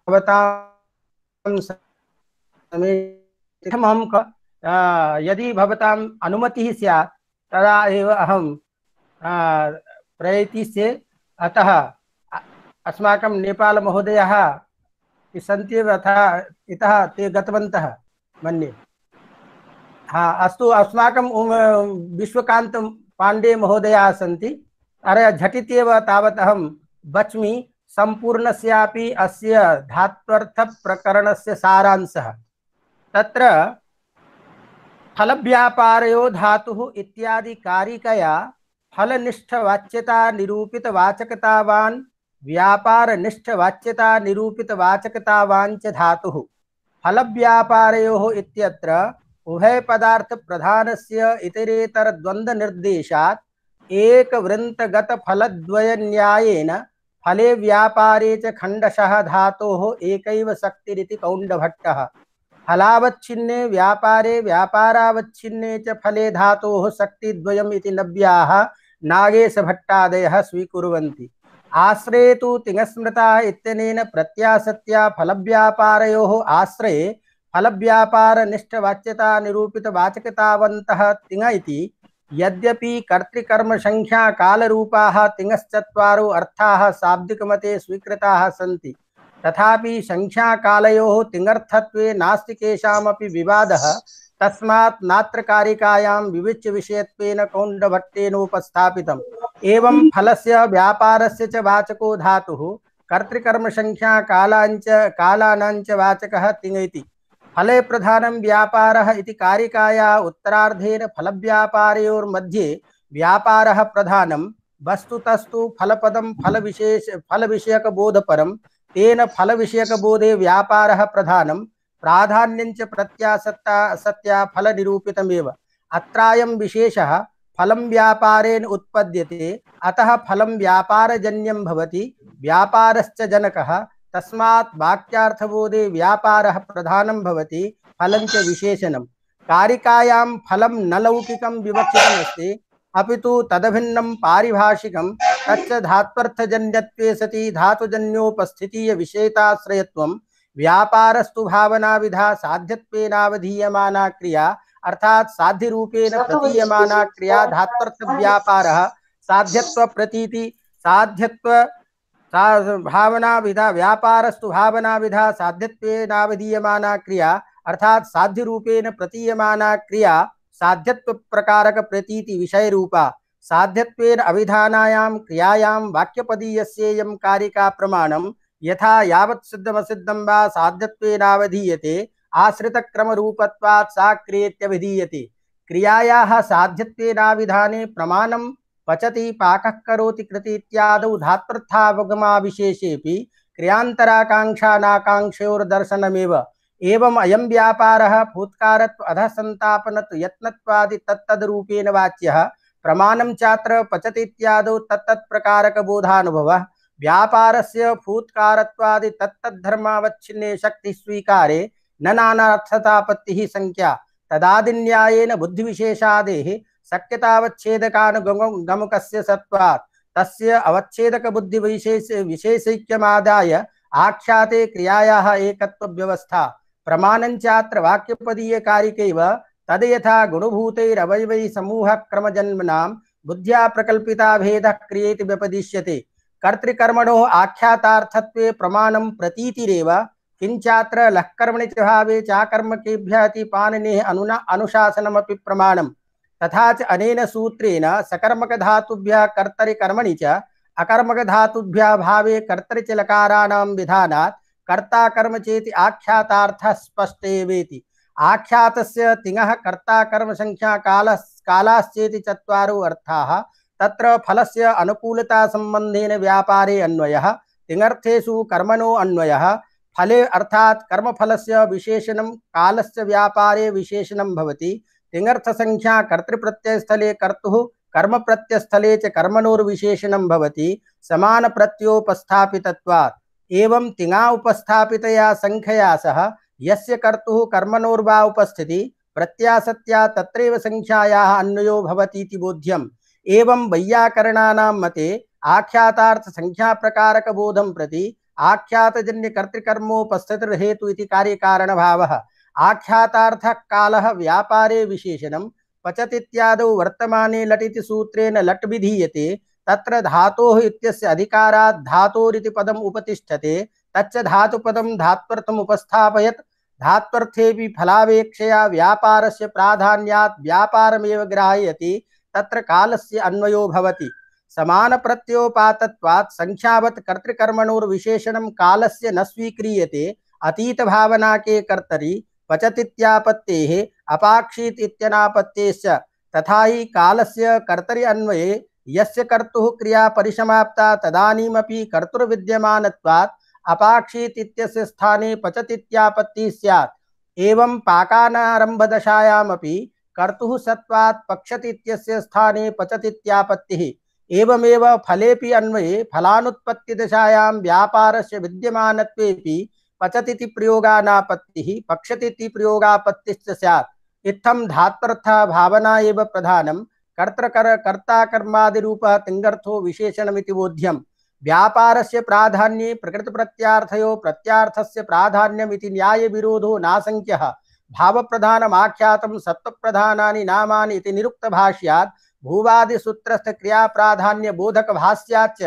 भवतां अहं यदि भवताम् अनुमतिः स्यात् तदा एव अहं प्रयतिष्ये। अतः अस्माकं नेपाल महोदयः सन्त्येव, अतः इतः ते गतवन्तः मन्ये। हाँ अस्तु, अस्माकं विश्वकान्त पाण्डे महोदयाः सन्ति। अरे झटित्येव तावत् अहं वच्मि सम्पूर्णस्यापि अस्य धात्वर्थप्रकरणस्य सारांशः। तत्र फलव्यापारयो धातुः इत्यादि कारिकया फलनिष्ठवाच्यता निरूपितवाचकतावान् व्यापारनिष्ठवाच्यता निरूपितवाचकतावान् च धातुः। फलव्यापारयोः इत्यत्र उभयपदार्थप्रधानस्य इतरेतरद्वन्द्वनिर्देशात् एकवृन्तगतफलद्वयन्यायेन फले व्यापारे च खण्डशः धातोः एकैव शक्तिरिति कौण्डभट्टः। फलावच्छिन्ने व्यापारे व्यापारावच्छिन्ने च फले धातोः शक्तिद्वयम् इति नव्याः नागेशभट्टादयः स्वीकुर्वन्ति। आश्रये तु तिङस्मृता इत्यनेन प्रत्यासत्या फलव्यापारयोः आश्रये फलव्यापारनिष्ठवाच्यता निरूपितवाचकतावन्तः तिङ इति। यद्यपि कर्तृकर्मसंख्या कालरूपाः तिङश्चत्वारो अर्थाः शाब्दिकमते स्वीकृताः सन्ति, तथापि संख्याकालयोः तिङर्थत्वे नास्ति केषामपि विवादः। तस्मात् नात्र कारिकायां विविच्य विषयत्वेन कौण्डभट्टेनोपस्थापितम्। एवं फलस्य व्यापारस्य च वाचको धातुः कर्तृकर्मसंख्या कालाञ्च कालानाञ्च वाचकः तिङ इति। फले प्रधानं व्यापारः इति कारिकाया उत्तरार्धेन फलव्यापारयोर्मध्ये व्यापारः प्रधानं। वस्तुतस्तु फलपदं फलविशेष फलविषयकबोधपरं, तेन फलविषयकबोधे व्यापारः प्रधानं। प्राधान्यञ्च प्रत्यासत्ता सत्या फलनिरूपितमेव। अत्रायं विशेषः फलं व्यापारेण उत्पद्यते अतः फलं व्यापारजन्यं भवति व्यापारश्च जनकः तस्मात् वाक्यार्थबोधे व्यापारः प्रधानं भवति फलञ्च विशेषणं कारिकायां फलं न लौकिकं विवक्षितमस्ति अपितु तदभिन्नं पारिभाषिकं तच्च धात्वर्थजन्यत्वे सति धातुजन्योपस्थितीय विषयताश्रयत्वं व्यापारस्तु भावनाविधा साध्यत्वेनावधीयमाना क्रिया अर्थात साध्य रूपेण प्रतीयमाना क्रिया धात्वर्थ व्यापारः साध्यत्व प्रतीति साध्यत्व भावना विधा व्यापारस्तु भावना विधा साध्यत्वेनावधीयमाना क्रिया अर्थात साध्य रूपेण प्रतीयमाना क्रिया साध्यत्व प्रकारक प्रतीति विषय रूपा साध्यत्वेन अभिधानायां क्रियायां वाक्यपदीयस्येयं कारिका प्रमाणं यथा यावत् सिद्धमसिद्धं वा साध्यत्वेनावधीयते आश्रितक्रमरूपत्वात् सा क्रियेत्यभिधीयते क्रियायाः साध्यत्वेनाविधाने प्रमाणं पचति पाकः करोति कृति इत्यादौ धात्वर्थावगमाविशेषेऽपि क्रियान्तराकाङ्क्षानाकाङ्क्षयोर्दर्शनमेव एवं अयं व्यापारः फूत्कारत्व अधसंतापनत्व यत्नत्वादि तत्तद्रूपेण वाच्यः प्रमाणं चात्र पचति इत्यादौ तत्तत्प्रकारकबोधानुभवः व्यापारस्य फूत्कारत्वादि तत्तद्धर्मावच्छिन्ने शक्ति स्वीकारे न नानार्थतापत्तिः संख्या तदादिन्यायेन बुद्धिविशेषादेः शक्यतावच्छेदकानुगमकस्य सत्वात् तस्य अवच्छेदक बुद्धिविशेष विशेषैक्यमादाय आख्याते क्रियायाः एकत्व व्यवस्था प्रमाणञ्चात्र वाक्यपदीय कारिकैव तद यथा गुणभूतैरवयवै समूह क्रमजन्मनां बुद्ध्या प्रकल्पिता भेदः क्रियेति व्यपदिश्यते कर्तृकर्मणोः आख्यातार्थत्वे प्रमाणं प्रतीतिरेव किंचात्र लःकर्मणि च भावे चाकर्मकेभ्यः इति पाणिनेः अनुना अनुशासनमपि प्रमाणं तथा च अनेन सूत्रेण सकर्मकधातुभ्यः कर्तरिकर्मणि च अकर्मकधातुभ्यः भावे कर्तरि च लकाराणां विधानात् कर्ता कर्म चेति आख्यातार्थः स्पष्टेवेति आख्यातस्य तिङः कर्ता कर्म संख्या कालः कालाश्चेति चत्वारो अर्थाः तत्र फलस्य अनुकूलता संबंधेन व्यापारे अन्वयः तिङर्थेषु कर्मणो अन्वयः फले अर्थात कर्मफलस्य विशेषणं कालस्य व्यापारे विशेषणं भवति तिङर्थ संख्या कर्तृप्रत्ययस्थले कर्तुः कर्म प्रत्ययस्थले च कर्मणोर्विशेषणं भवति समान प्रत्योपस्थापितत्वात् एवं तिङा उपस्थापितया संख्यया सह यस्य कर्तुः कर्मणोर्वा उपस्थिति प्रत्यासत्या तत्रैव संख्यायाः अन्वयो भवतीति बोध्यम् एवं वैयाकरणानां मते आख्यातार्थ संख्या प्रकारक बोधं प्रति आख्यातजन्य कर्तृकर्मोपस्थितिर्हेतु इति कार्यकारण भावः आख्यातार्थः कालः व्यापारे विशेषणं पचतीत्यादौ वर्तमाने लटिति सूत्रेण लट् विधीयते तत्र धातोः इत्यस्य अधिकारात् धातोरिति पदम् उपतिष्ठते तच्च धातुपदं धात्वर्थम् उपस्थापयत् धात्वर्थेऽपि फलावेक्षया व्यापारस्य प्राधान्यात् व्यापारमेव ग्राह्यति तत्र कालस्य अन्वयो भवति समान प्रत्योपातत्वात् संख्यावत् कर्तृकर्मणोर्विशेषणं कालस्य न स्वीक्रियते अतीत भावना के कर्तरि पचतीत्यापत्तेः अपाक्षीत इत्यनापत्तेश्च तथा ही कालस्य कर्तरि अन्वये यस्य कर्तुः क्रिया परिसमाप्ता तदानीमपि कर्तुर्विद्यमानत्वात् अपाक्षीत इत्यस्य स्थाने पचतीत्यापत्तिः स्यात् एवं पाकानारम्भदशायामपि कर्तुः सत्वात् पक्षति इत्यस्य स्थाने पचतीत्यापत्तिः एवमेव फलेपि अन्वये फलानुत्पत्तिदशायां व्यापारस्य विद्यमानत्वेपि पचतीति प्रयोगानापत्तिः पक्षतीति प्रयोगापत्तिश्च स्यात् इत्थं धात्वर्थः भावना एव प्रधानं कर्तृकर कर्ता कर्मादिरूपः तिङर्थो विशेषणमिति बोध्यम् व्यापारस्य प्राधान्ये प्रकृतप्रत्यार्थयो प्रत्यार्थस्य प्राधान्यमिति न्यायविरोधो नासंख्यः भावप्रधानमाख्यातं सत्त्वप्रधानानि नामानि इति निरुक्तभाष्यात् भूवादिसूत्रस्थ क्रिया प्राधान्य बोधक भाष्याच्च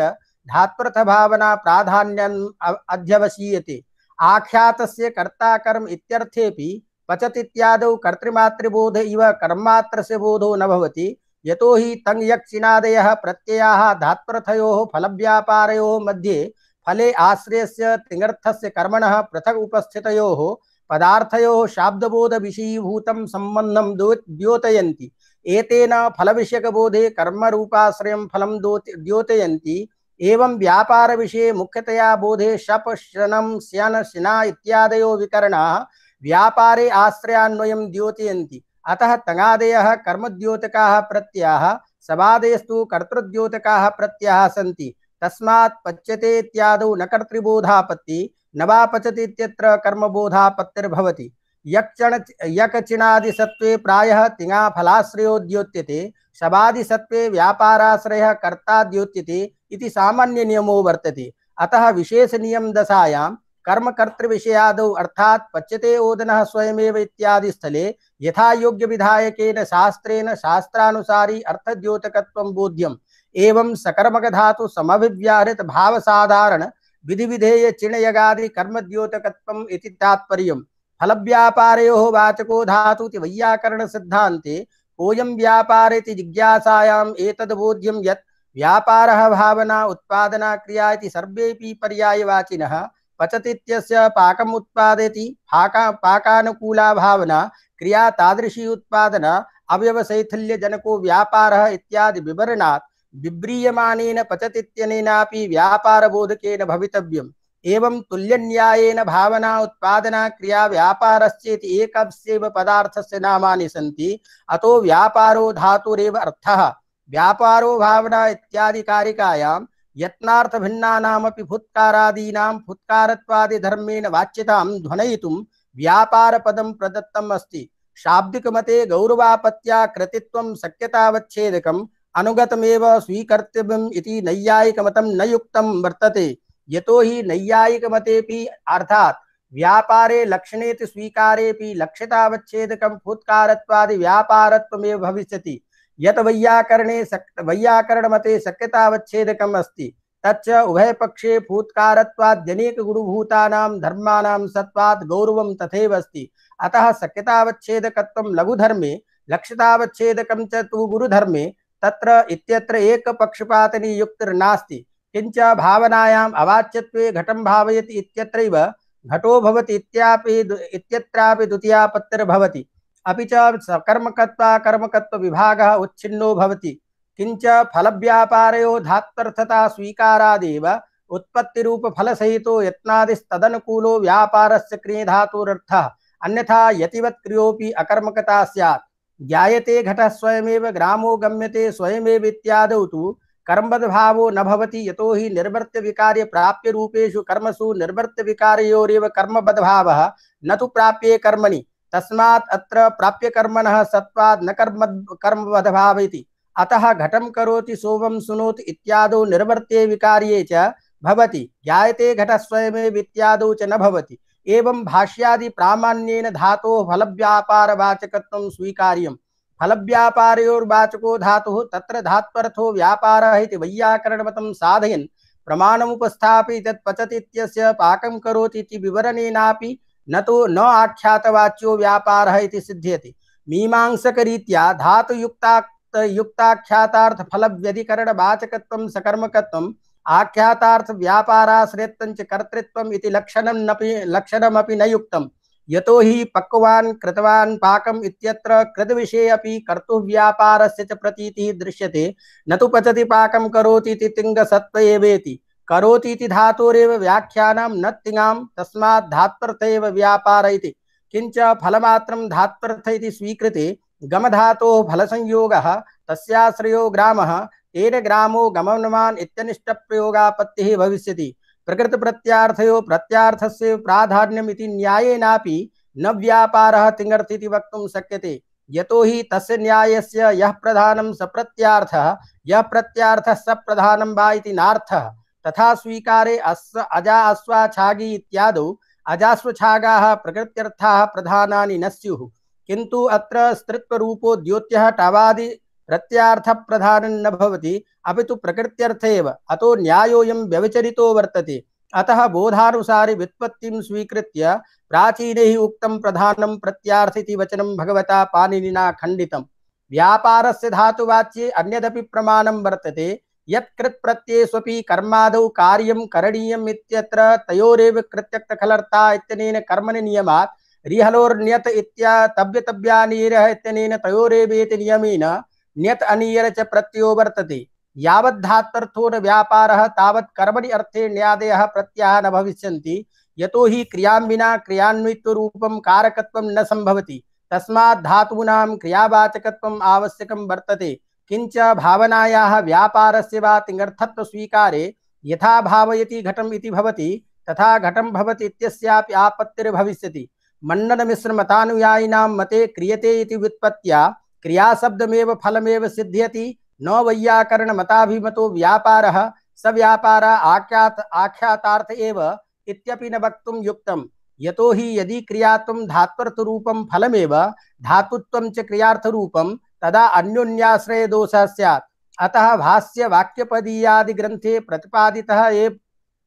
धात्वर्थ भावना प्राधान्यम् अध्यवसीयते आख्यातस्य कर्ता कर्म इत्यर्थेपि पचतीत्यादौ कर्तृमातृबोध इव कर्मात्रस्य बोधो न भवति यतो हि तङ् यक्षिणादयः प्रत्ययाः धात्वर्थयोः फलव्यापारयोः मध्ये फले आश्रयस्य तिङर्थस्य कर्मणः पृथक् उपस्थितयोः पदार्थयोः शाब्दबोध विषयीभूतं सम्बन्धं द्योतयन्ति एतेन फलविषयकबोधे कर्मरूपाश्रयं फलं द्योतयन्ति एवं व्यापार विषये मुख्यतया बोधे शप शनं स्यन शिना इत्यादयो विकरणाः व्यापारे आश्रयान्वयं द्योतयन्ति अतः तङादयः कर्मद्योतकाः प्रत्ययाः सबादयस्तु कर्तृद्योतकाः प्रत्ययाः सन्ति। तस्मात् पच्यते इत्यादौ न कर्तृबोधापत्ति न वा पचति इत्यत्र कर्मबोधापत्तिर्भवति। यक्चण यकचिणादिसत्त्वे प्रायः तिङा फलाश्रयो द्योत्यते, शबादिसत्त्वे व्यापाराश्रयः कर्ता द्योत्यते इति सामान्य नियमो वर्तते। अतः विशेष नियम दशायां कर्मकर्तृविषयादौ अर्थात् पच्यते ओदनः स्वयमेव इत्यादि स्थले यथा योग्य विधायकेन शास्त्रेण शास्त्रानुसारी अर्थद्योतकत्वं बोध्यम्। एवं सकर्मक धातु समभिव्याहृत भाव साधारण विधि विधेय चिण यगादि कर्मद्योतकत्वम् इति तात्पर्यम्। फलव्यापारयोः वाचको धातु इति वैयाकरण सिद्धान्ते कोऽयं व्यापार इति जिज्ञासायाम् एतद् बोध्यं यत् व्यापारः भावना उत्पादना क्रिया इति सर्वेऽपि पर्यायवाचिनः। पचति इत्यस्य पाकम् उत्पादयति, पाका पाकानुकूला भावना क्रिया तादृशी उत्पादना अवयवशैथिल्य जनको व्यापारः इत्यादि विवरणात् विव्रीयमानेन पचति इत्यनेनापि व्यापारबोधकेन भवितव्यम्। एवं तुल्यन्यायेन भावना उत्पादना क्रिया व्यापारश्चेति एकस्यैव पदार्थस्य नामानि सन्ति। अतो व्यापारो धातुरेव अर्थः। व्यापारो भावना इत्यादि कारिकायां यत्नार्थ भिन्नानामपि फुत्कारादीनां फुत्कारत्वादि धर्मेण वाच्यतां ध्वनयितुं व्यापार पदं प्रदत्तम् अस्ति। शाब्दिक मते गौरवापत्या कृतित्वं शक्यतावच्छेदकम् अनुगतमेव स्वीकर्तव्यम् इति नैयायिकमतं न युक्तं वर्तते। यतो हि नैयायिकमतेऽपि अर्थात् व्यापारे लक्षणेति स्वीकारेऽपि लक्ष्यतावच्छेदकं फुत्कारत्वादि व्यापारत्वमेव भविष्यति। यत वैयाकरणे वैयाकरण मते शक्यतावच्छेदकम् अस्ति तच्च उभयपक्षे फूत्कारत्वाद्यनेक गुणभूतानां धर्माणां सत्वात् गौरवं तथैव अस्ति। अतः शक्यतावच्छेदकत्वं लघुधर्मे लक्ष्यतावच्छेदकं च तु गुरुधर्मे तत्र इत्यत्र एकपक्षपातनियुक्तिर्नास्ति। किंच भावनायाम् अवाच्यत्वे घटं भावयति इत्यत्रैव घटो भवति इत्यापि इत्यत्रापि द्वितीयापत्तिर्भवति। अपि च सकर्मकत्वा कर्मकत्व विभागः उच्छिन्नो भवति। किंच फलव्यापारयो धात्वर्थता स्वीकारादेव उत्पत्तिरूप फलसहितो यत्नादिस्तदनुकूलो व्यापारस्य क्रिये धातुरर्थः। अन्यथा यतिवत् क्रियोपि अकर्मकता स्यात्। ज्ञायते घटः स्वयमेव ग्रामो गम्यते स्वयमेव इत्यादौ तु कर्मवद्भावो न भवति। यतो हि निर्वर्त्य विकार्य प्राप्य रूपेषु कर्मसु निर्वर्त्य विकारयोरेव कर्मवद्भावः न तु प्राप्ये कर्मणि। तस्मात् अत्र प्राप्य कर्मणः सत्वात् न कर्म कर्मवद्भाव इति। अतः घटं करोति सोमं सुनोति इत्यादौ निर्वर्त्ये विकार्ये च भवति। ज्ञायते घटः स्वयमेव इत्यादौ च न भवति। एवं भाष्यादि प्रामाण्येन धातोः फलव्यापारवाचकत्वं स्वीकार्यम्। फलव्यापारयोर्वाचको धातुः तत्र धात्वर्थो व्यापारः इति वैयाकरणमतं साधयन् प्रमाणमुपस्थापि तत् पचति इत्यस्य पाकं करोति इति विवरणेनापि न तो न आख्यातवाच्यो व्यापारः इति सिद्ध्यति। मीमांसकरीत्या धातुयुक्ताक्त युक्ताख्यातार्थ फलव्यधिकरणवाचकत्वं सकर्मकत्वम् आख्यातार्थ व्यापाराश्रयत्वं च कर्तृत्वम् इति लक्षणं नपि लक्षणमपि न युक्तम्। यतो हि पक्वान् कृतवान् पाकम् इत्यत्र कृतविषये अपि कर्तुव्यापारस्य च प्रतीतिः दृश्यते। न तु पचति पाकं करोति इति तिङ्गसत्त्व एवेति। करोति इति धातोरेव व्याख्यानं न तिङां तस्मात् धात्वर्थ एव व्यापार इति। किंच फलमात्रं धात्वर्थ इति स्वीकृते गमधातोः फलसंयोगः तस्याश्रयो ग्रामः तेन ग्रामो गमनवान् इत्यनिष्टप्रयोगापत्तिः भविष्यति। प्रकृतप्रत्यार्थयो प्रत्यार्थस्य प्राधान्यम् इति न्यायेनापि न व्यापारः तिङर्थ इति वक्तुं शक्यते। यतो हि तस्य न्यायस्य यः प्रधानं स प्रत्यार्थः यः प्रत्यार्थः स प्रधानं वा इति नार्थः। तथा स्वीकारे अस्य अजा अश्वाछागी इत्यादौ अजाश्वछागाः प्रकृत्यर्थाः प्रधानानि न स्युः। किन्तु अत्र स्त्रीत्वरूपो द्योत्यः टावादि प्रत्यार्थ प्रधानं न भवति अपि तु प्रकृत्यर्थ एव। अतो न्यायोऽयं व्यवचरितो वर्तते। अतः बोधानुसारि व्युत्पत्तिं स्वीकृत्य प्राचीनैः उक्तं प्रधानं प्रत्यार्थ इति वचनं भगवता पाणिनिना खण्डितम्। व्यापारस्य धातुवाच्ये अन्यदपि प्रमाणं वर्तते यत् कृत् प्रत्ययेष्वपि कर्मादौ कार्यं करणीयम् इत्यत्र तयोरेव कृत्यक्तखलर्ता इत्यनेन कर्मणि नियमात् रिहलोर्न्यत इत्या तव्यतव्यानीरः इत्यनेन तयोरेवेति नियमेन न्यत अनीयर च प्रत्ययो वर्तते। यावत् धात्वर्थो न व्यापारः तावत् कर्मणि अर्थे न्यादयः प्रत्ययाः न भविष्यन्ति। यतो हि क्रियां विना क्रियान्वित्वरूपं कारकत्वं न संभवति। तस्मात् धातूनां क्रियावाचकत्वम् आवश्यकं वर्तते। किंच भावनायाः व्यापारस्य वा तिङर्थत्व स्वीकारे यथा भावयति घटम् इति भवति तथा घटं भवति इत्यस्यापि आपत्तिर्भविष्यति। मण्डन मिश्र मतानुयायिनां मते क्रियते इति व्युत्पत्त्या क्रियाशब्दमेव फलमेव सिद्ध्यति। न वैयाकरण मताभिमतो व्यापारः स व्यापार आख्यात आख्यातार्थ एव इत्यपि न वक्तुं युक्तम्। यतो हि यदि क्रियात्वं धात्वर्थरूपं फलमेव धातुत्वं च क्रियार्थरूपं तदा अन्योन्याश्रय दोषः स्यात्। अतः भाष्य वाक्यपदीयादि ग्रंथे प्रतिपादितः एव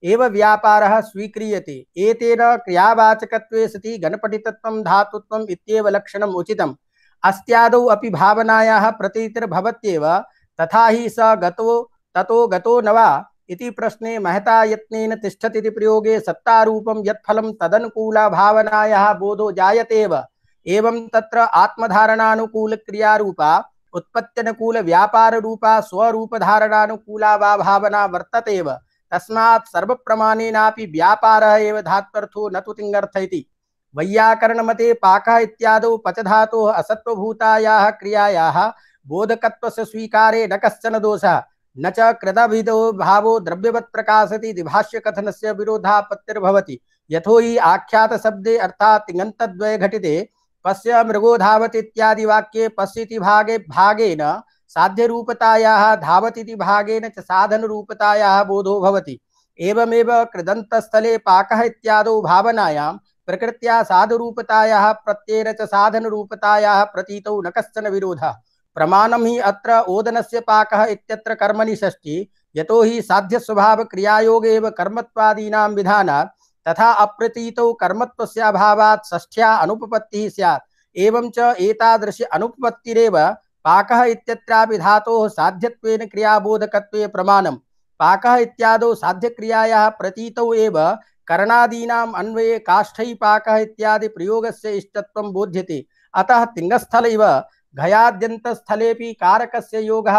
एव व्यापारः स्वीक्रियते। एतेन क्रियावाचकत्वे सति गणपटितत्वं धातुत्वम् इत्येव लक्षणम् उचितम्। अस्त्यादौ अपि भावनायाः प्रतीतिर्भवत्येव। तथा हि स गतो ततो गतो न वा इति प्रश्ने महता यत्नेन तिष्ठति इति प्रयोगे सत्तारूपं यत्फलं तदनुकूला भावनायाः बोधो जायतेव। एवं तत्र आत्मधारणानुकूल क्रियारूपा उत्पत्त्यनुकूल व्यापार रूपा स्वरूपधारणानुकूला वा भावना वर्ततेव। तस्मात् सर्वप्रमाणेनापि व्यापारः एव धात्वर्थो न तु तिङर्थ इति। वैयाकरण मते पाकः इत्यादौ पच धातोः असत्वभूतायाः क्रियायाः बोधकत्वस्य स्वीकारे न कश्चन दोषः। न च कृतभिदो भावो द्रव्यवत् प्रकाशति इति भाष्यकथनस्य विरोधापत्तिर्भवति। यतो हि आख्यात शब्दे अर्थात् तिङन्तद्वये घटिते पश्य मृगो धावति इत्यादि वाक्ये पश्यति भागे भागेन साध्य रूपतायाः धावतीति भागेन च साधन रूपतायाः बोधो भवति। एवमेव कृदन्तस्थले पाकः इत्यादौ भावनायां प्रकृत्या साधुरूपतायाः प्रत्ययेन च साधन रूपतायाः प्रतीतौ न कश्चन विरोधः। प्रमाणं हि अत्र ओदनस्य पाकः इत्यत्र कर्मणि षष्ठी। यतो हि साध्य स्वभाव क्रियायोगे एव कर्मत्वादीनां विधानात् तथा अप्रतीतौ कर्मत्वस्य अभावात् षष्ठ्या अनुपपत्तिः स्यात्। एवं च एतादृशी अनुपपत्तिरेव पाकः इत्यत्रापि धातोः साध्यत्वेन क्रियाबोधकत्वे प्रमाणम्। पाकः इत्यादौ साध्यक्रियायाः प्रतीतौ एव करणादीनाम् अन्वये काष्ठै पाकः इत्यादि प्रयोगस्य इष्टत्वं बोध्यते। अतः तिङस्थल इव घयाद्यन्तस्थलेपि कारकस्य योगः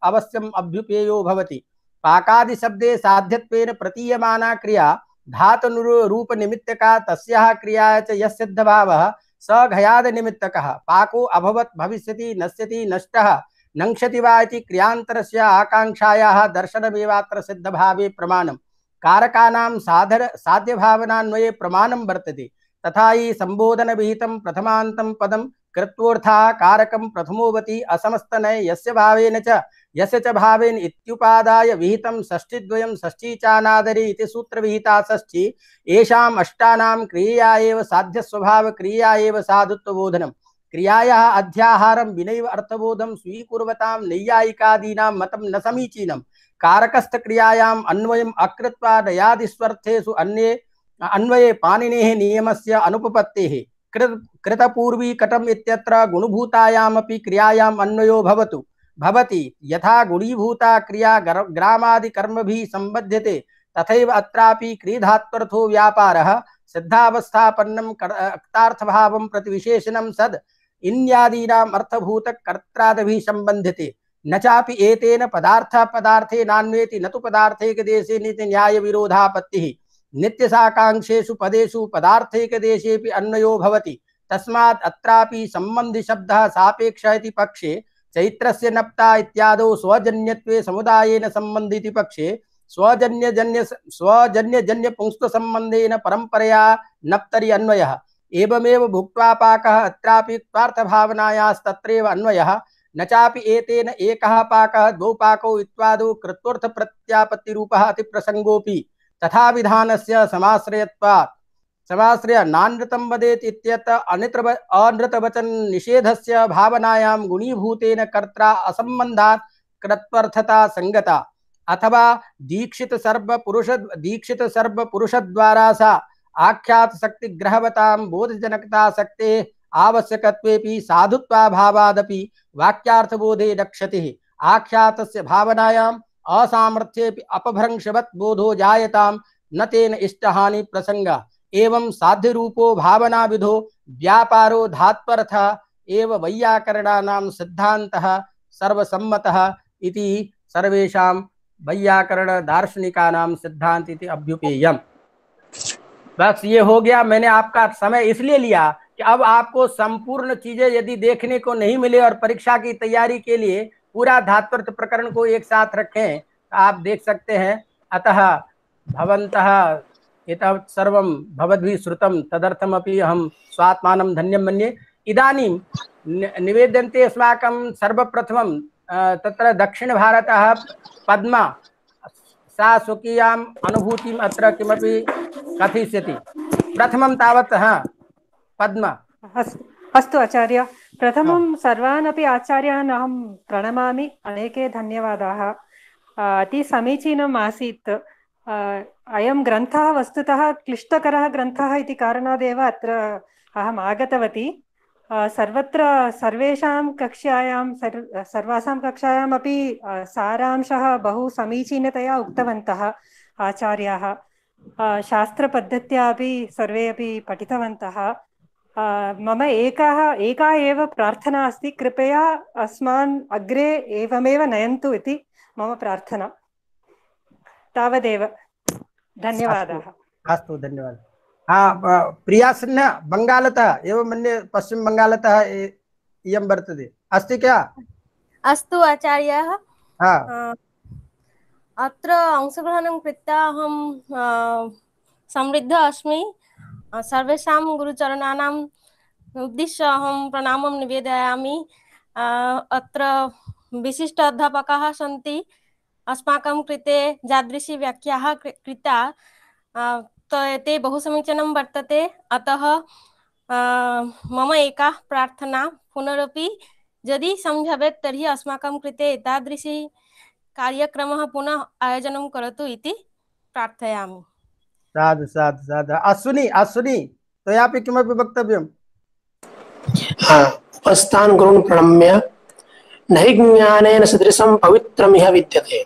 अवश्यम् अभ्युपेयो भवति। पाकादि शब्दे साध्यत्वेन प्रतीयमाना क्रिया धातुरूप निमित्तका तस्याः क्रियाया च यः सिद्धभावः स घयाद निमित्तकः। पाको अभवत् भविष्यति नश्यति नष्टः नङ्क्षति वा इति क्रियान्तरस्य आकाङ्क्षायाः दर्शनमेवात्र सिद्धभावे प्रमाणम्। कारकानां साधर साध्यभावनान्वये प्रमाणं वर्तते। तथा हि संबोधन विहितं प्रथमान्तं पदं कृत्वोऽर्थः कारकं प्रथमोवति असमस्तनय यस्य भावेन च यस्य च भावेन इत्युपादाय विहितं षष्ठीद्वयं षष्ठीचानादरि इति सूत्रविहिता षष्ठी। येषाम् अष्टानां क्रिया एव साध्य स्वभाव क्रिया एव साधुत्वबोधनं। क्रियायाः अध्याहारं विनैव अर्थबोधं स्वीकुर्वतां नैयायिकादीनां मतं न समीचीनं। कारकस्थ क्रियायाम् अन्वयम् अकृत्वा दयादिस्वर्थेषु अन्ये अन्वये पाणिनेः नियमस्य अनुपपत्तेः। कृत कृतपूर्वी कटम इत्यत्र गुणभूतायामपि क्रियायाम् अन्वयो भवतु भवति। यथा गुणीभूता क्रिया ग्रामादि कर्मभिः संबध्यते तथैव अत्रापि क्रीधात्वर्थो व्यापारः सिद्धावस्थापन्नं कर्तार्थभावं प्रति विशेषणं सद् इन्यादीनाम् अर्थभूत कर्त्रादभिः संबध्यते। न चापि एतेन पदार्थ पदार्थे नान्वेति न तु पदार्थैकदेशे नीति न्याय विरोधापत्तिः। नित्यसाकांक्षेषु पदेषु पदार्थैकदेशेऽपि अन्वयो भवति। तस्मात् अत्रापि संबन्धि शब्दः सापेक्ष इति पक्षे चैत्रस्य नप्ता इत्यादौ स्वजन्यत्वे समुदायेन संबन्धिति पक्षे स्वजन्यजन्य स्वजन्यजन्य पुंस्त संबंधेन परंपरया नप्तरि अन्वयः। एवमेव भुक्त्वा पाकः अत्रापि क्वार्थभावनायास्तत्रैव अन्वयः। न चापि एतेन एकः पाकः द्वौ पाकौ इत्यादौ कृत्वर्थ प्रत्यापत्तिरूपः अतिप्रसंगोऽपि तथा विधानस्य समाश्रयत्वात्। समाश्रय नानृतं वदेत् इत्यत्र अनित्र अनृतवचन निषेधस्य भावनायां गुणीभूतेन कर्त्रा असंबन्धात् कृत्वर्थता संगता। अथवा दीक्षित सर्व पुरुष दीक्षित सर्व पुरुष द्वारा सा आख्यात शक्ति ग्रहवतां बोधजनकता शक्तेः आवश्यकत्वेपि साधुत्वाभावादपि वाक्यार्थबोधे रक्षति। आख्यातस्य भावनायाम् असामर्थ्येपि अपभ्रंशवत् बोधो जायतां न तेन इष्टहानि प्रसंगा। एवं साध्य रूपो भावना विधो व्यापारो धात्वर्थ एव वैयाकरणानां सिद्धान्तः सर्वसम्मतः इति सर्वेषां वैयाकरण दार्शनिकानां सिद्धांत इति अभ्युपेयम्। बस ये हो गया। मैंने आपका समय इसलिए लिया कि कि अब आपको संपूर्ण चीजें यदि देखने को नहीं मिले और परीक्षा की तैयारी के लिए पूरा धात्वर्थ प्रकरण को एक साथ रखें तो आप देख सकते हैं। अतः भवन्तः एतत् सर्वं भवद्भिः श्रुतं तदर्थमपि अहं स्वात्मानं धन्यं मन्ये। इदानीं निवेद्यन्ते अस्माकं सर्वप्रथमं तत्र दक्षिणभारतः पद्मा सा स्वकीयाम् अनुभूतिम् अत्र किमपि कथयिष्यति। प्रथमं तावत् हा पद्मा। अस्तु अस्तु आचार्य, प्रथमं सर्वान् अपि आचार्यान् अहं प्रणमामि। अनेके धन्यवादाः। अति समीचीनम् आसीत्। अयं ग्रन्थः वस्तुतः क्लिष्टकरः ग्रन्थः इति कारणादेव अत्र अहम् आगतवती। सर्वत्र सर्वेषां कक्षायां सर् सर्वासां कक्षायामपि सारांशः बहु समीचीनतया उक्तवन्तः आचार्याः। शास्त्रपद्धत्या अपि सर्वे अपि पठितवन्तः। मम एकाः एका एव प्रार्थना अस्ति, कृपया अस्मान् अग्रे एवमेव नयन्तु इति मम प्रार्थना। तावदेव, धन्यवादाः। अस्तु, धन्यवादः। हाँ, प्रिया सिन्हा बंगालतः एवं मन्ये पश्चिम बंगालतः इयं वर्तते, अस्ति क्या? अस्तु आचार्याः। हाँ, अत्र अंशग्रहणं कृत्वा अहं समृद्ध अस्मि। सर्वेषां गुरुचरणानाम् उद्दिश्य अहं प्रणामं निवेदयामि। अत्र विशिष्ट अध्यापकाः सन्ति, अस्माकं कृते यादृशी व्याख्याः कृता ते बहु समीचीनं वर्तते। अतः मम एका प्रार्थना, पुनरपि यदि सम्भवेत् तर्हि अस्माकं कृते एतादृशी कार्यक्रमः पुनः आयोजनं करोतु इति प्रार्थयामि। साधु साधु साधु। अश्विनी अश्विनी त्वयापि किमपि वक्तव्यम्? उपस्थान् गुरुन् प्रणम्य नहि ज्ञानेन सदृशं पवित्रमिह विद्यते।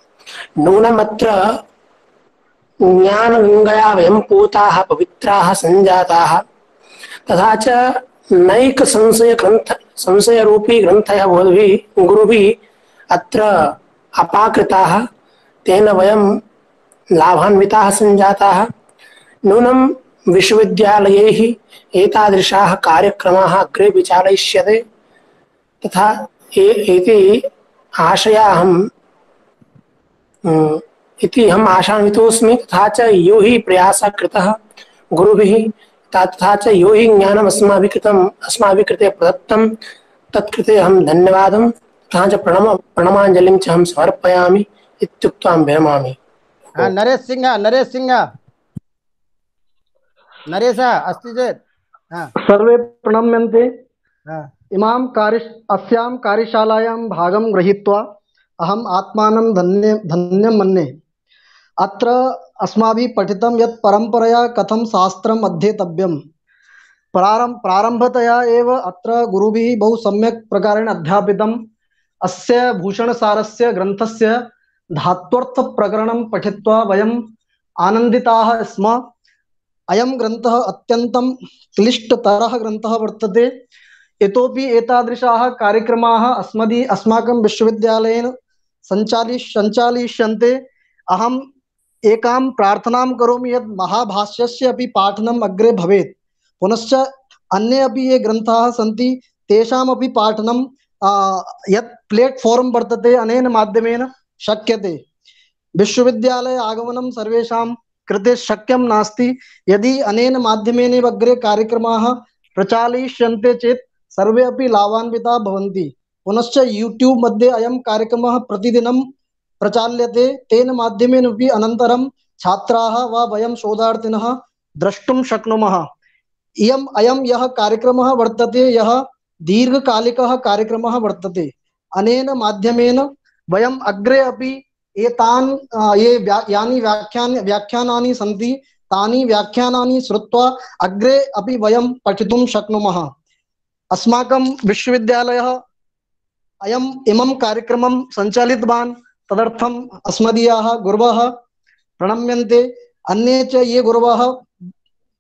नूनमत्र ज्ञानगङ्गया वयं पूताः पवित्राः सञ्जाताः। तथा च नैक संशय ग्रन्थ संशयरूपी ग्रन्थयः भवद्भिः गुरुभिः अत्र अपाकृताः। तेन वयं लाभान्विताः सञ्जाताः। नूनं विश्वविद्यालयैः एतादृशाः कार्यक्रमाः अग्रे विचालयिष्यते तथा इति आशयाहम् इति हम आशान्वितोऽस्मि। तथा च यो हि प्रयासः कृतः गुरुभिः, तथा च यो हि ज्ञानम् अस्माभिः कृतम् अस्माभिः कृते प्रदत्तं तत्कृते अहं धन्यवादं तथा च प्रणम प्रणमाञ्जलिं च अहं समर्पयामि इत्युक्त्वा विरमामि। नरेश सिंह नरेश सिंह नरेश अस्ति चेत् सर्वे प्रणम्यन्ते। इमां कार्य अस्यां कार्यशालायां भागं गृहीत्वा अहम् आत्मानं धन्य धन्यं मन्ये। अत्र अस्माभिः पठितं यत् परम्परया कथं शास्त्रम् अध्येतव्यं। प्रारम्भ प्रारम्भतया एव अत्र गुरुभिः बहु सम्यक् प्रकारेण अध्यापितम्। अस्य भूषणसारस्य ग्रन्थस्य धात्वर्थप्रकरणं पठित्वा वयम् आनन्दिताः स्म। अयं ग्रन्थः अत्यन्तं क्लिष्टतरः ग्रन्थः वर्तते। इतोपि एतादृशाः कार्यक्रमाः अस्मदि अस्माकं विश्वविद्यालयेन सञ्चालि सञ्चालयिष्यन्ते। अहम् एकां प्रार्थनां करोमि यत् महाभाष्यस्य अपि पाठनम् अग्रे भवेत्। पुनश्च अन्ये अपि ये ग्रन्थाः सन्ति तेषामपि पाठनं यत् प्लेट्फार्म् वर्तते अनेन माध्यमेन शक्यते। विश्वविद्यालय आगमनं सर्वेषां कृते शक्यं नास्ति। यदि अनेन माध्यमेन अग्रे कार्यक्रमाः प्रचालयिष्यन्ते चेत् सर्वे अपि लाभान्विताः भवन्ति। पुनश्च यूट्यूब् मध्ये अयं कार्यक्रमः प्रतिदिनं प्रचाल्यते। तेन माध्यमेन अपि अनन्तरं छात्राः वा वयं शोधार्थिनः द्रष्टुं शक्नुमः। इयम् अयं यः कार्यक्रमः वर्तते, यः दीर्घकालिकः कार्यक्रमः वर्तते। अनेन माध्यमेन वयम् अग्रे अपि एतान् ये व्या, यानि व्याख्यान व्याख्यानानि सन्ति तानि व्याख्यानानि श्रुत्वा अग्रे अपि वयं पठितुं शक्नुमः। अस्माकं विश्वविद्यालयः अयम् इमं कार्यक्रमं सञ्चालितवान्, तदर्थम् अस्मदीयाः गुरवः प्रणम्यन्ते। अन्ये च ये गुरवः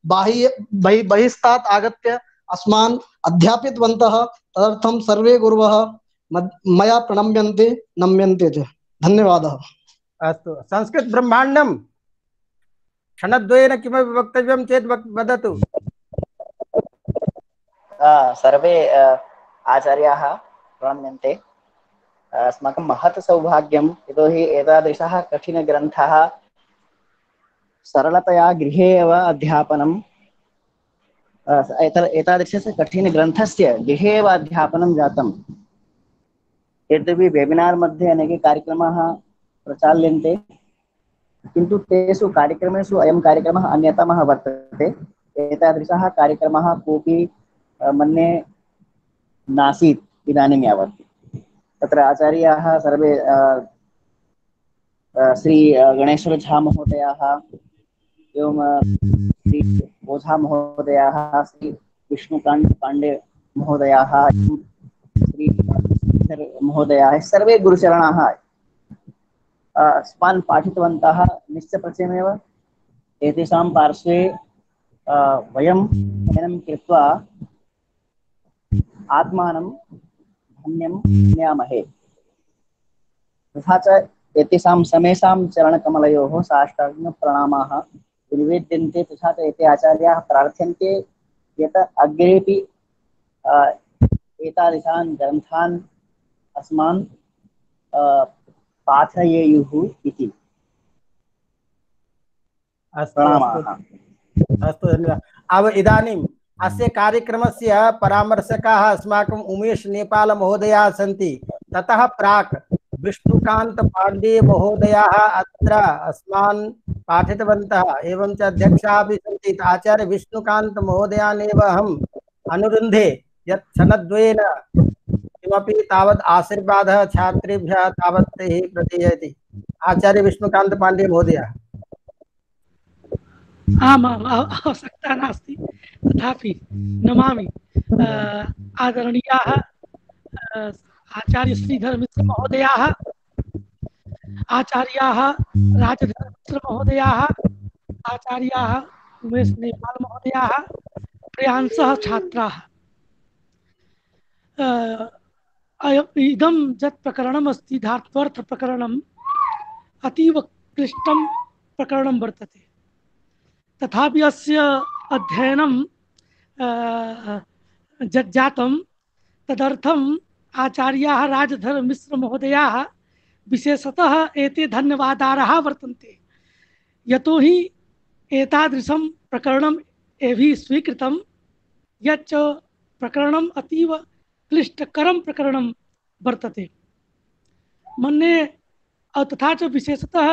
बाह्य बहि बहिस्तात् आगत्य अस्मान् अध्यापितवन्तः, तदर्थं सर्वे गुरवः मया प्रणम्यन्ते नम्यन्ते च। धन्यवादः। अस्तु, संस्कृत ब्रह्माण्डं क्षणद्वयेन किमपि वक्तव्यं चेत् वदतु। सर्वे आचार्याः प्रणम्यन्ते। अस्माकं महत् सौभाग्यं, यतोहि एतादृशः कठिनग्रन्थः सरलतया गृहे एव अध्यापनं एतादृशस्य कठिनग्रन्थस्य गृहे एव अध्यापनं जातं। यद्यपि वेबिनार् मध्ये अनेके कार्यक्रमाः प्रचाल्यन्ते, किन्तु तेषु कार्यक्रमेषु अयं कार्यक्रमः अन्यतमः वर्तते। एतादृशः कार्यक्रमः कोऽपि मन्ये नासीत् इदानीं यावत्। तत्र आचार्याः सर्वे श्री गणेश्वर झा महोदयाः, एवं श्री ओझा महोदयाः, श्री विष्णुकांत पांडे महोदयाः, श्री महोदयाः, सर्वे गुरुचरणाः अस्मान् पाठितवन्तः। निश्चप्रचयमेव एतेषां पार्श्वे वयं अध्ययनं कृत्वा आत्मानं धन्यं मन्यामहे। तथा च एतेषां समेषां चरणकमलयोः साष्टाङ्गप्रणामाः निवेद्यन्ते। तथा च एते आचार्याः प्रार्थ्यन्ते यत् अग्रेपि एतादृशान् ग्रन्थान् अस्मान् पाठयेयुः इति। अस्तु अस्तु धन्यवादः। अब इदानीम् अस्य कार्यक्रमस्य परामर्शकाः अस्माकं उमेश नेपाल महोदयाः सन्ति। ततः प्राक् विष्णुकांत पांडे महोदयाः अत्र अस्मान् पाठितवन्तः, एवं च अध्यक्षाः अपि सन्ति। आचार्य विष्णुकांत महोदयानेव अहम् अनुरुन्धे यत् क्षणद्वयेन किमपि तावत् आशीर्वादः छात्रेभ्यः तावत् तैः प्रदीयते। आचार्य विष्णुकांत पांडे महोदय। आम् आम् आवश्यकता नास्ति, तथापि नमामि। आदरणीयाः आचार्य श्रीधर मिश्र महोदयाः, आचार्याः राजधर मिश्र महोदयाः, आचार्याः उमेश नेपाल महोदयाः, प्रियांशः छात्राः, इदं यत् प्रकरणम् अस्ति धात्वर्थ प्रकरणम् अतीव क्लिष्टं प्रकरणं वर्तते। तथापि अस्य अध्ययनं यत् जातं तदर्थम् आचार्याः राजधर मिश्र महोदयाः विशेषतः एते धन्यवादार्हाः वर्तन्ते। यतोहि एतादृशं प्रकरणम् एभिः स्वीकृतं यच्च प्रकरणम् अतीव क्लिष्टकरं प्रकरणं वर्तते। मन्ये तथा च विशेषतः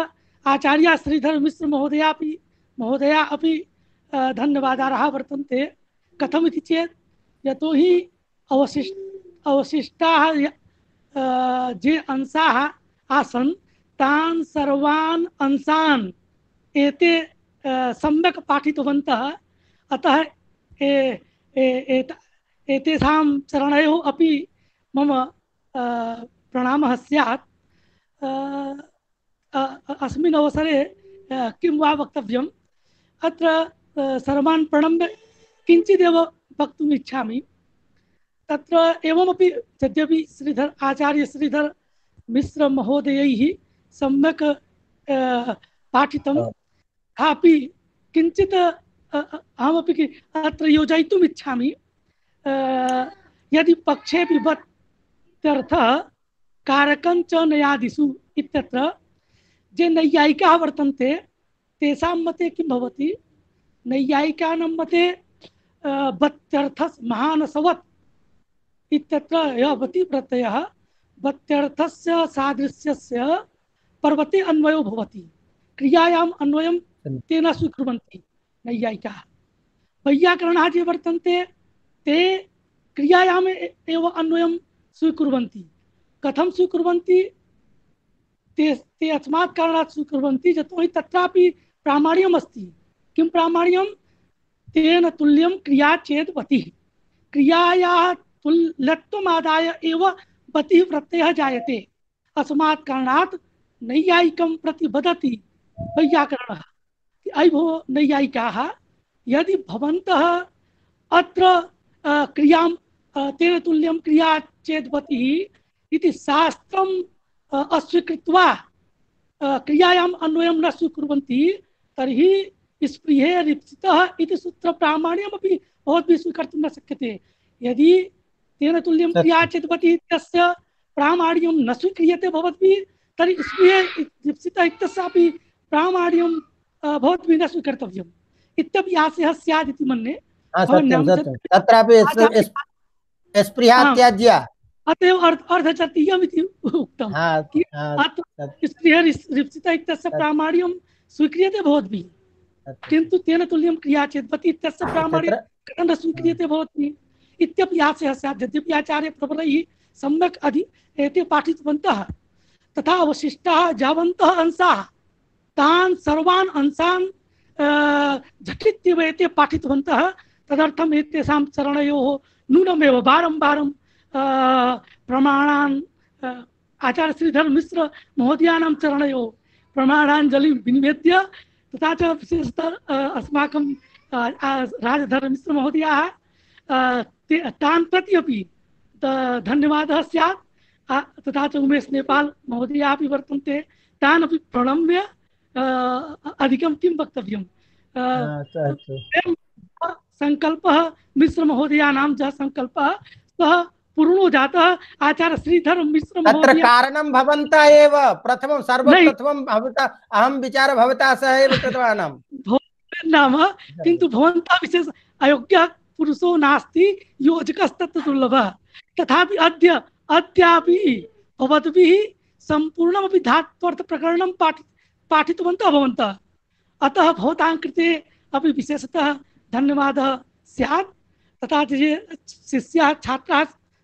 आचार्य श्रीधर मिश्र महोदया अपि महोदया अपि धन्यवादार्हाः वर्तन्ते। कथमिति चेत् यतोहि अवशिष्ट अवशिष्टाः ये अंशाः आसन् तान् सर्वान् अंशान् एते सम्यक् पाठितवन्तः। अतः ए, ए, ए, एतेषां चरणयोः अपि मम प्रणामः स्यात्। अस्मिन् अवसरे किं वा वक्तव्यम्, अत्र सर्वान् प्रणम्य किञ्चिदेव वक्तुम् इच्छामि। तत्र एवमपि यद्यपि श्रीधर आचार्य श्रीधर मिश्र महोदयैः सम्यक् पाठितं, तथापि किञ्चित् अहमपि अत्र योजयितुम् इच्छामि। यदि पक्षेपि वत्यर्थः कारकं च नयादिषु इत्यत्र ये नैयायिकाः वर्तन्ते तेषां मते किं भवति, नैयायिकानां मते वत्यर्थस् महानसवत् इत्यत्र यवति प्रत्ययः वत्यर्थस्य सादृश्यस्य पर्वते अन्वयो भवति। क्रियायाम् अन्वयं तेन स्वीकुर्वन्ति नैयायिकाः। वैयाकरणाः ये वर्तन्ते ते क्रियायाम् एव अन्वयं स्वीकुर्वन्ति। कथं स्वीकुर्वन्ति? ते ते अस्मात् कारणात् स्वीकुर्वन्ति यतोहि तत्रापि प्रामाण्यम् अस्ति। किं प्रामाण्यं? तेन तुल्यं क्रिया चेत् वतिः। क्रियायाः तुल्यत्वमादाय एव वतिः प्रत्ययः जायते। अस्मात् कारणात् नैयायिकं प्रति वदति वैयाकरणः, अयि भो नैयायिकाः, यदि भवन्तः अत्र क्रियां तेन तुल्यं क्रिया चेत् वतिः इति शास्त्रम् अस्वीकृत्वा क्रियायाम् अन्वयं न स्वीकुर्वन्ति तर्हि स्पृहे रिप्सितः इति सूत्र प्रामाण्यमपि भवद्भिः स्वीकर्तुं न शक्यते। यदि तेन तुल्यं क्रिया चेत्पति तस्य प्रामाण्यं न स्वीक्रियते भवद्भिः तर्हि स्पृहदीप्सित इत्यस्यापि प्रामाण्यं भवद्भिः न स्वीकर्तव्यम् इत्यपि आशयः स्यात् इति मन्ये। सत्यं सत्यं तत्रापि स्पृहा त्याज्या अतएव अर्धचतीयम् इति उक्तं स्पृहदीप्सित इत्यस्य प्रामाण्यं स्वीक्रियते भवद्भिः किन्तु तेन तुल्यं क्रिया चेत्पति इत्यस्य प्रामाण्यं कथं न स्वीक्रियते भवद्भिः इत्यपि आशयः स्यात्। यद्यपि आचार्यप्रवरैः सम्यक् अधि एते पाठितवन्तः तथा अवशिष्टाः यावन्तः अंशाः तान् सर्वान् अंशान् झटित्येव एते पाठितवन्तः तदर्थम् एतेषां चरणयोः नूनमेव वारं वारं प्रमाणान् आचार्य श्रीधर मिश्र महोदयानां चरणयोः प्रमाणाञ्जलिं विनिवेद्य तथा च विशेषतः अस्माकं राजधर मिश्र महोदयाः तान् प्रति अपि धन्यवादः स्यात् तथा च उमेश नेपाल महोदयाः अपि वर्तन्ते तान् अपि प्रणम्य अधिकं किं वक्तव्यं संकल्पः मिश्र महोदयानां यः संकल्पः सः पूर्णो जातः आचार्य श्रीधर मिश्र तत्र कारणं भवन्तः एव प्रथमं सर्वप्रथमं भवता अहं विचार भवता सह एव कृतवानां नाम किन्तु भवन्तः विशेष अयोग्यः पुरुषो नास्ति योजकस्तत्र दुर्लभः तथापि अद्य अद्यापि भवद्भिः सम्पूर्णमपि धात्वर्थ प्रकरणं पाठि पाठितवन्तः भवन्तः अतः भवतां कृते अपि विशेषतः धन्यवादः स्यात् तथा च ये शिष्याः छात्राः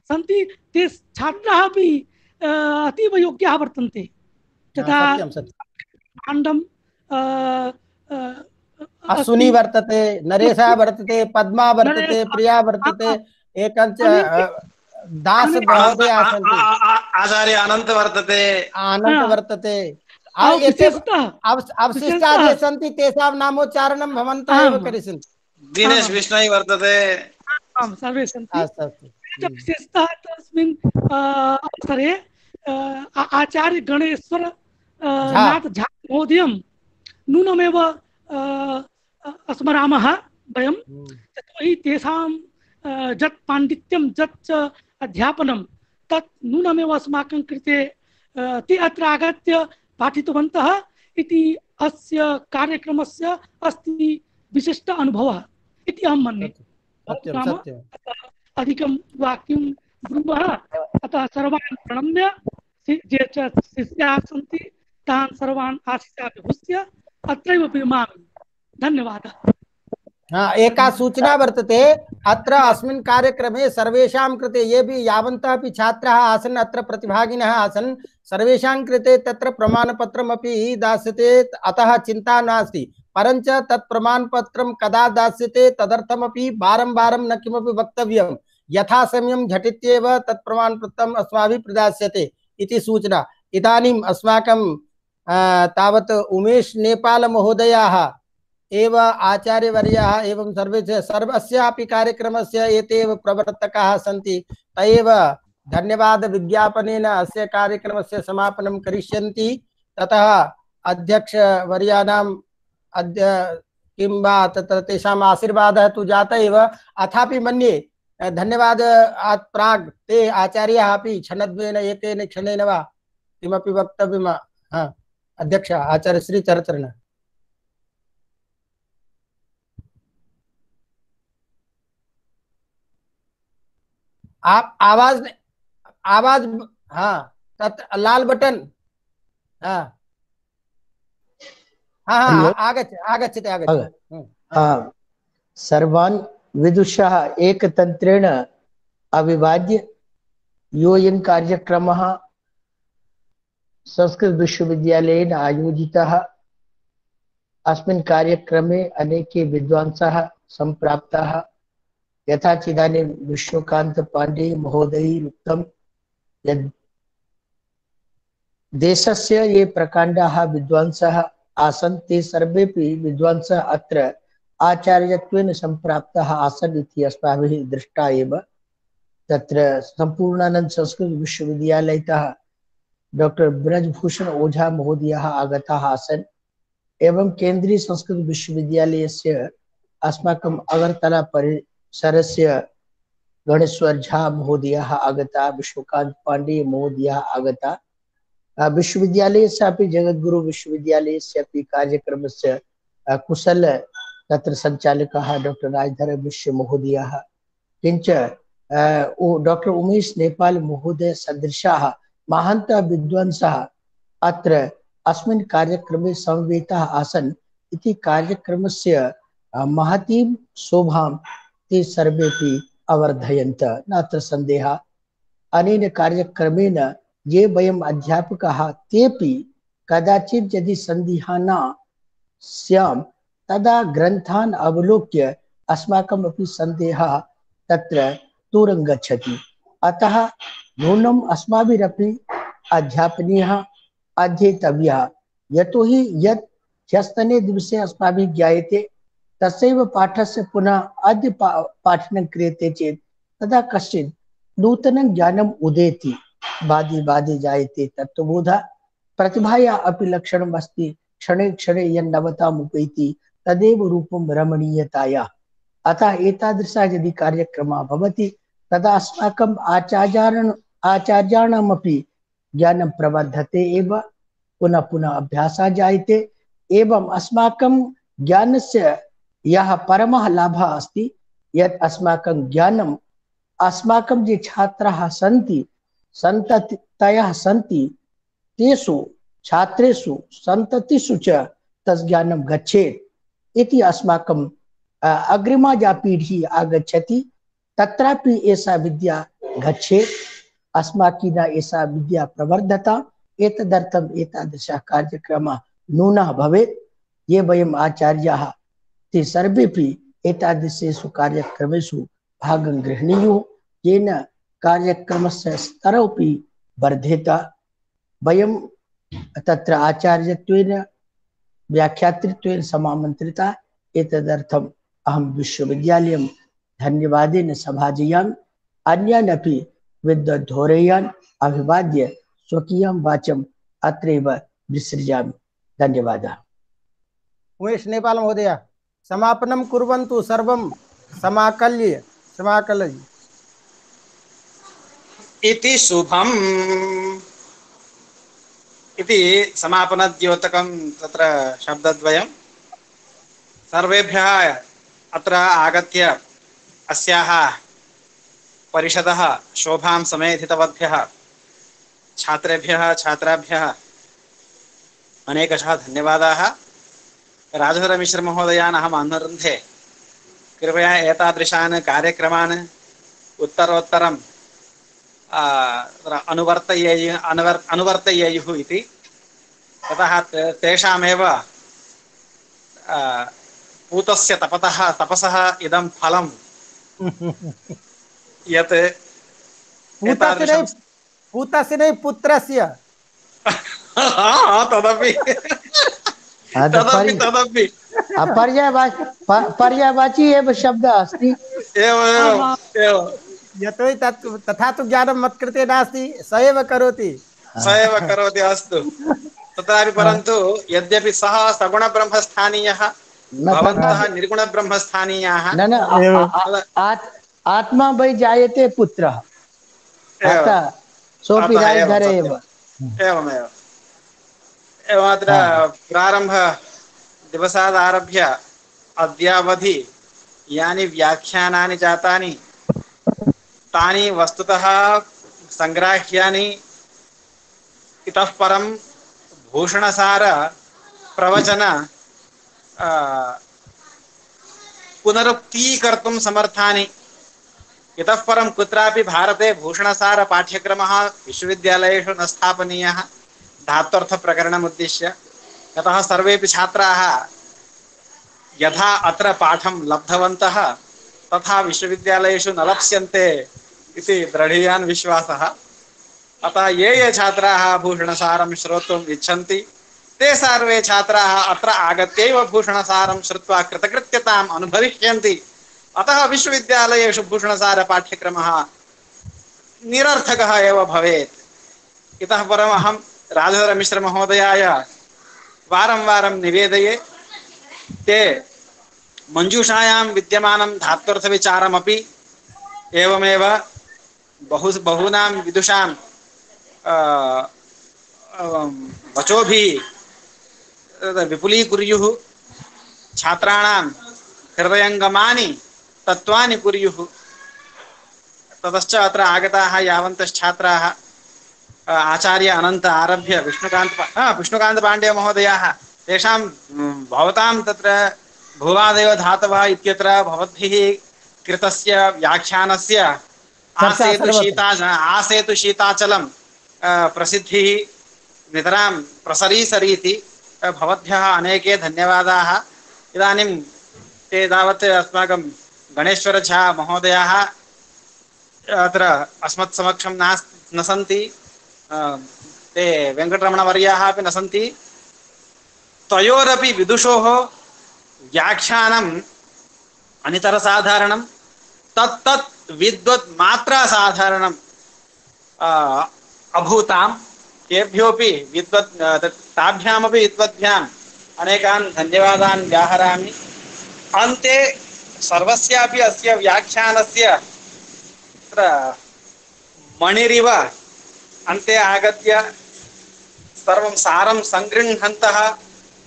सन्ति ते छात्राः अपि अतीव योग्याः वर्तन्ते तथा पाण्डं अश्विनी वर्तते नरेशः वर्तते पद्मा वर्तते प्रिया वर्तते एकञ्च दास महोदय आचार्य अनंत वर्तते अनंत वर्तते अवशिष्टाः ये सन्ति तेषां नामोच्चारणं भवन्तः एव करिष्यन्ति दिनेश विष्णु वर्तते आम् सर्वे सन्ति विशेषतः तस्मिन् अवसरे आचार्य गणेश्वर नाथ झा महोदयं नूनमेव स्मरामः वयं यतोहि तेषां यत् पाण्डित्यं यत् अध्यापनं तत् नूनमेव अस्माकं कृते ते अत्र आगत्य पाठितवन्तः इति अस्य कार्यक्रमस्य अस्ति विशिष्ट अनुभवः इति अहं मन्ये। अधिकं वाक्यं ब्रूमः अतः सर्वान् प्रणम्य ये च शिष्याः सन्ति तान् सर्वान् आशिषाभिभूष्य अत्रैव विरमामि। धन्यवादः। हाँ, एका सूचना वर्तते अत्र अस्मिन् कार्यक्रमे सर्वेषां कृते ये भी यावन्तः अपि छात्राः आसन् अत्र प्रतिभागिनः आसन् सर्वेषां कृते तत्र प्रमाणपत्रमपि दास्यते अतः चिन्ता नास्ति परञ्च तत् प्रमाणपत्रं कदा दास्यते तदर्थमपि वारं वारं न किमपि वक्तव्यं यथा समयं झटित्येव तत् प्रमाणपत्रम् अस्माभिः प्रदास्यते इति सूचना। इदानीम् अस्माकं तावत् उमेश नेपाल महोदयाः एव आचार्यवर्याः एवं सर्वे सर्वस्यापि कार्यक्रमस्य एतेव प्रवर्तकाः सन्ति तैव धन्यवाद विज्ञापनेन अस्य कार्यक्रमस्य समापनं करिष्यन्ति। ततः अध्यक्ष वर्याणाम् अद्य किं वा तत्र तेषाम् आशीर्वादः तु जातः एव अथापि मन्ये धन्यवादात् प्राक् ते आचार्याः अपि क्षणद्वयेन एकेन क्षणेन वा किमपि वक्तव्यं। हा अध्यक्ष आचार्य श्री चरचरण आप आवाज आवाज हाँ तत् लाल बटन हाँ हाँ हाँ आगच्छ आगच्छति आगच्छति। सर्वान् विदुषः एकतन्त्रेण अविभाज्य योऽयं कार्यक्रमः संस्कृत विश्वविद्यालयेन आयोजितः अस्मिन् कार्यक्रमे अनेके विद्वांसः सम्प्राप्ताः यथा चिदानीं विष्णुकांत पांडे महोदयैः उक्तं यद् देशस्य ये प्रकाण्डाः विद्वांसः आसन् ते सर्वेपि विद्वांसः अत्र आचार्यत्वेन सम्प्राप्ताः आसन् इति अस्माभिः दृष्टा एव। तत्र सम्पूर्णानन्द संस्कृत विश्वविद्यालयतः डॉक्टर ब्रजभूषण ओझा महोदयः आगताः आसन् एवं केन्द्रीय संस्कृत विश्वविद्यालयस्य अस्माकम् अगरतला परिसरस्य गणेश्वर झा महोदयः आगता, विश्वकांत पांडे महोदयः आगता, विश्वविद्यालयस्यापि जगद्गुरु विश्वविद्यालयस्यापि कार्यक्रमस्य कुशल तत्र संचालकः डॉक्टर राजधर मिश्र महोदयः, किंच डॉक्टर उमेश नेपाल महोदय सदृशाः महान्तः विद्वांसः अत्र अस्मिन् कार्यक्रमे समवेताः आसन् इति कार्यक्रमस्य महतीं शोभां ते सर्वेपि अवर्धयन्त, नात्र सन्देहः। अनेन कार्यक्रमेण ये वयम् अध्यापकाः तेपि कदाचित् यदि सन्दिहाना स्याम तदा ग्रन्थान् अवलोक्य अस्माकम् अपि सन्देहः तत्र दूरं गच्छति। अतः नूनम् अस्माभिरपि अध्यापनीयः अध्येतव्यः, यतोहि यत् ह्यस्तने दिवसे अस्माभिः ज्ञायते तस्यैव पाठस्य पुनः अद्य पाठनं क्रियते चेत् तदा कश्चित् नूतनं ज्ञानम् उदेति, बादे बादे जायते तत्त्वबोधः। प्रतिभायाः अपि लक्षणम् अस्ति, क्षणे क्षणे यन्नवताम् उपैति तदेव रूपं रमणीयतायाः। अतः एतादृशः यदि कार्यक्रमः भवति तदा अस्माकम् आचार्याणाम् आचार्याणामपि ज्ञानं प्रवर्धते एव, पुनः पुनः अभ्यासः जायते। एवं अस्माकं ज्ञानस्य यः परमः लाभः अस्ति यत् अस्माकं ज्ञानम् अस्माकं ये छात्राः सन्ति सन्ततयः सन्ति तेषु छात्रेषु सन्ततिषु च तज्ज्ञानं गच्छेत् इति अस्माकं अग्रिमा या पीढ़ी आगच्छति तत्रापि एषा विद्या गच्छेत्, अस्माकीना एषा विद्या प्रवर्धता। एतदर्थम् एतादृशः कार्यक्रमः नूनः भवेत्। ये वयम् आचार्याः ते सर्वेपि एतादृशेषु कार्यक्रमेषु भागं गृह्णीयुः, येन कार्यक्रमस्य स्तरोऽपि वर्धेत। वयं तत्र आचार्यत्वेन व्याख्यातृत्वेन समामन्त्रिता। एतदर्थम् अहं विश्वविद्यालयं धन्यवादेन सभाजयामि। अन्यान् अपि विद्वद्घोरेयान् अभिवाद्य स्वकीयं वाचम् अत्रैव विसृजामि। धन्यवादः। उमेश नेपाल महोदय समापनं कुर्वन्तु, सर्वं समाकल्य समाकलयि इति शुभम् इति समापनद्योतकं तत्र शब्दद्वयं सर्वेभ्यः अत्र आगत्य अस्याः परिषदः शोभां समेधितवद्भ्यः छात्रेभ्यः छात्राभ्यः अनेकशः धन्यवादाः। राजधरमिश्रमहोदयान् अहम् अनुरुन्धे कृपया एतादृशान् कार्यक्रमान् उत्तरोत्तरं अनुवर्तयेयुः अनुवर् अनुवर्तयेयुः इति। ततः तेषामेव पूतस्य तपतः तपसः इदं फलं यत् पूतस्य पूतस्य नहीं पुत्रस्य तदपि तदपि तदपि पर्यायवाची पर्यायवाची एव शब्दः अस्ति। एवं एवं यतोहि तत् तथा तु ज्ञानं मत्कृते नास्ति, स एव करोति स एव करोति। अस्तु, तत्रापि परन्तु यद्यपि सः सगुणब्रह्मस्थानीयः भवन्तः निर्गुणब्रह्मस्थानीयाः, न न आत्मा वै जायते पुत्रः, अतः सोऽपि राजधर एव। एवमेव एवम् अत्र प्रारम्भ दिवसादारभ्य अद्यावधि यानि व्याख्यानानि जातानि तानि वस्तुतः संग्राह्यानि। इतः परं भूषणसार प्रवचन पुनरुक्तीकर्तुं समर्थानि। इतः परं कुत्रापि भारते भूषणसार पाठ्यक्रमः विश्वविद्यालयेषु न स्थापनीयः धात्वर्थप्रकरणमुद्दिश्य। यतः सर्वेपि छात्राः यथा अत्र पाठं लब्धवन्तः तथा विश्वविद्यालयेषु न लप्स्यन्ते इति दृढीयान् विश्वासः। अतः ये ये छात्राः भूषणसारं श्रोतुम् इच्छन्ति ते सर्वे छात्राः अत्र आगत्यैव भूषणसारं श्रुत्वा कृतकृत्यताम् अनुभविष्यन्ति। अतः विश्वविद्यालयेषु भूषणसार पाठ्यक्रमः निरर्थकः एव भवेत्। इतः परम् अहं राजधरमिश्रमहोदयाय वारं वारं निवेदये, ते मञ्जूषायां विद्यमानं धात्वर्थविचारमपि एवमेव बहु बहूनां विदुषां वचोभिः विपुलीकुर्युः छात्राणां हृदयङ्गमानि तत्त्वानि कुर्युः। ततश्च अत्र आगताः यावन्तश्छात्राः आचार्य अनंत आरभ्य विष्णुकांत विष्णुकांत पांडे महोदयाः तेषां भवतां तत्र भुवादेव धातवः इत्यत्र भवद्भिः कृतस्य व्याख्यानस्य आसेतु शीता आसेतु शीताचलं प्रसिद्धिः नितरां प्रसरीसरीति भवद्भ्यः अनेके धन्यवादाः। इदानीं ते तावत् अस्माकं गणेश्वर झा महोदयाः अत्र अस्मत् समक्षं नास् न सन्ति, ते वेङ्कटरमणवर्याः अपि न सन्ति। तयोरपि विदुषोः व्याख्यानम् अनितरसाधारणं तत्तत् विद्वत् मात्रा साधारणं अभूताम्। तेभ्योऽपि विद्वत् ताभ्यामपि विद्वद्भ्याम् अनेकान् धन्यवादान् व्याहरामि। अन्ते सर्वस्यापि अस्य व्याख्यानस्य मणिरिव अन्ते आगत्य सर्वं सारं संगृह्णन्तः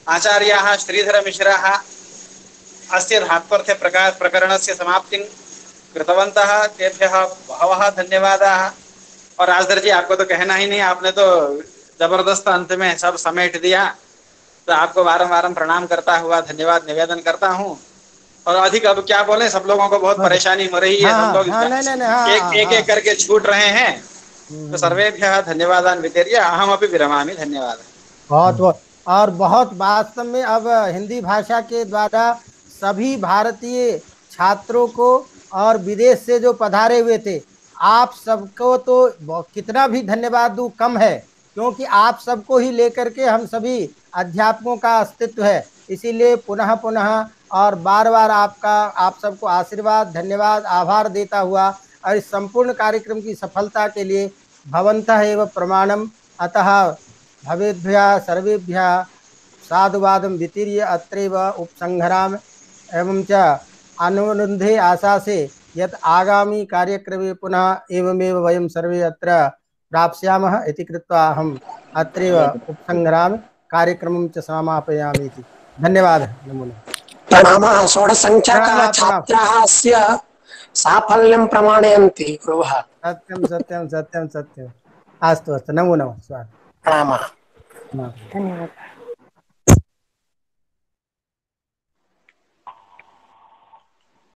आचार्याः श्रीधरमिश्राः अस्य धात्वर्थे प्रकार प्रकरणस्य समाप्तिं कृतवन्तः। तेभ्यः बहवः धन्यवादाः। और राजधर जी, आपको तो कहना ही नहीं, आपने तो जबरदस्त अंत में सब समेट दिया। तो आपको बारंबार प्रणाम करता हुआ धन्यवाद निवेदन करता हूँ। और अधिक अब क्या बोले, सब लोगों को बहुत परेशानी हो रही है। हाँ, सब लोग हाँ, नहीं, नहीं, हाँ, एक हाँ, एक हाँ, एक करके छूट रहे हैं। तो सर्वेभ्यः धन्यवादान् वितर्य अहमपि विरमामि। धन्यवादः। बहुत बहुत और बहुत वास्तव में अब हिंदी भाषा के द्वारा सभी भारतीय छात्रों को और विदेश से जो पधारे हुए थे, आप सबको तो कितना भी धन्यवाद दूं कम है, क्योंकि आप सबको ही लेकर के हम सभी अध्यापकों का अस्तित्व है। इसीलिए पुनः पुनः और बार बार आपका आप सबको आशीर्वाद, धन्यवाद, आभार देता हुआ और इस संपूर्ण कार्यक्रम की सफलता के लिए भवन्तः एव प्रमाणम। अतः भवेभ्यः सर्वेभ्यः साधुवादं वितीर्य अत्रैव उपसंहरामि। एवं च अनुरुन्धे आशा से यत् आगामी कार्यक्रमे पुनः एवमेव वयं सर्वे अत्र प्राप्स्यामः इति कृत्वा अहम् अत्रैव उपसंहरामि, कार्यक्रमं च समापयामि इति। धन्यवादः। नमो नमः। प्रणामः। षोडशसङ्ख्याकाः छात्राः अस्य साफल्यं प्रमाणयन्ति गुरुः। सत्यं सत्यं सत्यं सत्यम्। अस्तु अस्तु, नमो नमः। स्वागतम्। प्रणामः। धन्यवादः।